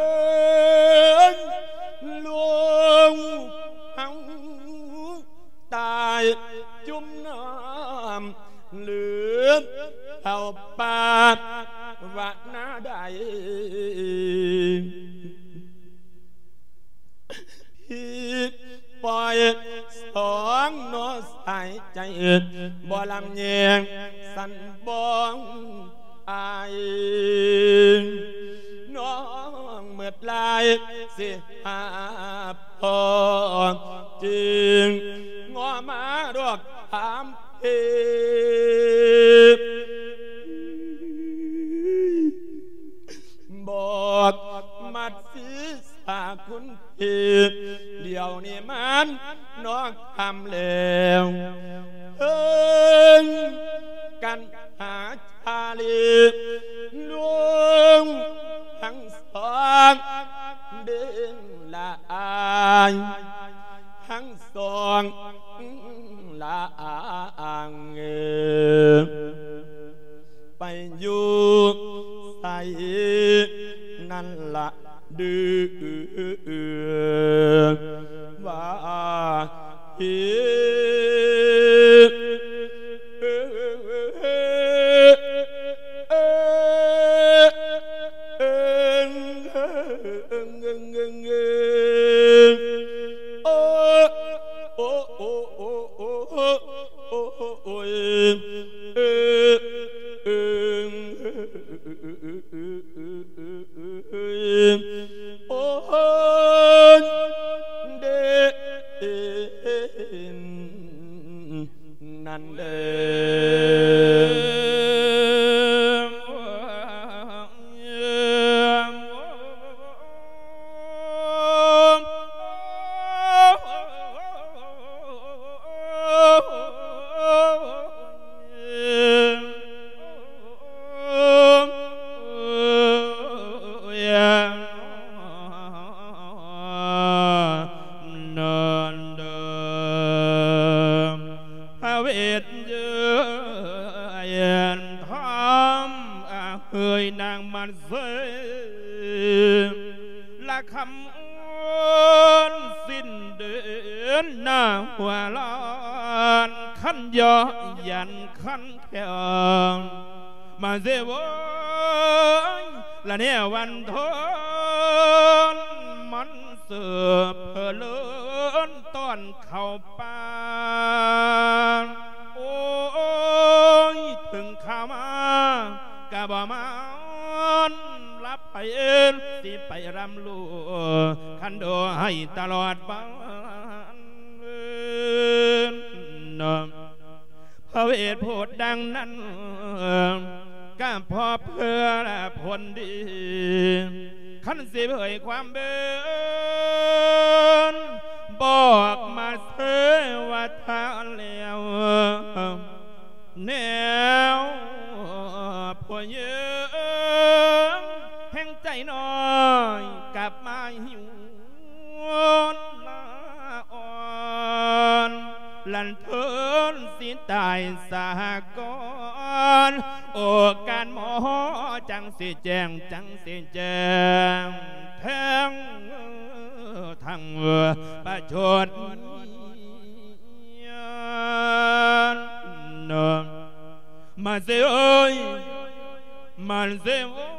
ຍ ຫຼວງເຮົາຕາຍຈຸ່ມນ້ຳ ຫຼືເຂົ້າປ່າວະນາໃດ ທີ່ປ່ອຍສອງໜໍ່ສາຍໃຈ ບໍ່ລຳແຍງສັນບອງອາຍ ນ້ອງເໝິດຫຼາຍຊິຫາພໍ່ຈິງ ງໍມາດອກຖາມເພ ບອກມັດສີສາຄຸນເພ ດຽວນີ້ມັນນອກຄ່ຳແລ້ວ ເອີຍ ກັນຫາຊາລີ ລວງທັງສອງເບງລະອາຍ ທັງສອງລະອາຍ ໄປຢູ່ໃສນັ້ນລະດື ວ່າ ເອີ ເອີ ເອີ ເອີ ໂອ້ ໂອ້ ໂອ້ ໂອ້ ໂອ້ ໂອ້ຍ ເອີ ເອີ ໂອ້ຍ ເດ ເດ ເດ ນັ້ນເດີ. ພະເວດເຢີຍນທຳອາເຮີຍນາງມາເຊີ ລະຄຳອ້ອນສິ້ນເດືອນໜ້າຫົວລ້ານ ຄັນເຍາະຢັນຄັນແຂງ ມາເຊໂວຍ ລະແນວວັນທົນ ມັນເສີບເພີເລີນຕ້ອນເຂົ້າປ່າ ໂອ້ຍ ເຖິງຂ້າມາກະບໍ່ມານ ລັບໄປເອີ້ນ ຊິໄປລຳລູ ຄັນໂດ ຕະຫຼອດວັນ ເນາະ ພະເວດໂພດດັ່ງນັ້ນ ກະເພາະເພື່ອຜົນດີ ຄັນຊິເຜີຍຄວາມເບິ່ງ ບອກມາເສວ່າຖ້າແລ້ວ ແນວຜູ້ຍິງແຫ່ງໃຈນ້ອຍກັບມາຫິວລາອ່ອນ ລັນທົນຊິຕາຍສາກ່ອນ ໂອກາດໝໍຈັ່ງຊິແຈ້ງ ຈັ່ງຊິແຈ້ງແທງທັງປະຊົດ ມາເຊເອີຍ ມາເຊເອີ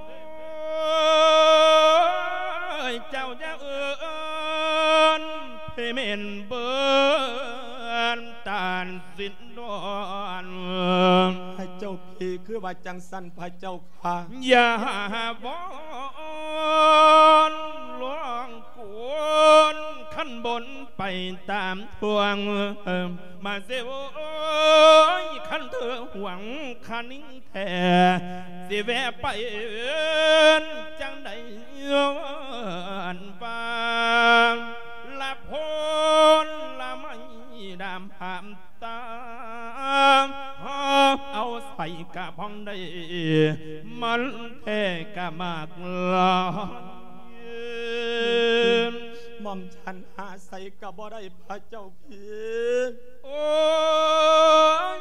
ຍ ເຈົ້າຢ່າເອີ້ນ ເພແມ່ນເບິ່ນຕານສິນດອນ ພະເຈົ້າພີ ຄືວ່າຈັ່ງຊັ້ນພະເຈົ້າ ຢ່າວອນຫຼວງກຸນ ຄັນບົນໄປຕາມທວງ ມາເຊໂອຍ ຄັນເທີຫວງຄະນິງແທ້ ຊິແວະໄປເອີ້ນຈັ່ງໃດ ອັນວ່າລະໂພນລະໄມ້ດຳຫາມ ຕາເອົາໃສ່ກະພອງໄດ້ ມັນແທ້ກະມາກຫຼາຍ ໝ່ອມສັນຫາໃສ່ກະບໍ່ໄດ້ພະເຈົ້າພີ ໂອ້ຍ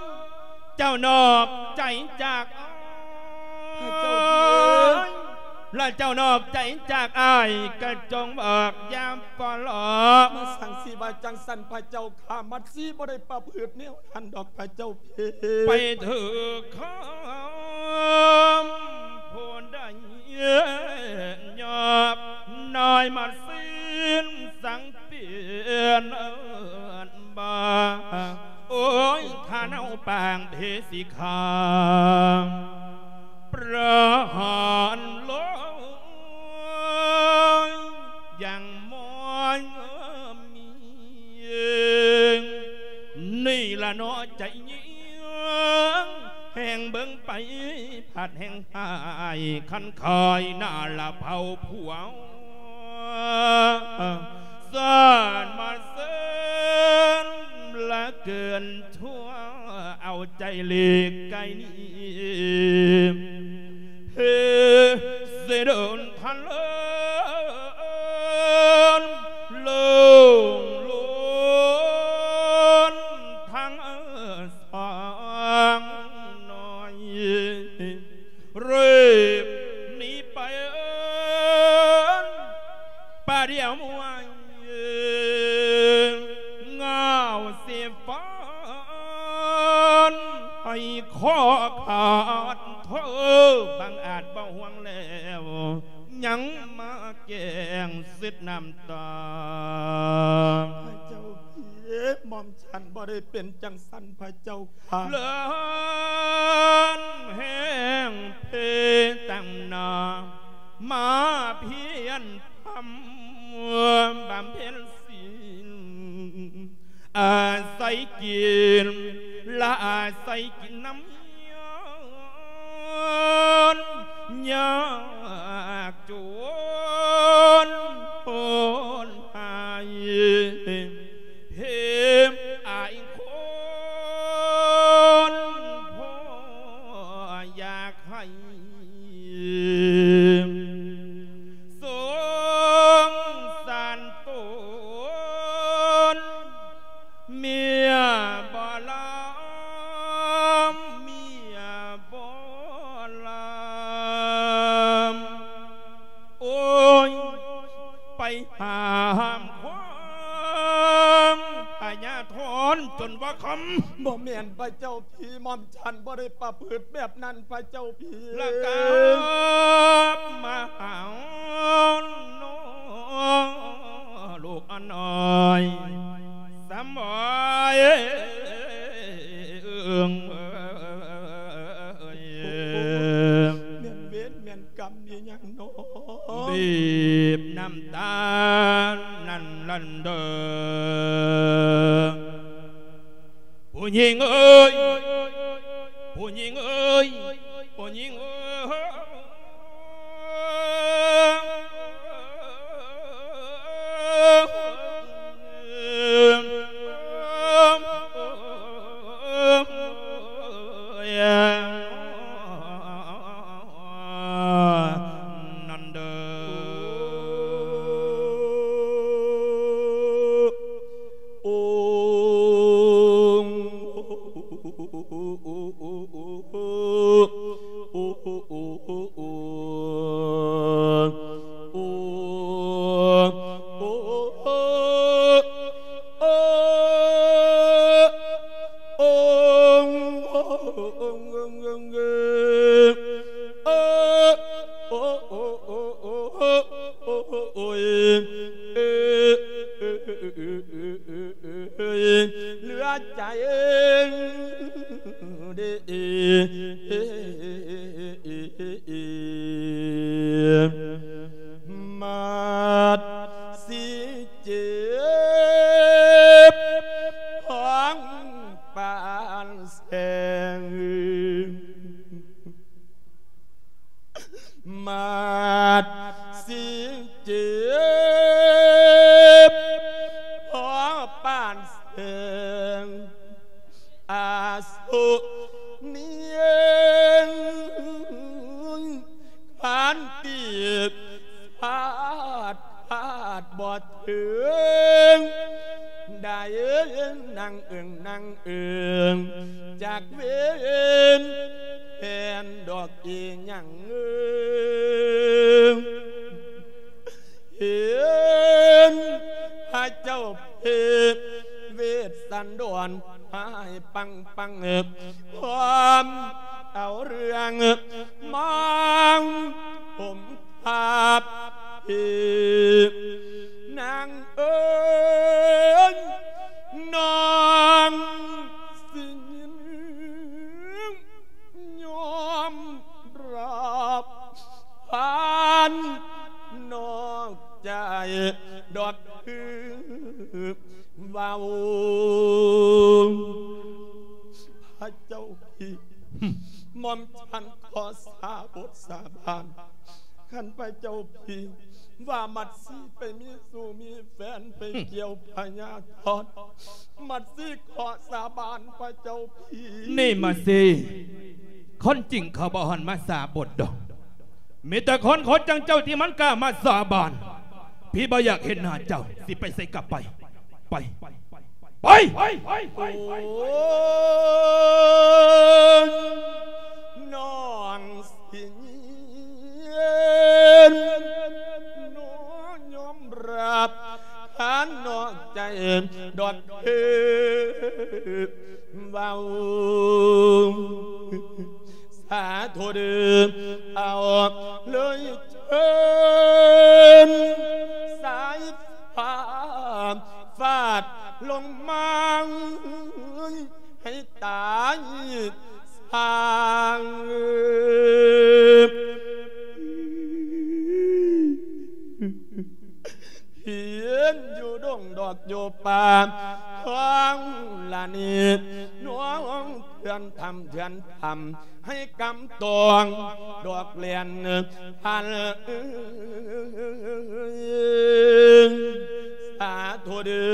ເຈົ້ານອກໃຈຈາກອ້າຍ ພະເຈົ້າພີ ລະເຈົ້ານອກໃຈຈາກອ້າຍ ກະຈົ່ງບອກຢ່າຟ້າວຫຼອກ ມາສັງຊິວ່າຈັ່ງຊັ້ນພະເຈົ້າ ຂ້າມັດສີບໍ່ໄດ້ປະພຶດແນວນັ້ນດອກພະເຈົ້າພີ ໄປຖືກຄຳຜູ້ໃດຍອບ ນ້ອຍມັດສີນສັງປ່ຽນເອີ້ນວ່າ ໂອ້ຍ ຖ້າເນົາປາງເພສີຄາ ປະຫານໂລຍ ຢ່າງມອຍມີ ນີ້ລະເນາະໃຈຍິງ ແຮ່ງເບິ່ງໄປພັດແຮ່ງຫາຍ ຄັນຄາຍໜ້າລະເຜົາຜົວ ສານມາເຊີນລະເກີນ ຊົ່ວເອົາໃຈຫຼີກໄກໜີ ເພຊິເດີນທະເລີນ ໂລ່ງໂລນທາງສອງໜ້ອຍ ເຣີບໜີໄປ ປະດຽວມວຍ ງາວຊິຟ້ອນໃຫ້ຂໍຂາດເທີ ບັງອາດບໍ່ຫວງແລ້ວ ຍັງມາແກງເຊັດນ້ຳຕາ ພະເຈົ້າພີ ໝ່ອມ ສັນບໍ່ໄດ້ເປັນຈັ່ງຊັ້ນພະເຈົ້າຂ້າ ເລີນແຮງເພຕັ້ງໜ້າ ມາພຽນພຳບຳເພັນສິນ ອາໄສກິນ ລະອາໄສກິນນຳຍາ ຍາກຈົນໂຫດຮ້າຍ ເພມອາຍຄົນ ພໍ່ຢາກໃຫ້ສົງສານຕົນ ເມຍບໍ່ລຳ ເມຍບໍ່ລຳ ໂອ້ຍ ໄປຫາມຄວາມພະຍາທອນຈົນວ່າຄ່ຳ ບໍ່ແມ່ນພະເຈົ້າພີ ໝ່ອມ ສັນບໍ່ໄດ້ປະພຶດແບບນັ້ນພະເຈົ້າພີ ລະກັບມາຫານ້ອງລູກອັນນ້ອຍ ສຳບາຍ ແມ່ນເວນແມ່ນກຳອີ່ຫຍັງນໍ ບີບນ້ຳຕານັ້ນ ນັ້ນເດີ ຜູ້ຍິງເອີຍ ຜູ້ຍິງເອີຍ ຜູ້ຍິງເອີຍ. ນັ້ນເດີ ໂອງ ໂອງ ໂອງ ໂອງ ໂອງ ໂອງ ໂອງ ໂອງ ໂອງ ໂອງ ໂອງ ເຫຼືອໃຈເດ້ ມັດຊິເຈັບຂອງປານແສງ. ມັດຊິເຈັບພໍປານແສງ ອາສຸນີ ຄັນຕິພາດ ພາດບໍ່ເຖິງ ໄດ້ນາງເອີງ ນາງເອີງ ຈັກເປັນແມ່ນດອກອີ່ຫຍັງເອີງ ເຫັນພະເຈົ້າເພດເວດສັນດອນ ພາຍປັງປັງ ພ້ອມເອົາເລື່ອງມາຫົ່ມທັບ ນາງເອີຍ ນ້ອງຊິຍິນຍອມຮັບ ຜ່ານນອກໃຈດອກຄືເວົ້າ ພະເຈົ້າພີ ໝ່ອມສັນຂໍສາບົດສາບານ ຄັນພະເຈົ້າພີວ່າມັດສີໄປມີຊູ້ມີແຟນ ໄປກ່ຽວພະຍາທອດ ມັດສີຂໍສາບານພະເຈົ້າພີ. ນີ້ມັດສີ ຄົນຈິງເຂົາບໍ່ຫັນມາສາບົດດອກ ມີແຕ່ຄົນຄົນຈັ່ງເຈົ້າທີ່ມັນກ້າມາສາບານ. ພີບໍ່ຢາກເຫັນໜ້າເຈົ້າ ຊິໄປໃສກໍໄປ ໄປ ໄປ ໄປ ໄປ ໄປ ໄປ ໂອ້ຍ ນ້ອງຊິຍິນ ນ້ອງຍອມຮັບ ຄັນນອກໃຈດອກເດີ ເວົ້າ ສາທຸເດີ ເອົາເລີຍເທີນ ສາຍຟ້າຟາດລົງມາ ໃຫ້ຕາຍສາງ ເຫັນຢູ່ດົງດອກຢູ່ປ່າ ຂອງລະນີ ນ້ອງເຖື່ອນຖ້ຳເຖື່ອນຖ້ຳ ໃຫ້ກຳຕອງດອກແລ່ນພັນ ສາທຸເດີ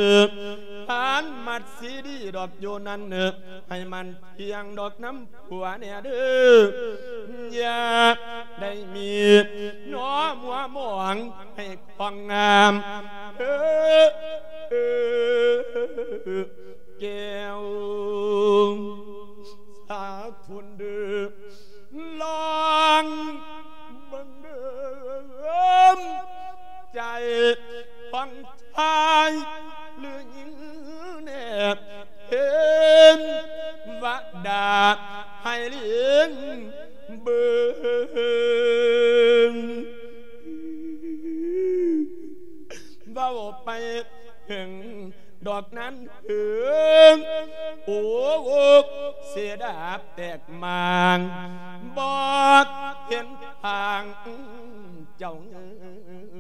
ທ່ານມັດສີດີດອກຢູ່ນັ້ນ ໃຫ້ມັນທ່ຽງດອກນຳຜົວແດ່ເດີ ຢ່າໄດ້ມີໜໍ່ມົວໝອງ ໃຫ້ຄວາມງາມ ເອີ ເອີ ແກ້ວ ສາທຸເດີ ລອງເບິ່ງເດີ ໃຈຂອງຊາຍຫຼືຍິງແນ່ ເຫັນວ່າດາໃຫ້ລີງເບິ່ງ ເວົ້າໄປເຖິງດອກນັ້ນເຖິງ ໂອກເສດາບແຕກໝາງ ບໍ່ເຫັນທາງເຈົ້າເງື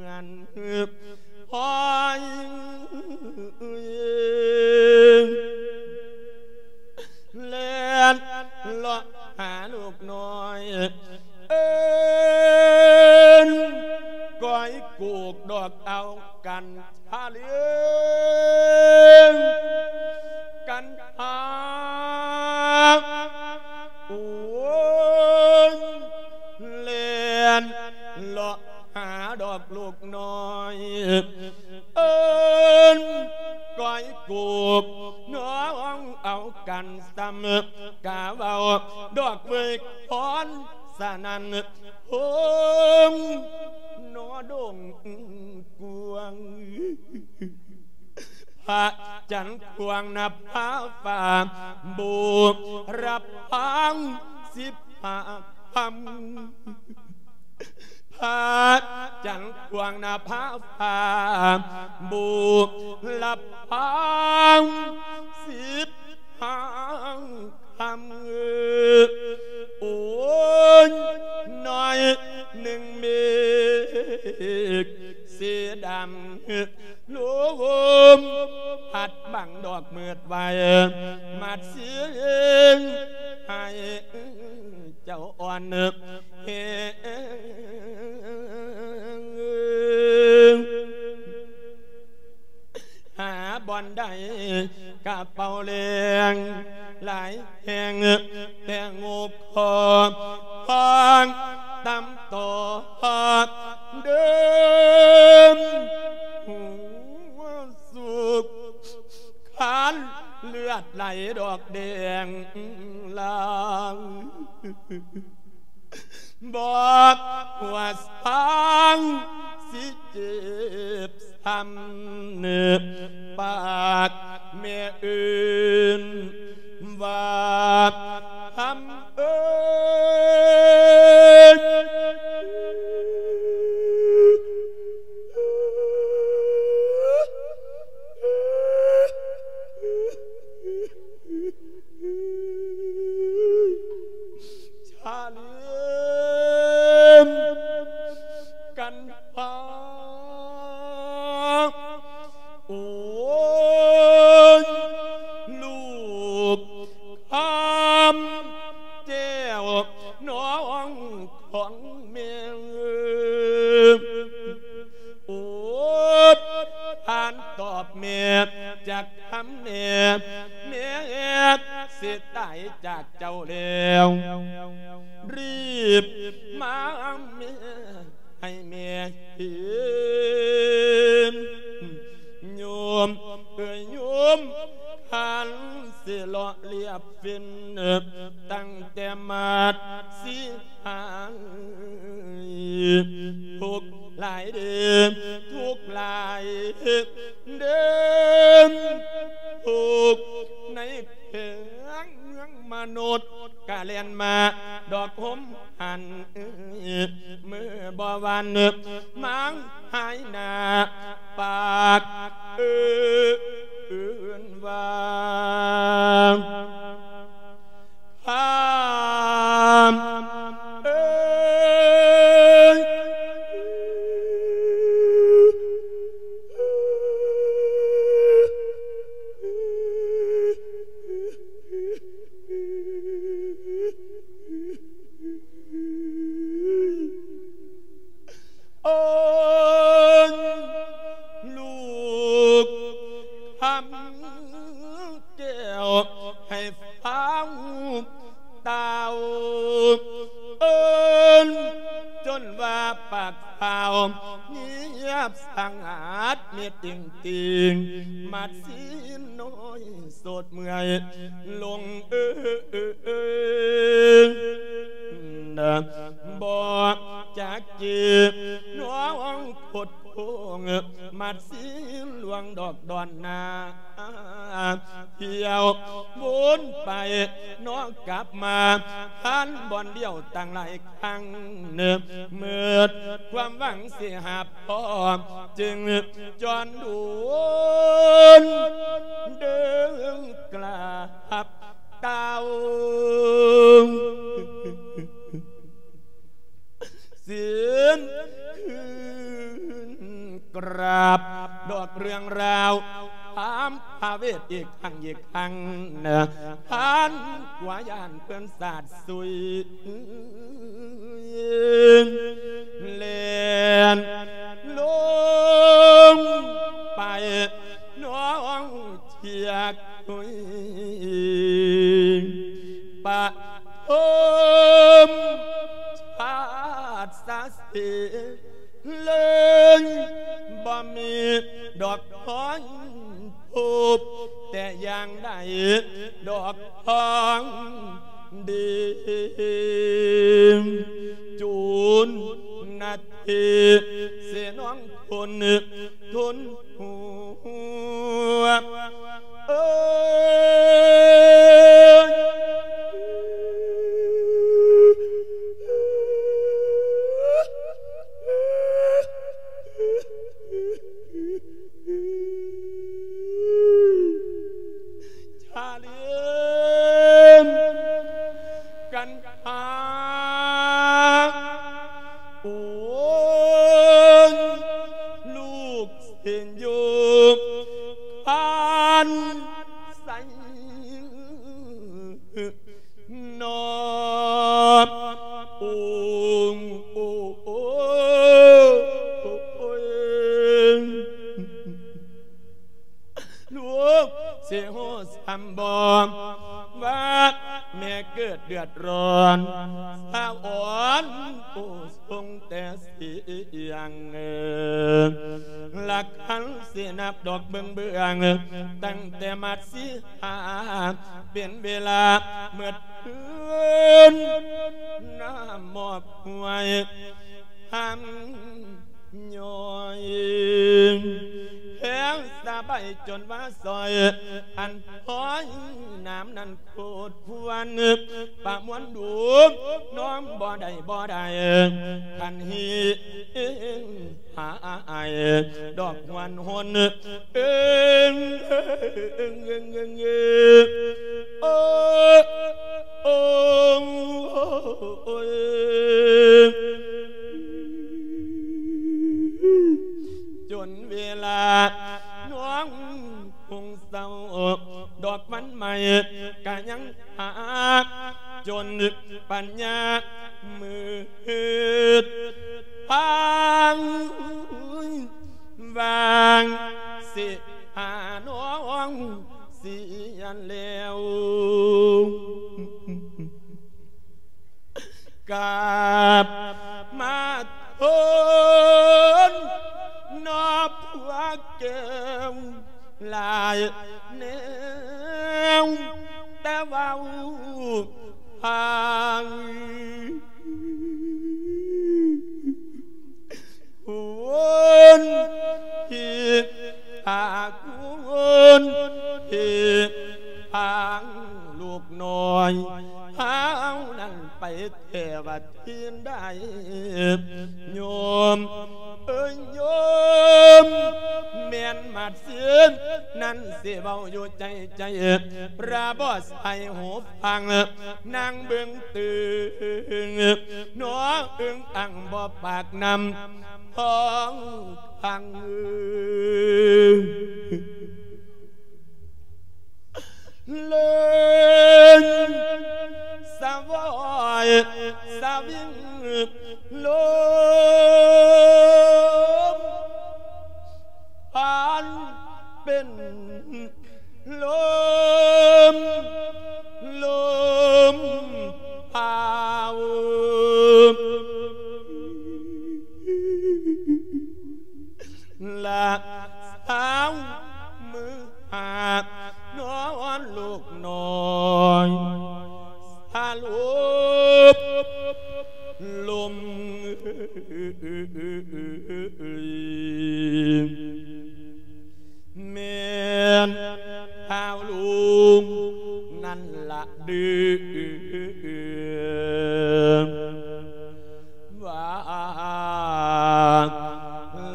ອນ ອ້ອຍ ແລ່ນເລາະຫາລູກນ້ອຍ ເອີ້ນກ້ອຍກູກດອກເອົາກັນ ພາເລື່ອງກັນພາ ໂອ້ຍ ແລ່ນເລາະຫາດອກລູກນ້ອຍ ເອີ້ນກ້ອຍກູກ ນ້ອງເອົາກັນຊ້ຳ ກະເວົ້າດອກເວີຍຄອນ ສະນັ້ນ ໂຮງໜໍດົງກວາງ ພະຈັນຂວາງນະພາຟ້າ ບູລະພັງສິບຫ້າຄ່ຳ ພະຈັນຂວາງນະພາຟ້າ ບູລະພັງສິບຫ້າຄ່ຳ ໂອ້ຍ ໜ້ອຍໜຶ່ງເມກສີດຳ ລົມພັດບັງດອກມືດໄວ້ ມັດສຽງໃຫ້ເຈົ້າອ່ອນແຮງ ຫາບ່ອນໃດກະເປົ່າແລງ ຫຼາຍແຫ່ງແຕ່ງໂງກຄໍ ພາງຕຳຕໍ່ເດີມ ຫົວສຸກຄານເລືອດໄຫຼດອກແດງລາງ ບອກວ່າຊ່າງຊິເຈັບຊ້ຳ ປາກແມ່ອື່ນວ່າທຳເອີຍ ຊາເລີມກັນພາ ໂອ້ຍ ລູກຄຳແກ້ວນ້ອງຂອງແມ່ ໂອດທ່ານຕອບແມ່ຈັກຄຳແນ່ ແມ່ຊິຕາຍຈາກເຈົ້າແລ້ວ ຮີບມາແມ່ ໃຫ້ແມ່ເຫັນ ໂຍມເອີຍໂຍມ ຄັນຊິເລາະລຽບເຟັນ ຕັ້ງແຕ່ມາດສີຫາຍ ທຸກຫຼາຍເດີ ທຸກຫຼາຍເດີ ທຸກໃນແຂວງເມືອງມະນຸດ ກະແລ່ນມາດອກຫົມຫັນ ເອີຍ ເມື່ອບໍ່ວັນມາງຫາຍໜ້າ ປາກເອີ້ນວ່າ ຄຳເອີຍ ໂອ້ຍ ລູກຄຳແກ້ວ ໃຫ້ຟ້າວຕ່າວເອີ້ນ ຈົນວ່າປາກ ພາວງຽບສະຫງັດມິດຕິງຕິງ ມາດສີນ້ອຍໂສດເມື່ອຍ ລົງເອີ ເອີ ເອີ ນະ ບໍ່ຈັກຈີບ ນ້ອງຄົດໂຄ້ງ ມາດສີລວງດອກດອນໜ້າ ທ່ຽວວົນໄປ ນ້ອງກັບມາ ຜ່ານບ່ອນດຽວຕັ້ງຫຼາຍ ຄັ້ງເໜີ ໝົດຄວາມຫວັງຊິຮັບພໍ້ ຈຶ່ງຈອນດູນເດີນກລາບຕ່າວ ເສຍນຄືນກາບ ດອີກຄັ້ງອີກຄັ້ງນະ ທ່ານກວ່າຢ້ານເພິ່ນສາດສຸຍ ແລ່ນລົງໄປໜອງເຊຍກຸຍ ປະຖົມຊາດສາເສ ເລີຍບໍ່ມີດອກຮອຍພົບແຕ່ຢ່າງໃດ ດອກທອງດີ ຈູນນະທີເສນອງຄົນ ທົນຫົວ ເອີຍ ຊາເລນກັນຫາ ໂອ້ຍ ລູກເຫັນຢູ່ຜ່ານໃສ ນອບອົງ ໂອ້ຍ ລູກຊິຮູ້ສ່ຳບໍ່ ວ່າແມ່ເກີດເດືອດຮ້ອນ ສາວອ່ອນຜູ້ຊົງແຕ່ສຽງ ລະຄັນຊິນັບດອກເບິ່ງເບື້ອງ ຕັ້ງແຕ່ມາດສີຫາ ເປັນເວລາໝົດຄືນ ນ້ຳມອບຫ້ວຍ ຫ້າມຍ້ອຍ ແພງສະບາຍຈົນວ່າຊອຍ ອັນຫ້ອຍນ້ຳນັ້ນໂຄດຄວນ ປະມວນດູ ນ້ອມບໍ່ໄດ້ ບໍ່ໄດ້ ຄັນຮີ ຫາອ້າຍດອກຫວນຫົນ ເອີງ ເອີງ ເອີງ ເອີງ ເອີງ ໂອ້ ໂອ້ ໂອ້ຍ ຈົນເວລານ້ອງຄົງເສົ້າ ດອກວັນໃໝ່ກະຍັງ ຫາ ຈົນປັນຍາມືດພາງ ຫວ່າງຊິຫານ້ອງເສຍແລ້ວ ກາບມາທົນນອບຜົວແກ້ວ ຫຼາຍແນວ ແຕ່ເວົ້າຫາຄຸນທີ່ຫາຄຸນທີ່ຫາລູກນ້ອຍ ເຮົານັ້ນໄປແທ້ວ່າ ທີ່ໄດ້ໂຍມເອີຍໂຍມ ແມ່ນມາດເຊຍນນັ້ນຊິເວົ້າຢູ່ໃຈໃຈ ພະບໍ່ໃສ່ຫູຟັງ ນາງເບິ່ງຕື່ນ ໜໍເອີ່ງອັ່ງບໍ່ປາກນຳທ້ອງພັງ ເລີນສະຫວອຍສະວິງລົມ ພັນເປັນລົມ ລົມພາວ ລະສາວມືຫາກນອນລູກນ້ອຍ ສາລົບລົມ ແມ່ນທ້າວລຸງນັ້ນລະເດີ ວ່າ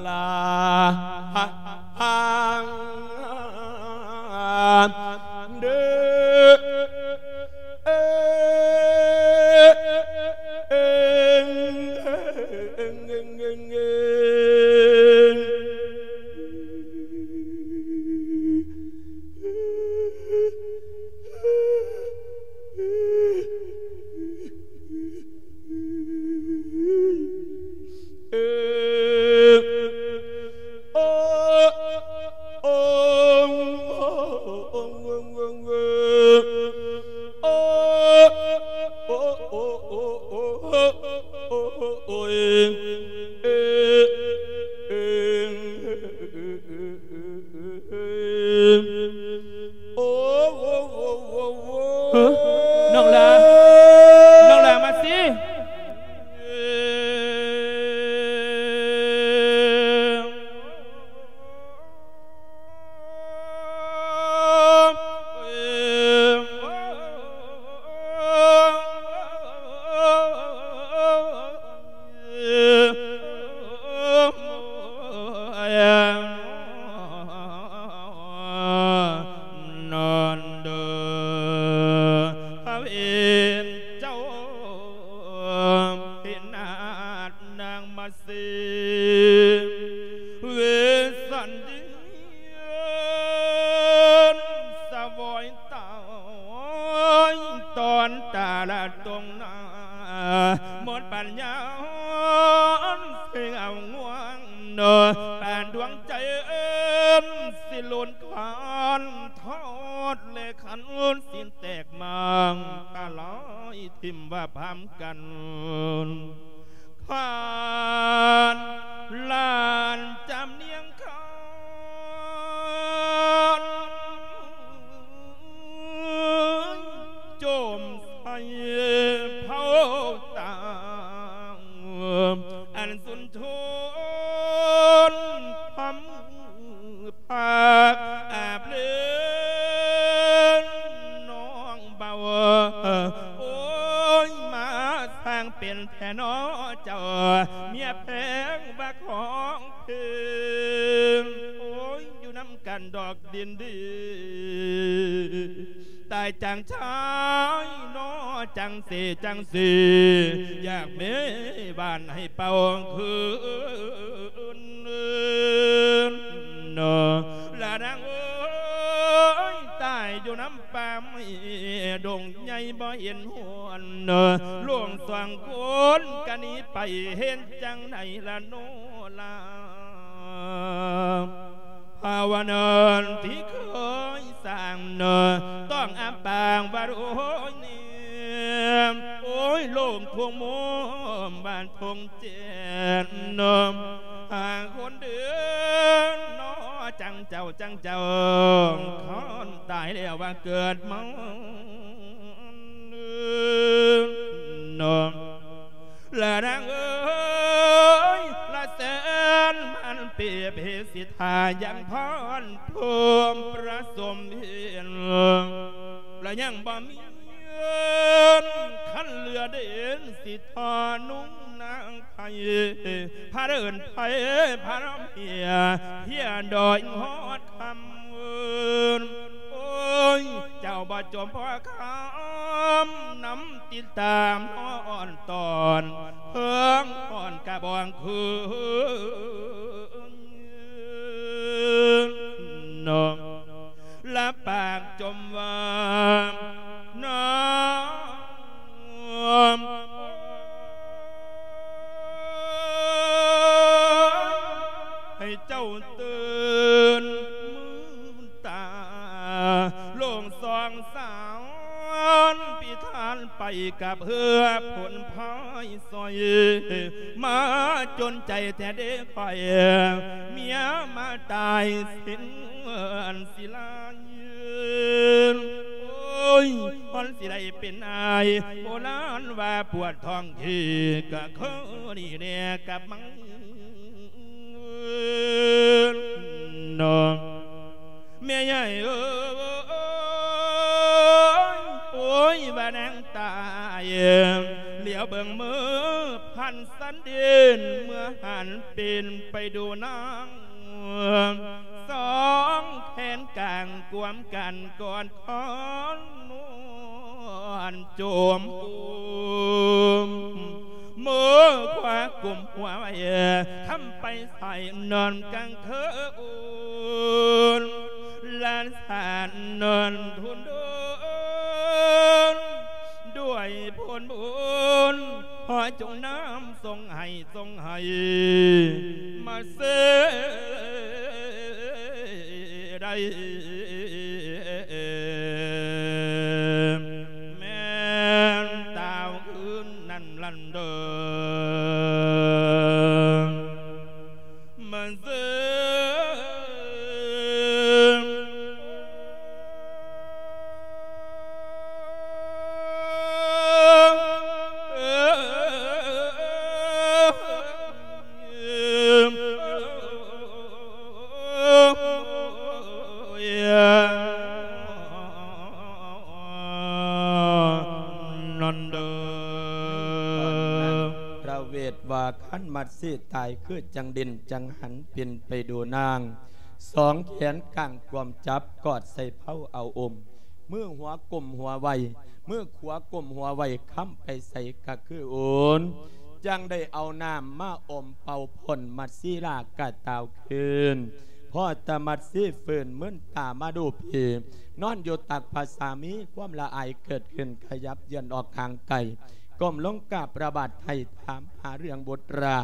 ລາເດີ ນ້ອງຫຼ້າ ນ້ອງຫຼ້າມາຊິ. ນອນເດີພະເວນເຈົ້າ ເຫັນໜ້ານາງມາເສ ເວສັນເດນສະວອຍຕາຍ ຕອນຕາລະຕົງໜ້າ ໝົດປັນຍາເສງອາວງວງ ເນາະ ປານດວງໃຈ ຊິຫຼຸນຄານທອດ ແລະ ຄັນຊິແຕກໝາງ ກະລອຍຖິ້ມວ່າພາມກັນ ຄານຫຼານຈຳນຽງຄານ ໂຈມໃສ່ເຜົາຕາ ອັນສຸນທົນພະມືພາກອາບເລນນ້ອງເບົາ ໂອ້ຍ ມາສ້າງເປັນແທ້ນໍເຈົ້າ ເມຍແພງວ່າຂອງເພິ່ນ ໂອ້ຍ ຢູ່ນຳກັນດອກດິນດີ ຕາຍຈັ່ງຊາຍນໍ ຈັ່ງເສ ຈັ່ງເສ ຢາກເມບ້ານໃຫ້ເປົ່າຄືນນໍ ລະນາງເອີຍ ຕາຍຢູ່ນຳປ່າໄມ້ດົງໃຫຍ່ບໍ່ເຫັນຫວນ ລູກສອງຄົນກະໜີໄປ ເຮັດຈັ່ງໃດລະນໍລາ ພາວະນາທີ່ເຄີຍສ້າງເນີ ຕ້ອງອຳປາງວ່າໂອ້ຍເນມ ໂອ້ຍ ໂລກທົ່ວໂມມບ້ານທົ່ງແຈ້ງເນີ ຫາຄົນເດີນນໍ ຈັ່ງເຈົ້າ ຈັ່ງເຈົ້າ ຄັນຕາຍແລ້ວວ່າເກີດມາເນີ ລະນາງເອີຍ ລະແສນພັນປີ ເພສິທາຍັງພອນພູມປະສົມເຫັນ ລະຍັງບໍ່ມີເງິນ ຄັນເຫຼືອເດນ ຊິທອນຸ່ງນາງໄພ ພາເດີນໄພ ພາລຳເຮຍ ເຮຍດອຍຮອດຄຳ ໂອ້ຍ ເຈົ້າບໍ່ຈົ່ມພໍຄຳ ນຳຕິດຕາມນອນຕອນ ເພິ່ງອ່ອນກະບອງຄືນນອງ ລະປາກຈົ່ມວ່ານອງ ໃຫ້ເຈົ້າຕື່ນມືນຕາ ໂລງສອງສາວພິທານໄປກັບເຮືອຜົນພາຍສອຍ ມາຈົນໃຈແທ້ເດ້ຂ້ອຍ ເມຍມາຕາຍສິ້ນເມືອນ ຊິລາຍ ໂອ້ຍ ມັນຊິໄດ້ເປັນອ້າຍ ໂບລານວ່າປວດທ້ອງທີ່ ກະຄືນີ້ແດ່ກັບມັນເນາະ ແມ່ໃຫຍ່ເອີຍ ໂອ້ຍ ວ່ານາງຕາຍ ຫຼຽວເບິ່ງມືພັນສັນດິນ ເມື່ອຫັນປິ່ນໄປດູນາງ ສອງແຂນກາງກວມກັນກອດຄອນນວນ ໂຈມອຸມ ມືຂວາກຸມຫົວໄວ້ ຄຳໄປໃສ່ນອນກາງຄືນ ລານສານນອນທຸນໂດນ ດ້ວຍຜົນບຸນ ຂໍຈົ່ງນຳ ຊົງໃຫ້ ຊົງໃຫ້ມາເສໄດ້ ແມ່ນຕາວອື່ນນັ້ນລັນເດີມາເສ ນັ້ນເດີ. ພະເວດວ່າ ຄັນມັດສີຕາຍ ຄືຈັ່ງເດັ່ນຈັ່ງຫັນ ປິ່ນໄປດູນາງ ສອງແຂນກາງກວມຈັບ ກອດໃສ່ເພົາເອົາອົມ ມືຂວາກົ້ມຫົວໄວ້ ມືຂວາກົ້ມຫົວໄວ້ ຄຳໄປໃສກະຄືໂອນ ຈັ່ງໄດ້ເອົານ້ຳມາອົມເປົ່າພົ້ນ ມັດສີລາກະຕ່າວຄືນ. ພໍຕະມັດສີຟື້ນ ມືນຕາມາດູພີ ນອນຢູ່ຕັກພະສາມີ ຄວາມລະອາຍເກີດຂຶ້ນ ຂະຫຍັບເຍືອນອອກຫ່າງໄກ ກົ້ມລົງກາບພະບາດໄຫ້ ຖາມຫາເລື່ອງບຸດລາ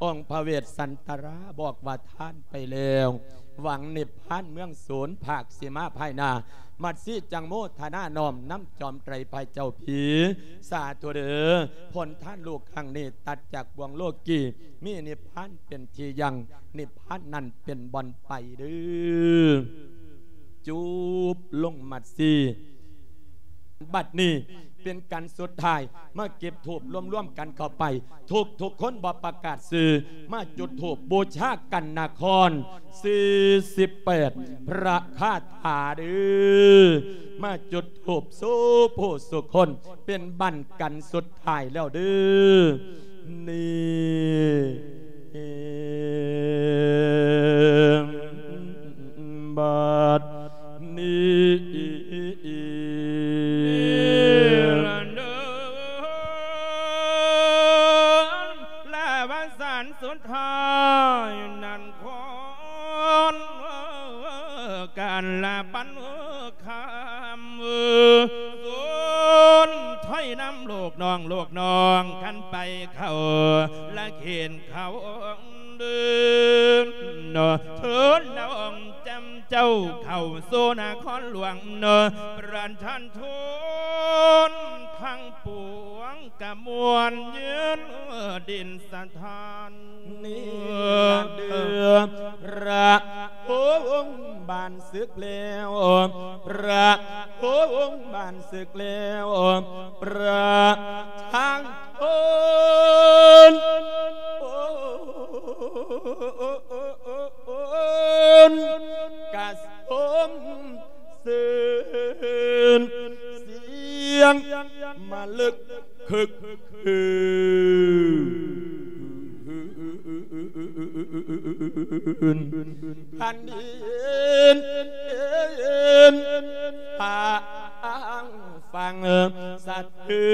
ອົງພະເວດສັນຕະລາບອກວ່າ ທ່ານໄປແລ້ວ ຫວັງນິບພານເມືອງສູນ ພາກຊິມາພາຍໜ້າ ມັດສີຈັ່ງໂມທະນານ້ອມນຳຈອມໄຕພະເຈົ້າພີ ສາທຸເດີ ຜົນທານລູກຄັ້ງນີ້ ຕັດຈາກບ່ວງໂລກີ ມີນິບພານເປັນທີ່ຢັ້ງ ນິບພານນັ້ນເປັນບ່ອນໄປເດີ. ຈູບລົງມັດສີ. ບັດນີ້ເປັນການສຸດທ້າຍ ມາເກັບທູບລວມໆກັນເຂົ້າໄປ ທຸກໆຄົນບໍ່ປະກາດຊື່ ມາຈຸດທູບບູຊາກັນນະຄອນ ສີ່ສິບແປດ ພະຄາຖາເດີ ມາຈຸດທູບສູ່ຜູ້ສູ່ຄົນ ເປັນບັ້ນກັນສຸດທ້າຍແລ້ວເດີ ນີ້ ບັດນີ້ ລະວະສານສຸດທ້າຍນັ້ນ ຄອນການລະປັນຄຳ ສູນໄທນຳລູກນ້ອງ ລູກນ້ອງກັນໄປເຂົ້າລະເຂດ ເຂົາເດີນເນາະ ເທີນນ້ອງຈຳເຈົ້າເຂົ້າສູ່ນະຄອນຫຼວງເນາະ ປະທານທູນທັງປວງກະມ່ວນເຢັນດິນສະຖານ ນີ້ລະເດີ ພະອົງບານສຶກແລ້ວ ພະອົງບານ ສຶກແລ້ວ ພະທາງໂທນ ໂອນ ກະສົມຊື່ນ ສຽງມະລຶກຄຶກຄື້ນ ແຜ່ນດິນຟັງ ຟັງສະເທື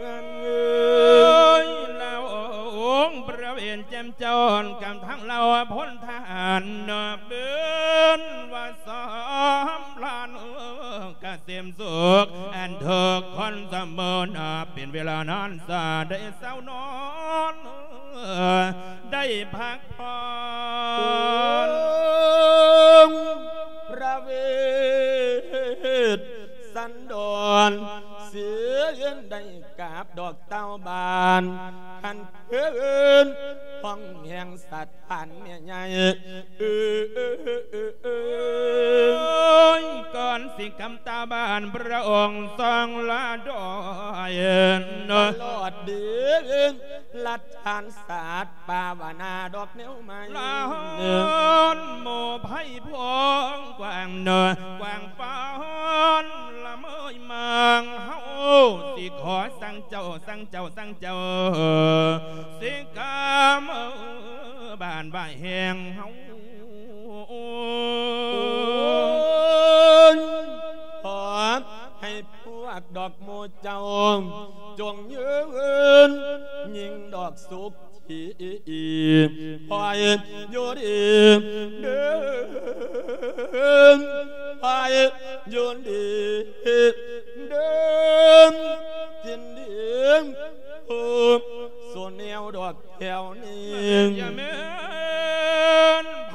ອນ ລະອົງພະເວນແຈ່ມຈ້ອນ ກັບທັງເຫຼົ່າພົນທະຫານ ເປັນວ່າສອມລານກະເສມສຸກ ອັນທຸກຄົນສະເໝີນ ເປັນເວລານານ ສາໄດ້ເຊົານອນ ໄດ້ພັກຜ່ອນ ພະເວດສັນດອນ ເສຍເຢັນໄດ້ກາບດອກເຕົ້າບານ ຄັນຄືນຫ້ອງແຫ່ງສະຖານແມ່ໃຫຍ່ ເອີຍ ກ່ອນຊິກຳຕາບານ ພະອົງຊົງລາດອຍ ຕະຫຼອດເດນລັດຖານສາດ ປາວະນາດອກແນວໃໝ່ ລາວໂມໄພພອງກວ້າງເນີ ກວ້າງປານລະເມີຍມາງ ເຮົາຊິຂໍສັ່ງເຈົ້າ ສັ່ງເຈົ້າ ສັ່ງເຈົ້າ ສິກາເມີບ້ານວ່າແຫ່ງເຮົາ ໂອ້ຍ ຂໍໃຫ້ ພວກດອກໝູ່ເຈົ້າ ຈົ່ງຍືນຍິ່ງດອກສຸກທີ່ ຂໍໃຫ້ຢູ່ດີເດີ ຂໍໃຫ້ຢູ່ດີເດີ ກິນດີ ຜູ້ສູ່ແນວດອກ ແຖວນີ້ ຢ່າແມ່ນໄພ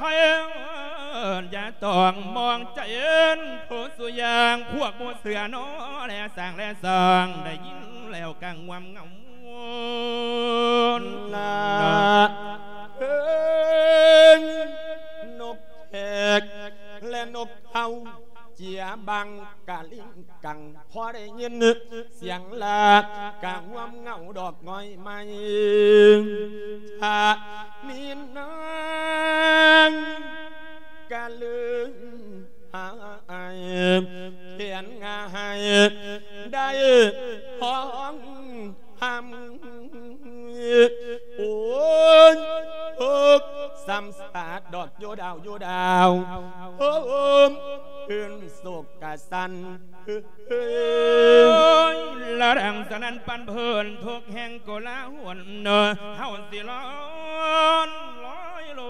ຢ່າຕ້ອງມອງໃຈ ຜູ້ສູ່ຢ່າງ ພວກໝູ່ເສືອນອແລສ້າງແລສ້າງ ໄດ້ຍິນແລ້ວກະງ່ວມເຫງົາ ລະເອີຍ ນົກແຂກ ແລະ ນົກເຂົາ ເຈຍບັງກະລິງກັງ ພໍໄດ້ຍິນສຽງລາກະງວມເຫງົາດອກງອຍໄມ້ ຈະມີນາງກະລຶງ แขนง่ายได้ห้องห้ำ โอ้ย โฮก สำสาดดอกโยดาว โยดาว โฮม คืนโศกกะสัน โอ้ย ละดังสนั่นปั่นเพิ่น ทุกแห่งโกลาหล เฮาสิร้อน ร้อยโล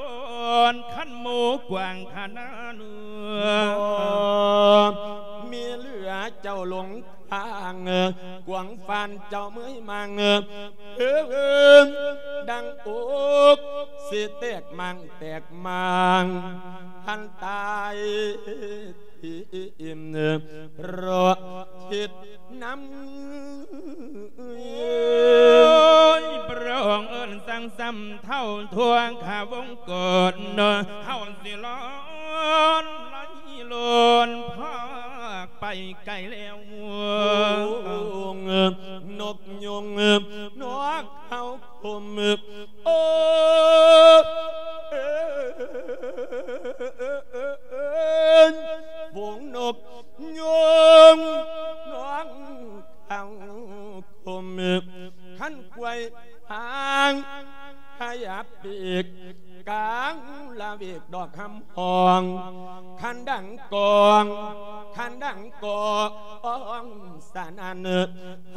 น คันหมู่กว้างขนาดเนื้อ มีเหลือเจ้าหลง ทาง กวางฟานเจ้าเมื่อยมัง เอิ้นดังอกสิแตกมังแตกมัง หันตายทิ่ม เพราะคิดนำ โอ้ย พระองค์เอิ้นสั่งซ้ำเท่าทั่วข้าวงกฏ เฮาสิร้อน ไหลโลน พากไปไกลแล้ว ฝูงนกยุง นกเขาคม โอ้ย ฝูงนกยุง นกเขาคม คันกล้วยหาง ขยับปีก กลางละเวกดอกหำหอง คันดังกอง คันดังกองสนั่นไพ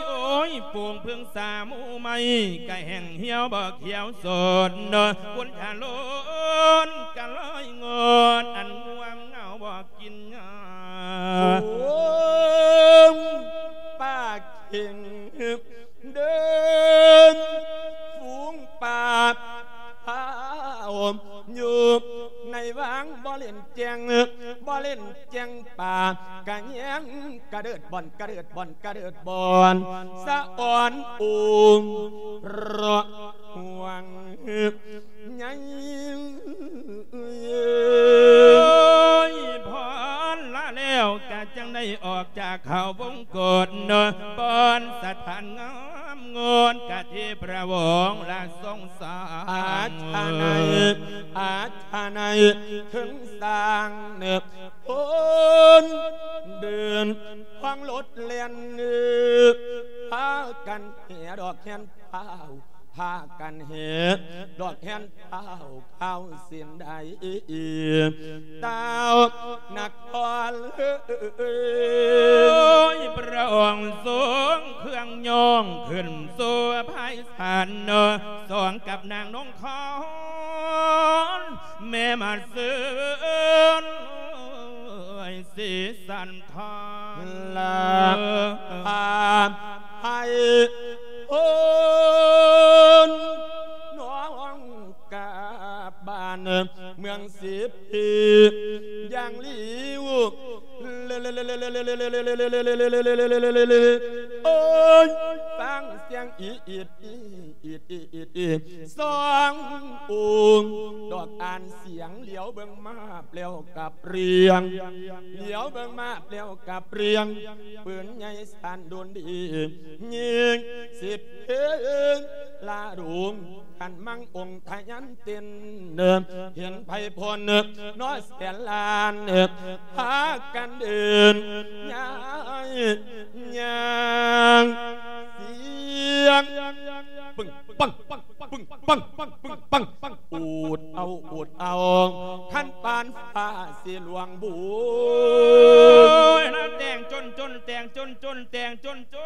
โอ้ย ฝูงเพิ่งสาหมู่ไม้ กะแห้งเหี่ยวบ่เขียวสด บุญทะโลนกะลอยงด อันง่วงเหงาบ่ กินหญ้า ฝูงป่าเข็งเดิน ฝูงป่าพาอมอยู่ในวัง บ่เล่นแจ้ง บ่เล่นแจ้งป่า กะแยงกะเดิดบ่อน กะเดิดบ่อน กะเดิดบ่อน สะอ่อนโอม ระหว่าง ใหญ่ พรละแล้วกะจั่งได้ออกจากเขาวงกฏ บอนสถานงามงดกะที่พระองค์ละทรงสร้าง อาชาไน อาชาไน ถึงสร้างเนิบ คนเดิน ห้องรถแล่น พากันแห่ดอกแห่นพาว พากันแห่ดอกแห่นพาว ข้าวสิ้นได้ เต้านคร โอ้ย พระองค์ทรงเครื่องยองขึ้นสู่ไพศาล สองกับนางนงคร แม่มาเซิน สีสันทอน ลาพาไพโอนน้องกลับบ้านเมืองสิบปี อย่างหลีว โอ้ย ฟังเสียงอีอิด อีอิด อีอิด อีอิด อีสององค์ ดอกอ่านเสียง เหลียวเบิ่งมาแปลวกับเรียง เหลียวเบิ่งมาแปลวกับเรียง ปืนใหญ่สั่นโดนดี ยิงสิบเพลง ลาดุง ขันมังองค์ทะยันเต้น เห็นไพพลนอแสนล้าน พากันเดิน ย้ายย่าง เสียง ปึ้งปัง ปึ้งปัง ปึ้งปัง อูดเอา อูดเอา คันปานฟ้าสิหลวงบุญ โอ้ย แต่งจน จน แต่งจน จน แต่งจน จ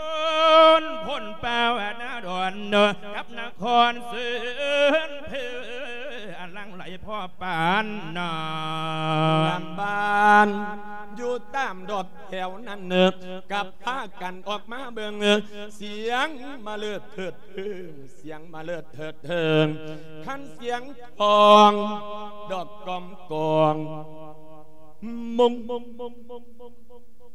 น พ้นป่าอนาดอน กับนครเสินเพ อันหลั่งไหลพอปานน้ำ บ้านอยู่ตามดอกแถวนั้น กับพากันออกมาเบิ่ง เสียงมาเลิดเถิดเทิง เสียงมาเลิดเถิดเทิง คันเสียงทอง ดอกกอมกอง มง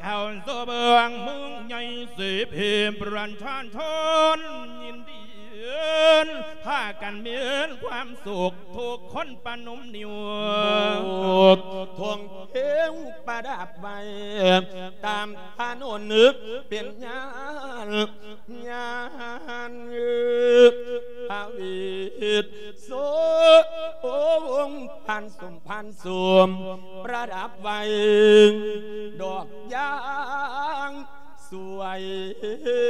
ເຂົ້າສູ່ເມືອງເມືອງໃຫຍ່ ສິເພມປະຊາຊົນຍິນດີ ພາກັນມີຄວາມສຸກທຸກຄົນປະນົມນິ້ວ ທຸງເພງປະດັບໄວ້ ຕາມຖະໜົນເປັນຍານ ຍານພະວິດ ໂສ ໂອ້ ພານສົມພານສົມ ປະດັບໄວ້ ດອກຢາງສວຍ ໂອ້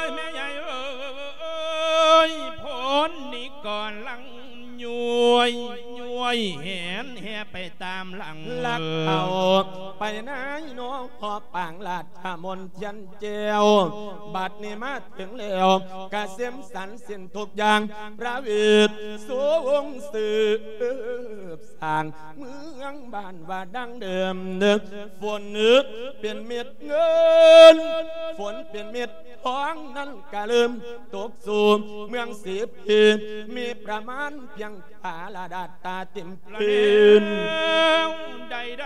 ຍ ແມ່ໃຫຍ່ເອີຍ ຜົນນີ້ກຳລັງຍ້ວຍ ຍ້ວຍແຫນແຫ່ໄປຕາມຫຼັງ ລັກເອົາໄປນາຍນໍ ພໍປາງລາດຖະມົນທຽນ ແກ້ວ ບັດນີ້ມາເຖິງແລ້ວ ກະເສັມສັນສິ້ນທຸກຢ່າງ ປະວິດສະຫວັງສືບສ້າງ ເມືອງບ້ານວ່າດັ່ງເດີມ ຝົນເປັນເມັດເງິນ ຝົນເປັນເມັດທອງ ນັ້ນກະເລີ່ມຕົກສູ່ເມືອງສີພີ ມີປະມານພຽງ ປາລະດັດຕາເຕັມພື້ນ ແລ້ວໃດ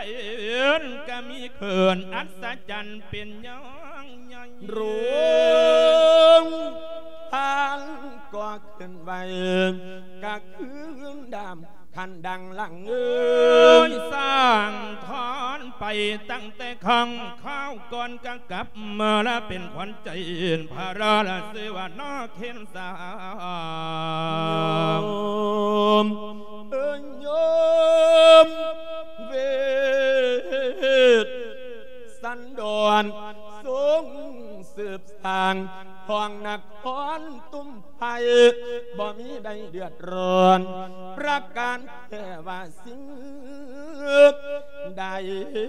ໆກະມີເຂື່ອນອັດສະຈັນເປັນຢ່າງໃຫຍ່ ໂຮງທານກໍຂຶ້ນໄວ້ ກະຄືນດາມຄັນດັງຫຼັງເອີຍ ສ້າງຖອນໄປຕັ້ງແຕ່ຄັ້ງຄາວກ່ອນ ກະກັບມາລະເປັນຂວັນໃຈພະລາລະ ຊື່ວ່ານາເຄນ ສາ ໂຍມ ເອີຍໂຍມ ເວດສັນດອນ ຊົງສືບສ້າງຂອງນະຄອນຕຸ້ມໄພ ບໍ່ມີໃດເດືອດຮ້ອນ ປະການແທ້ວ່າສິ່ງໃດ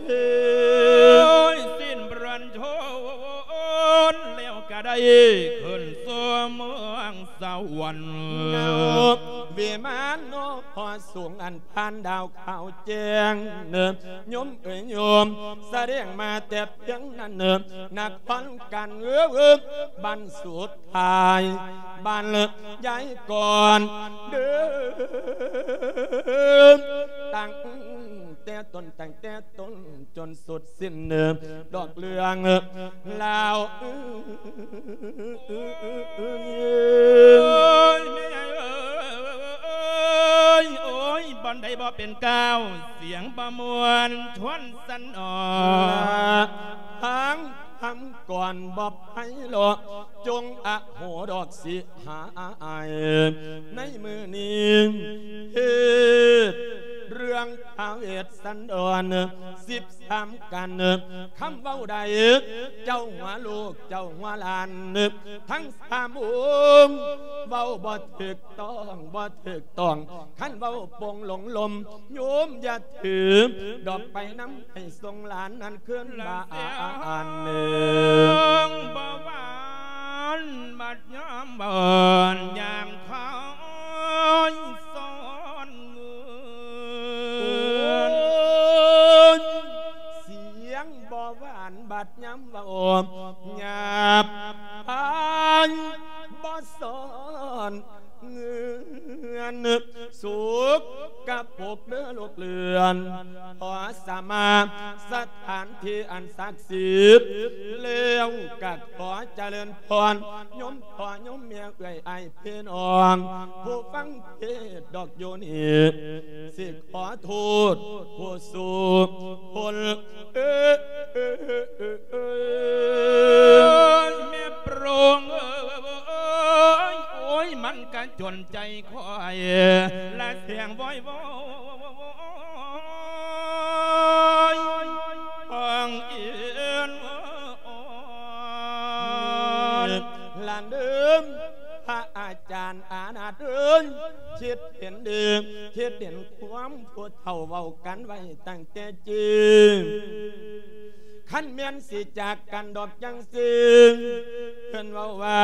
ໂອ້ຍ ສິ້ນບຣນໂທນ ແລ້ວກະໄດ້ຂຶ້ນສູ່ເມືອງ ສະຫວັນ ເອົາວິມານເນາະ ພໍສູງອັນຜ່ານດາວຂາວແຈ້ງເນີ ໂຍມເອີຍໂຍມ ສະແດງມາແຕ່ພຽງນັ້ນເນີ ນະຄອນກັນເອີ ບັນສຸດທ້າຍ ບັນຍາຍກ່ອນເດີ ຕັ້ງແຕ່ຕົ້ນ ຕັ້ງແຕ່ຕົ້ນ ຈົນສຸດສິ້ນເນີ ດອກເລື່ອງລາວເອີຍ ໂອ້ຍ ແມ່ໃຫຍ່ເອີຍ ໂອ້ຍ ບ່ອນໃດບໍ່ເປັນກ້າວ ສຽງບໍ່ມ່ວນ ຊວນສັນອອກ ທາງຄຳກ່ອນບໍ່ໄພເລາະ ຈົ່ງອະໂຫດອກສິຫາຍ ໃນມື້ນີ້ ເຮັດເລື່ອງພະເວດສັນດອນ ສິບສາມກັນ ຄຳເວົ້າໃດ ເຈົ້າຫົວລູກ ເຈົ້າຫົວຫຼານ ທັງສາມອົງ ເວົ້າບໍ່ຖືກຕ້ອງ ບໍ່ຖືກຕ້ອງ ຄັນເວົ້າປົງຫຼົງລົມ ໂຍມຢ່າຖືດອກໄປນຳ ໃຫ້ສົ່ງຫຼານນັ້ນຄືນບ້ານເດີ ບໍ່ຫວານ ບັດຍາມເວົ້າ ຍາມຄອຍສອນເງິນ ໂອ້ຍ ສຽງບໍ່ຫວານ ບັດຍາມເວົ້າ ຍາບຄາຍບໍ່ສອນເງິນ ສົກກະປົກເດີລູກເຫຼືອນ ຂໍສະມາສະຖານທີ່ອັນສັກສິດ ແລ້ວກະຂໍຈະເລີນພອນ ໂຍມພໍ່ໂຍມແມ່ເອື້ອຍອ້າຍພີ່ນ້ອງ ຜູ້ຟັງເທດດອກຢູ່ນີ້ ຊິຂໍໂທດຜູ້ສູ່ຄົນ ເອີຍ ແມ່ໂປງເອີຍ ໂອ້ຍ ມັນກະຈົນໃຈຂ້ອຍ ລະສຽງວອຍວອຍ ຟັງອີນ ລະເດີມ ພະອາຈານອານາດເອີຍ ຄິດເຫັນດີ ຄິດເຫັນຄວາມ ຜູ້ເຖົ້າເວົ້າກັນໄວ້ຕັ້ງແຕ່ຈີ້ ຄັນແມ່ນຊິຈາກກັນດອກຈັ່ງຊີ້ ເພິ່ນເວົ້າວ່າ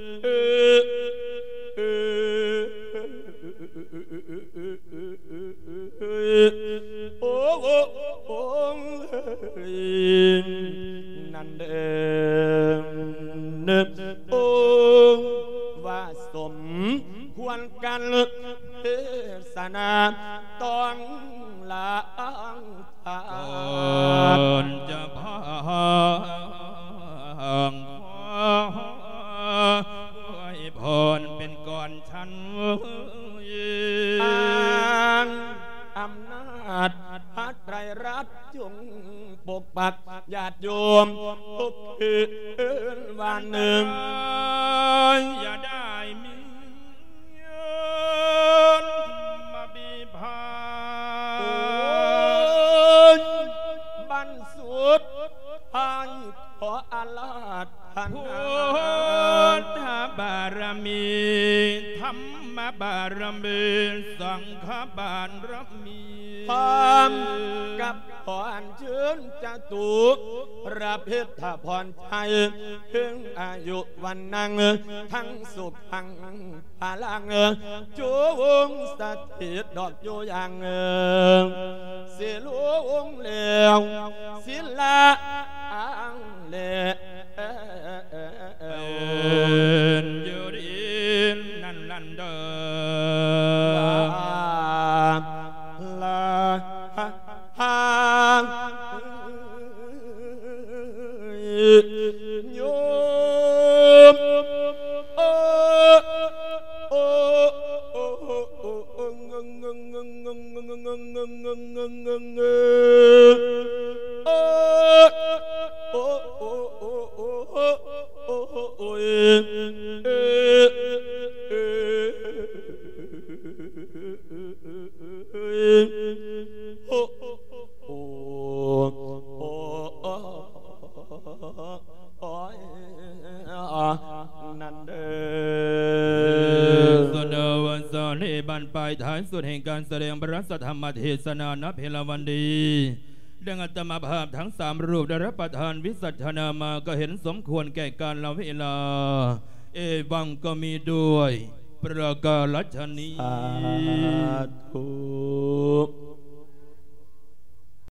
ໂອ້ ໂອ້ ໂອ້ ນັ້ນເດີ ໂອ້ ວ່າສົມຄວນກັນເທສະນາຕ້ອງລາ ກ່ອນຈະພາງ ຂໍອວຍພອນເປັນກ່ອນຊັ້ນ ອ້າງອຳນາດພະໄຕຣລັດ ຈົ່ງປົກປັກຍາດໂຍມທຸກຄືນວານໜຶ່ງ ຢ່າໄດ້ມີ ມາບີພາ ໂອ້ຍ ບັນສຸດທ້າຍ ຂໍອາລາທະນາ ພຸດທະບາລະມີ ທຳມະບາລະມີ ສັງຄະບາລະມີ ພ້ອມກັບ ຂໍອັນເຊີນຈະຕຸລະພິດຖະພອນໄຊ ເຖິງອາຍຸວັນນັງ ທັງສຸຂັງພະລັງ ຈົ່ງສະຖິດດອກຢູ່ຢ່າງ ສິລຸງແລ້ວ ສິລາອັງແລ ເອີນຢູ່ດີນັ້ນນັ້ນເດີ ລາ ລາ ໂຍມ ໂອ ໂອ ໂອ ນັ້ນເດີ ສຸດເດີວັນເສົານີ້ ບັ້ນປາຍທ້າຍສຸດແຫ່ງການສະແດງພະລັດສະທຳມະເທສະນານະເພລະວັນດີ ດັ່ງອາດຕະມາພາບທັງສາມຮູບໄດ້ຮັບປະທານວິສັດທະນາມາ ກໍເຫັນສົມຄວນແກ່ການລະເວລາ ເອວັງກໍມີດ້ວຍປະການລັດຊະນີ ສາທຸ.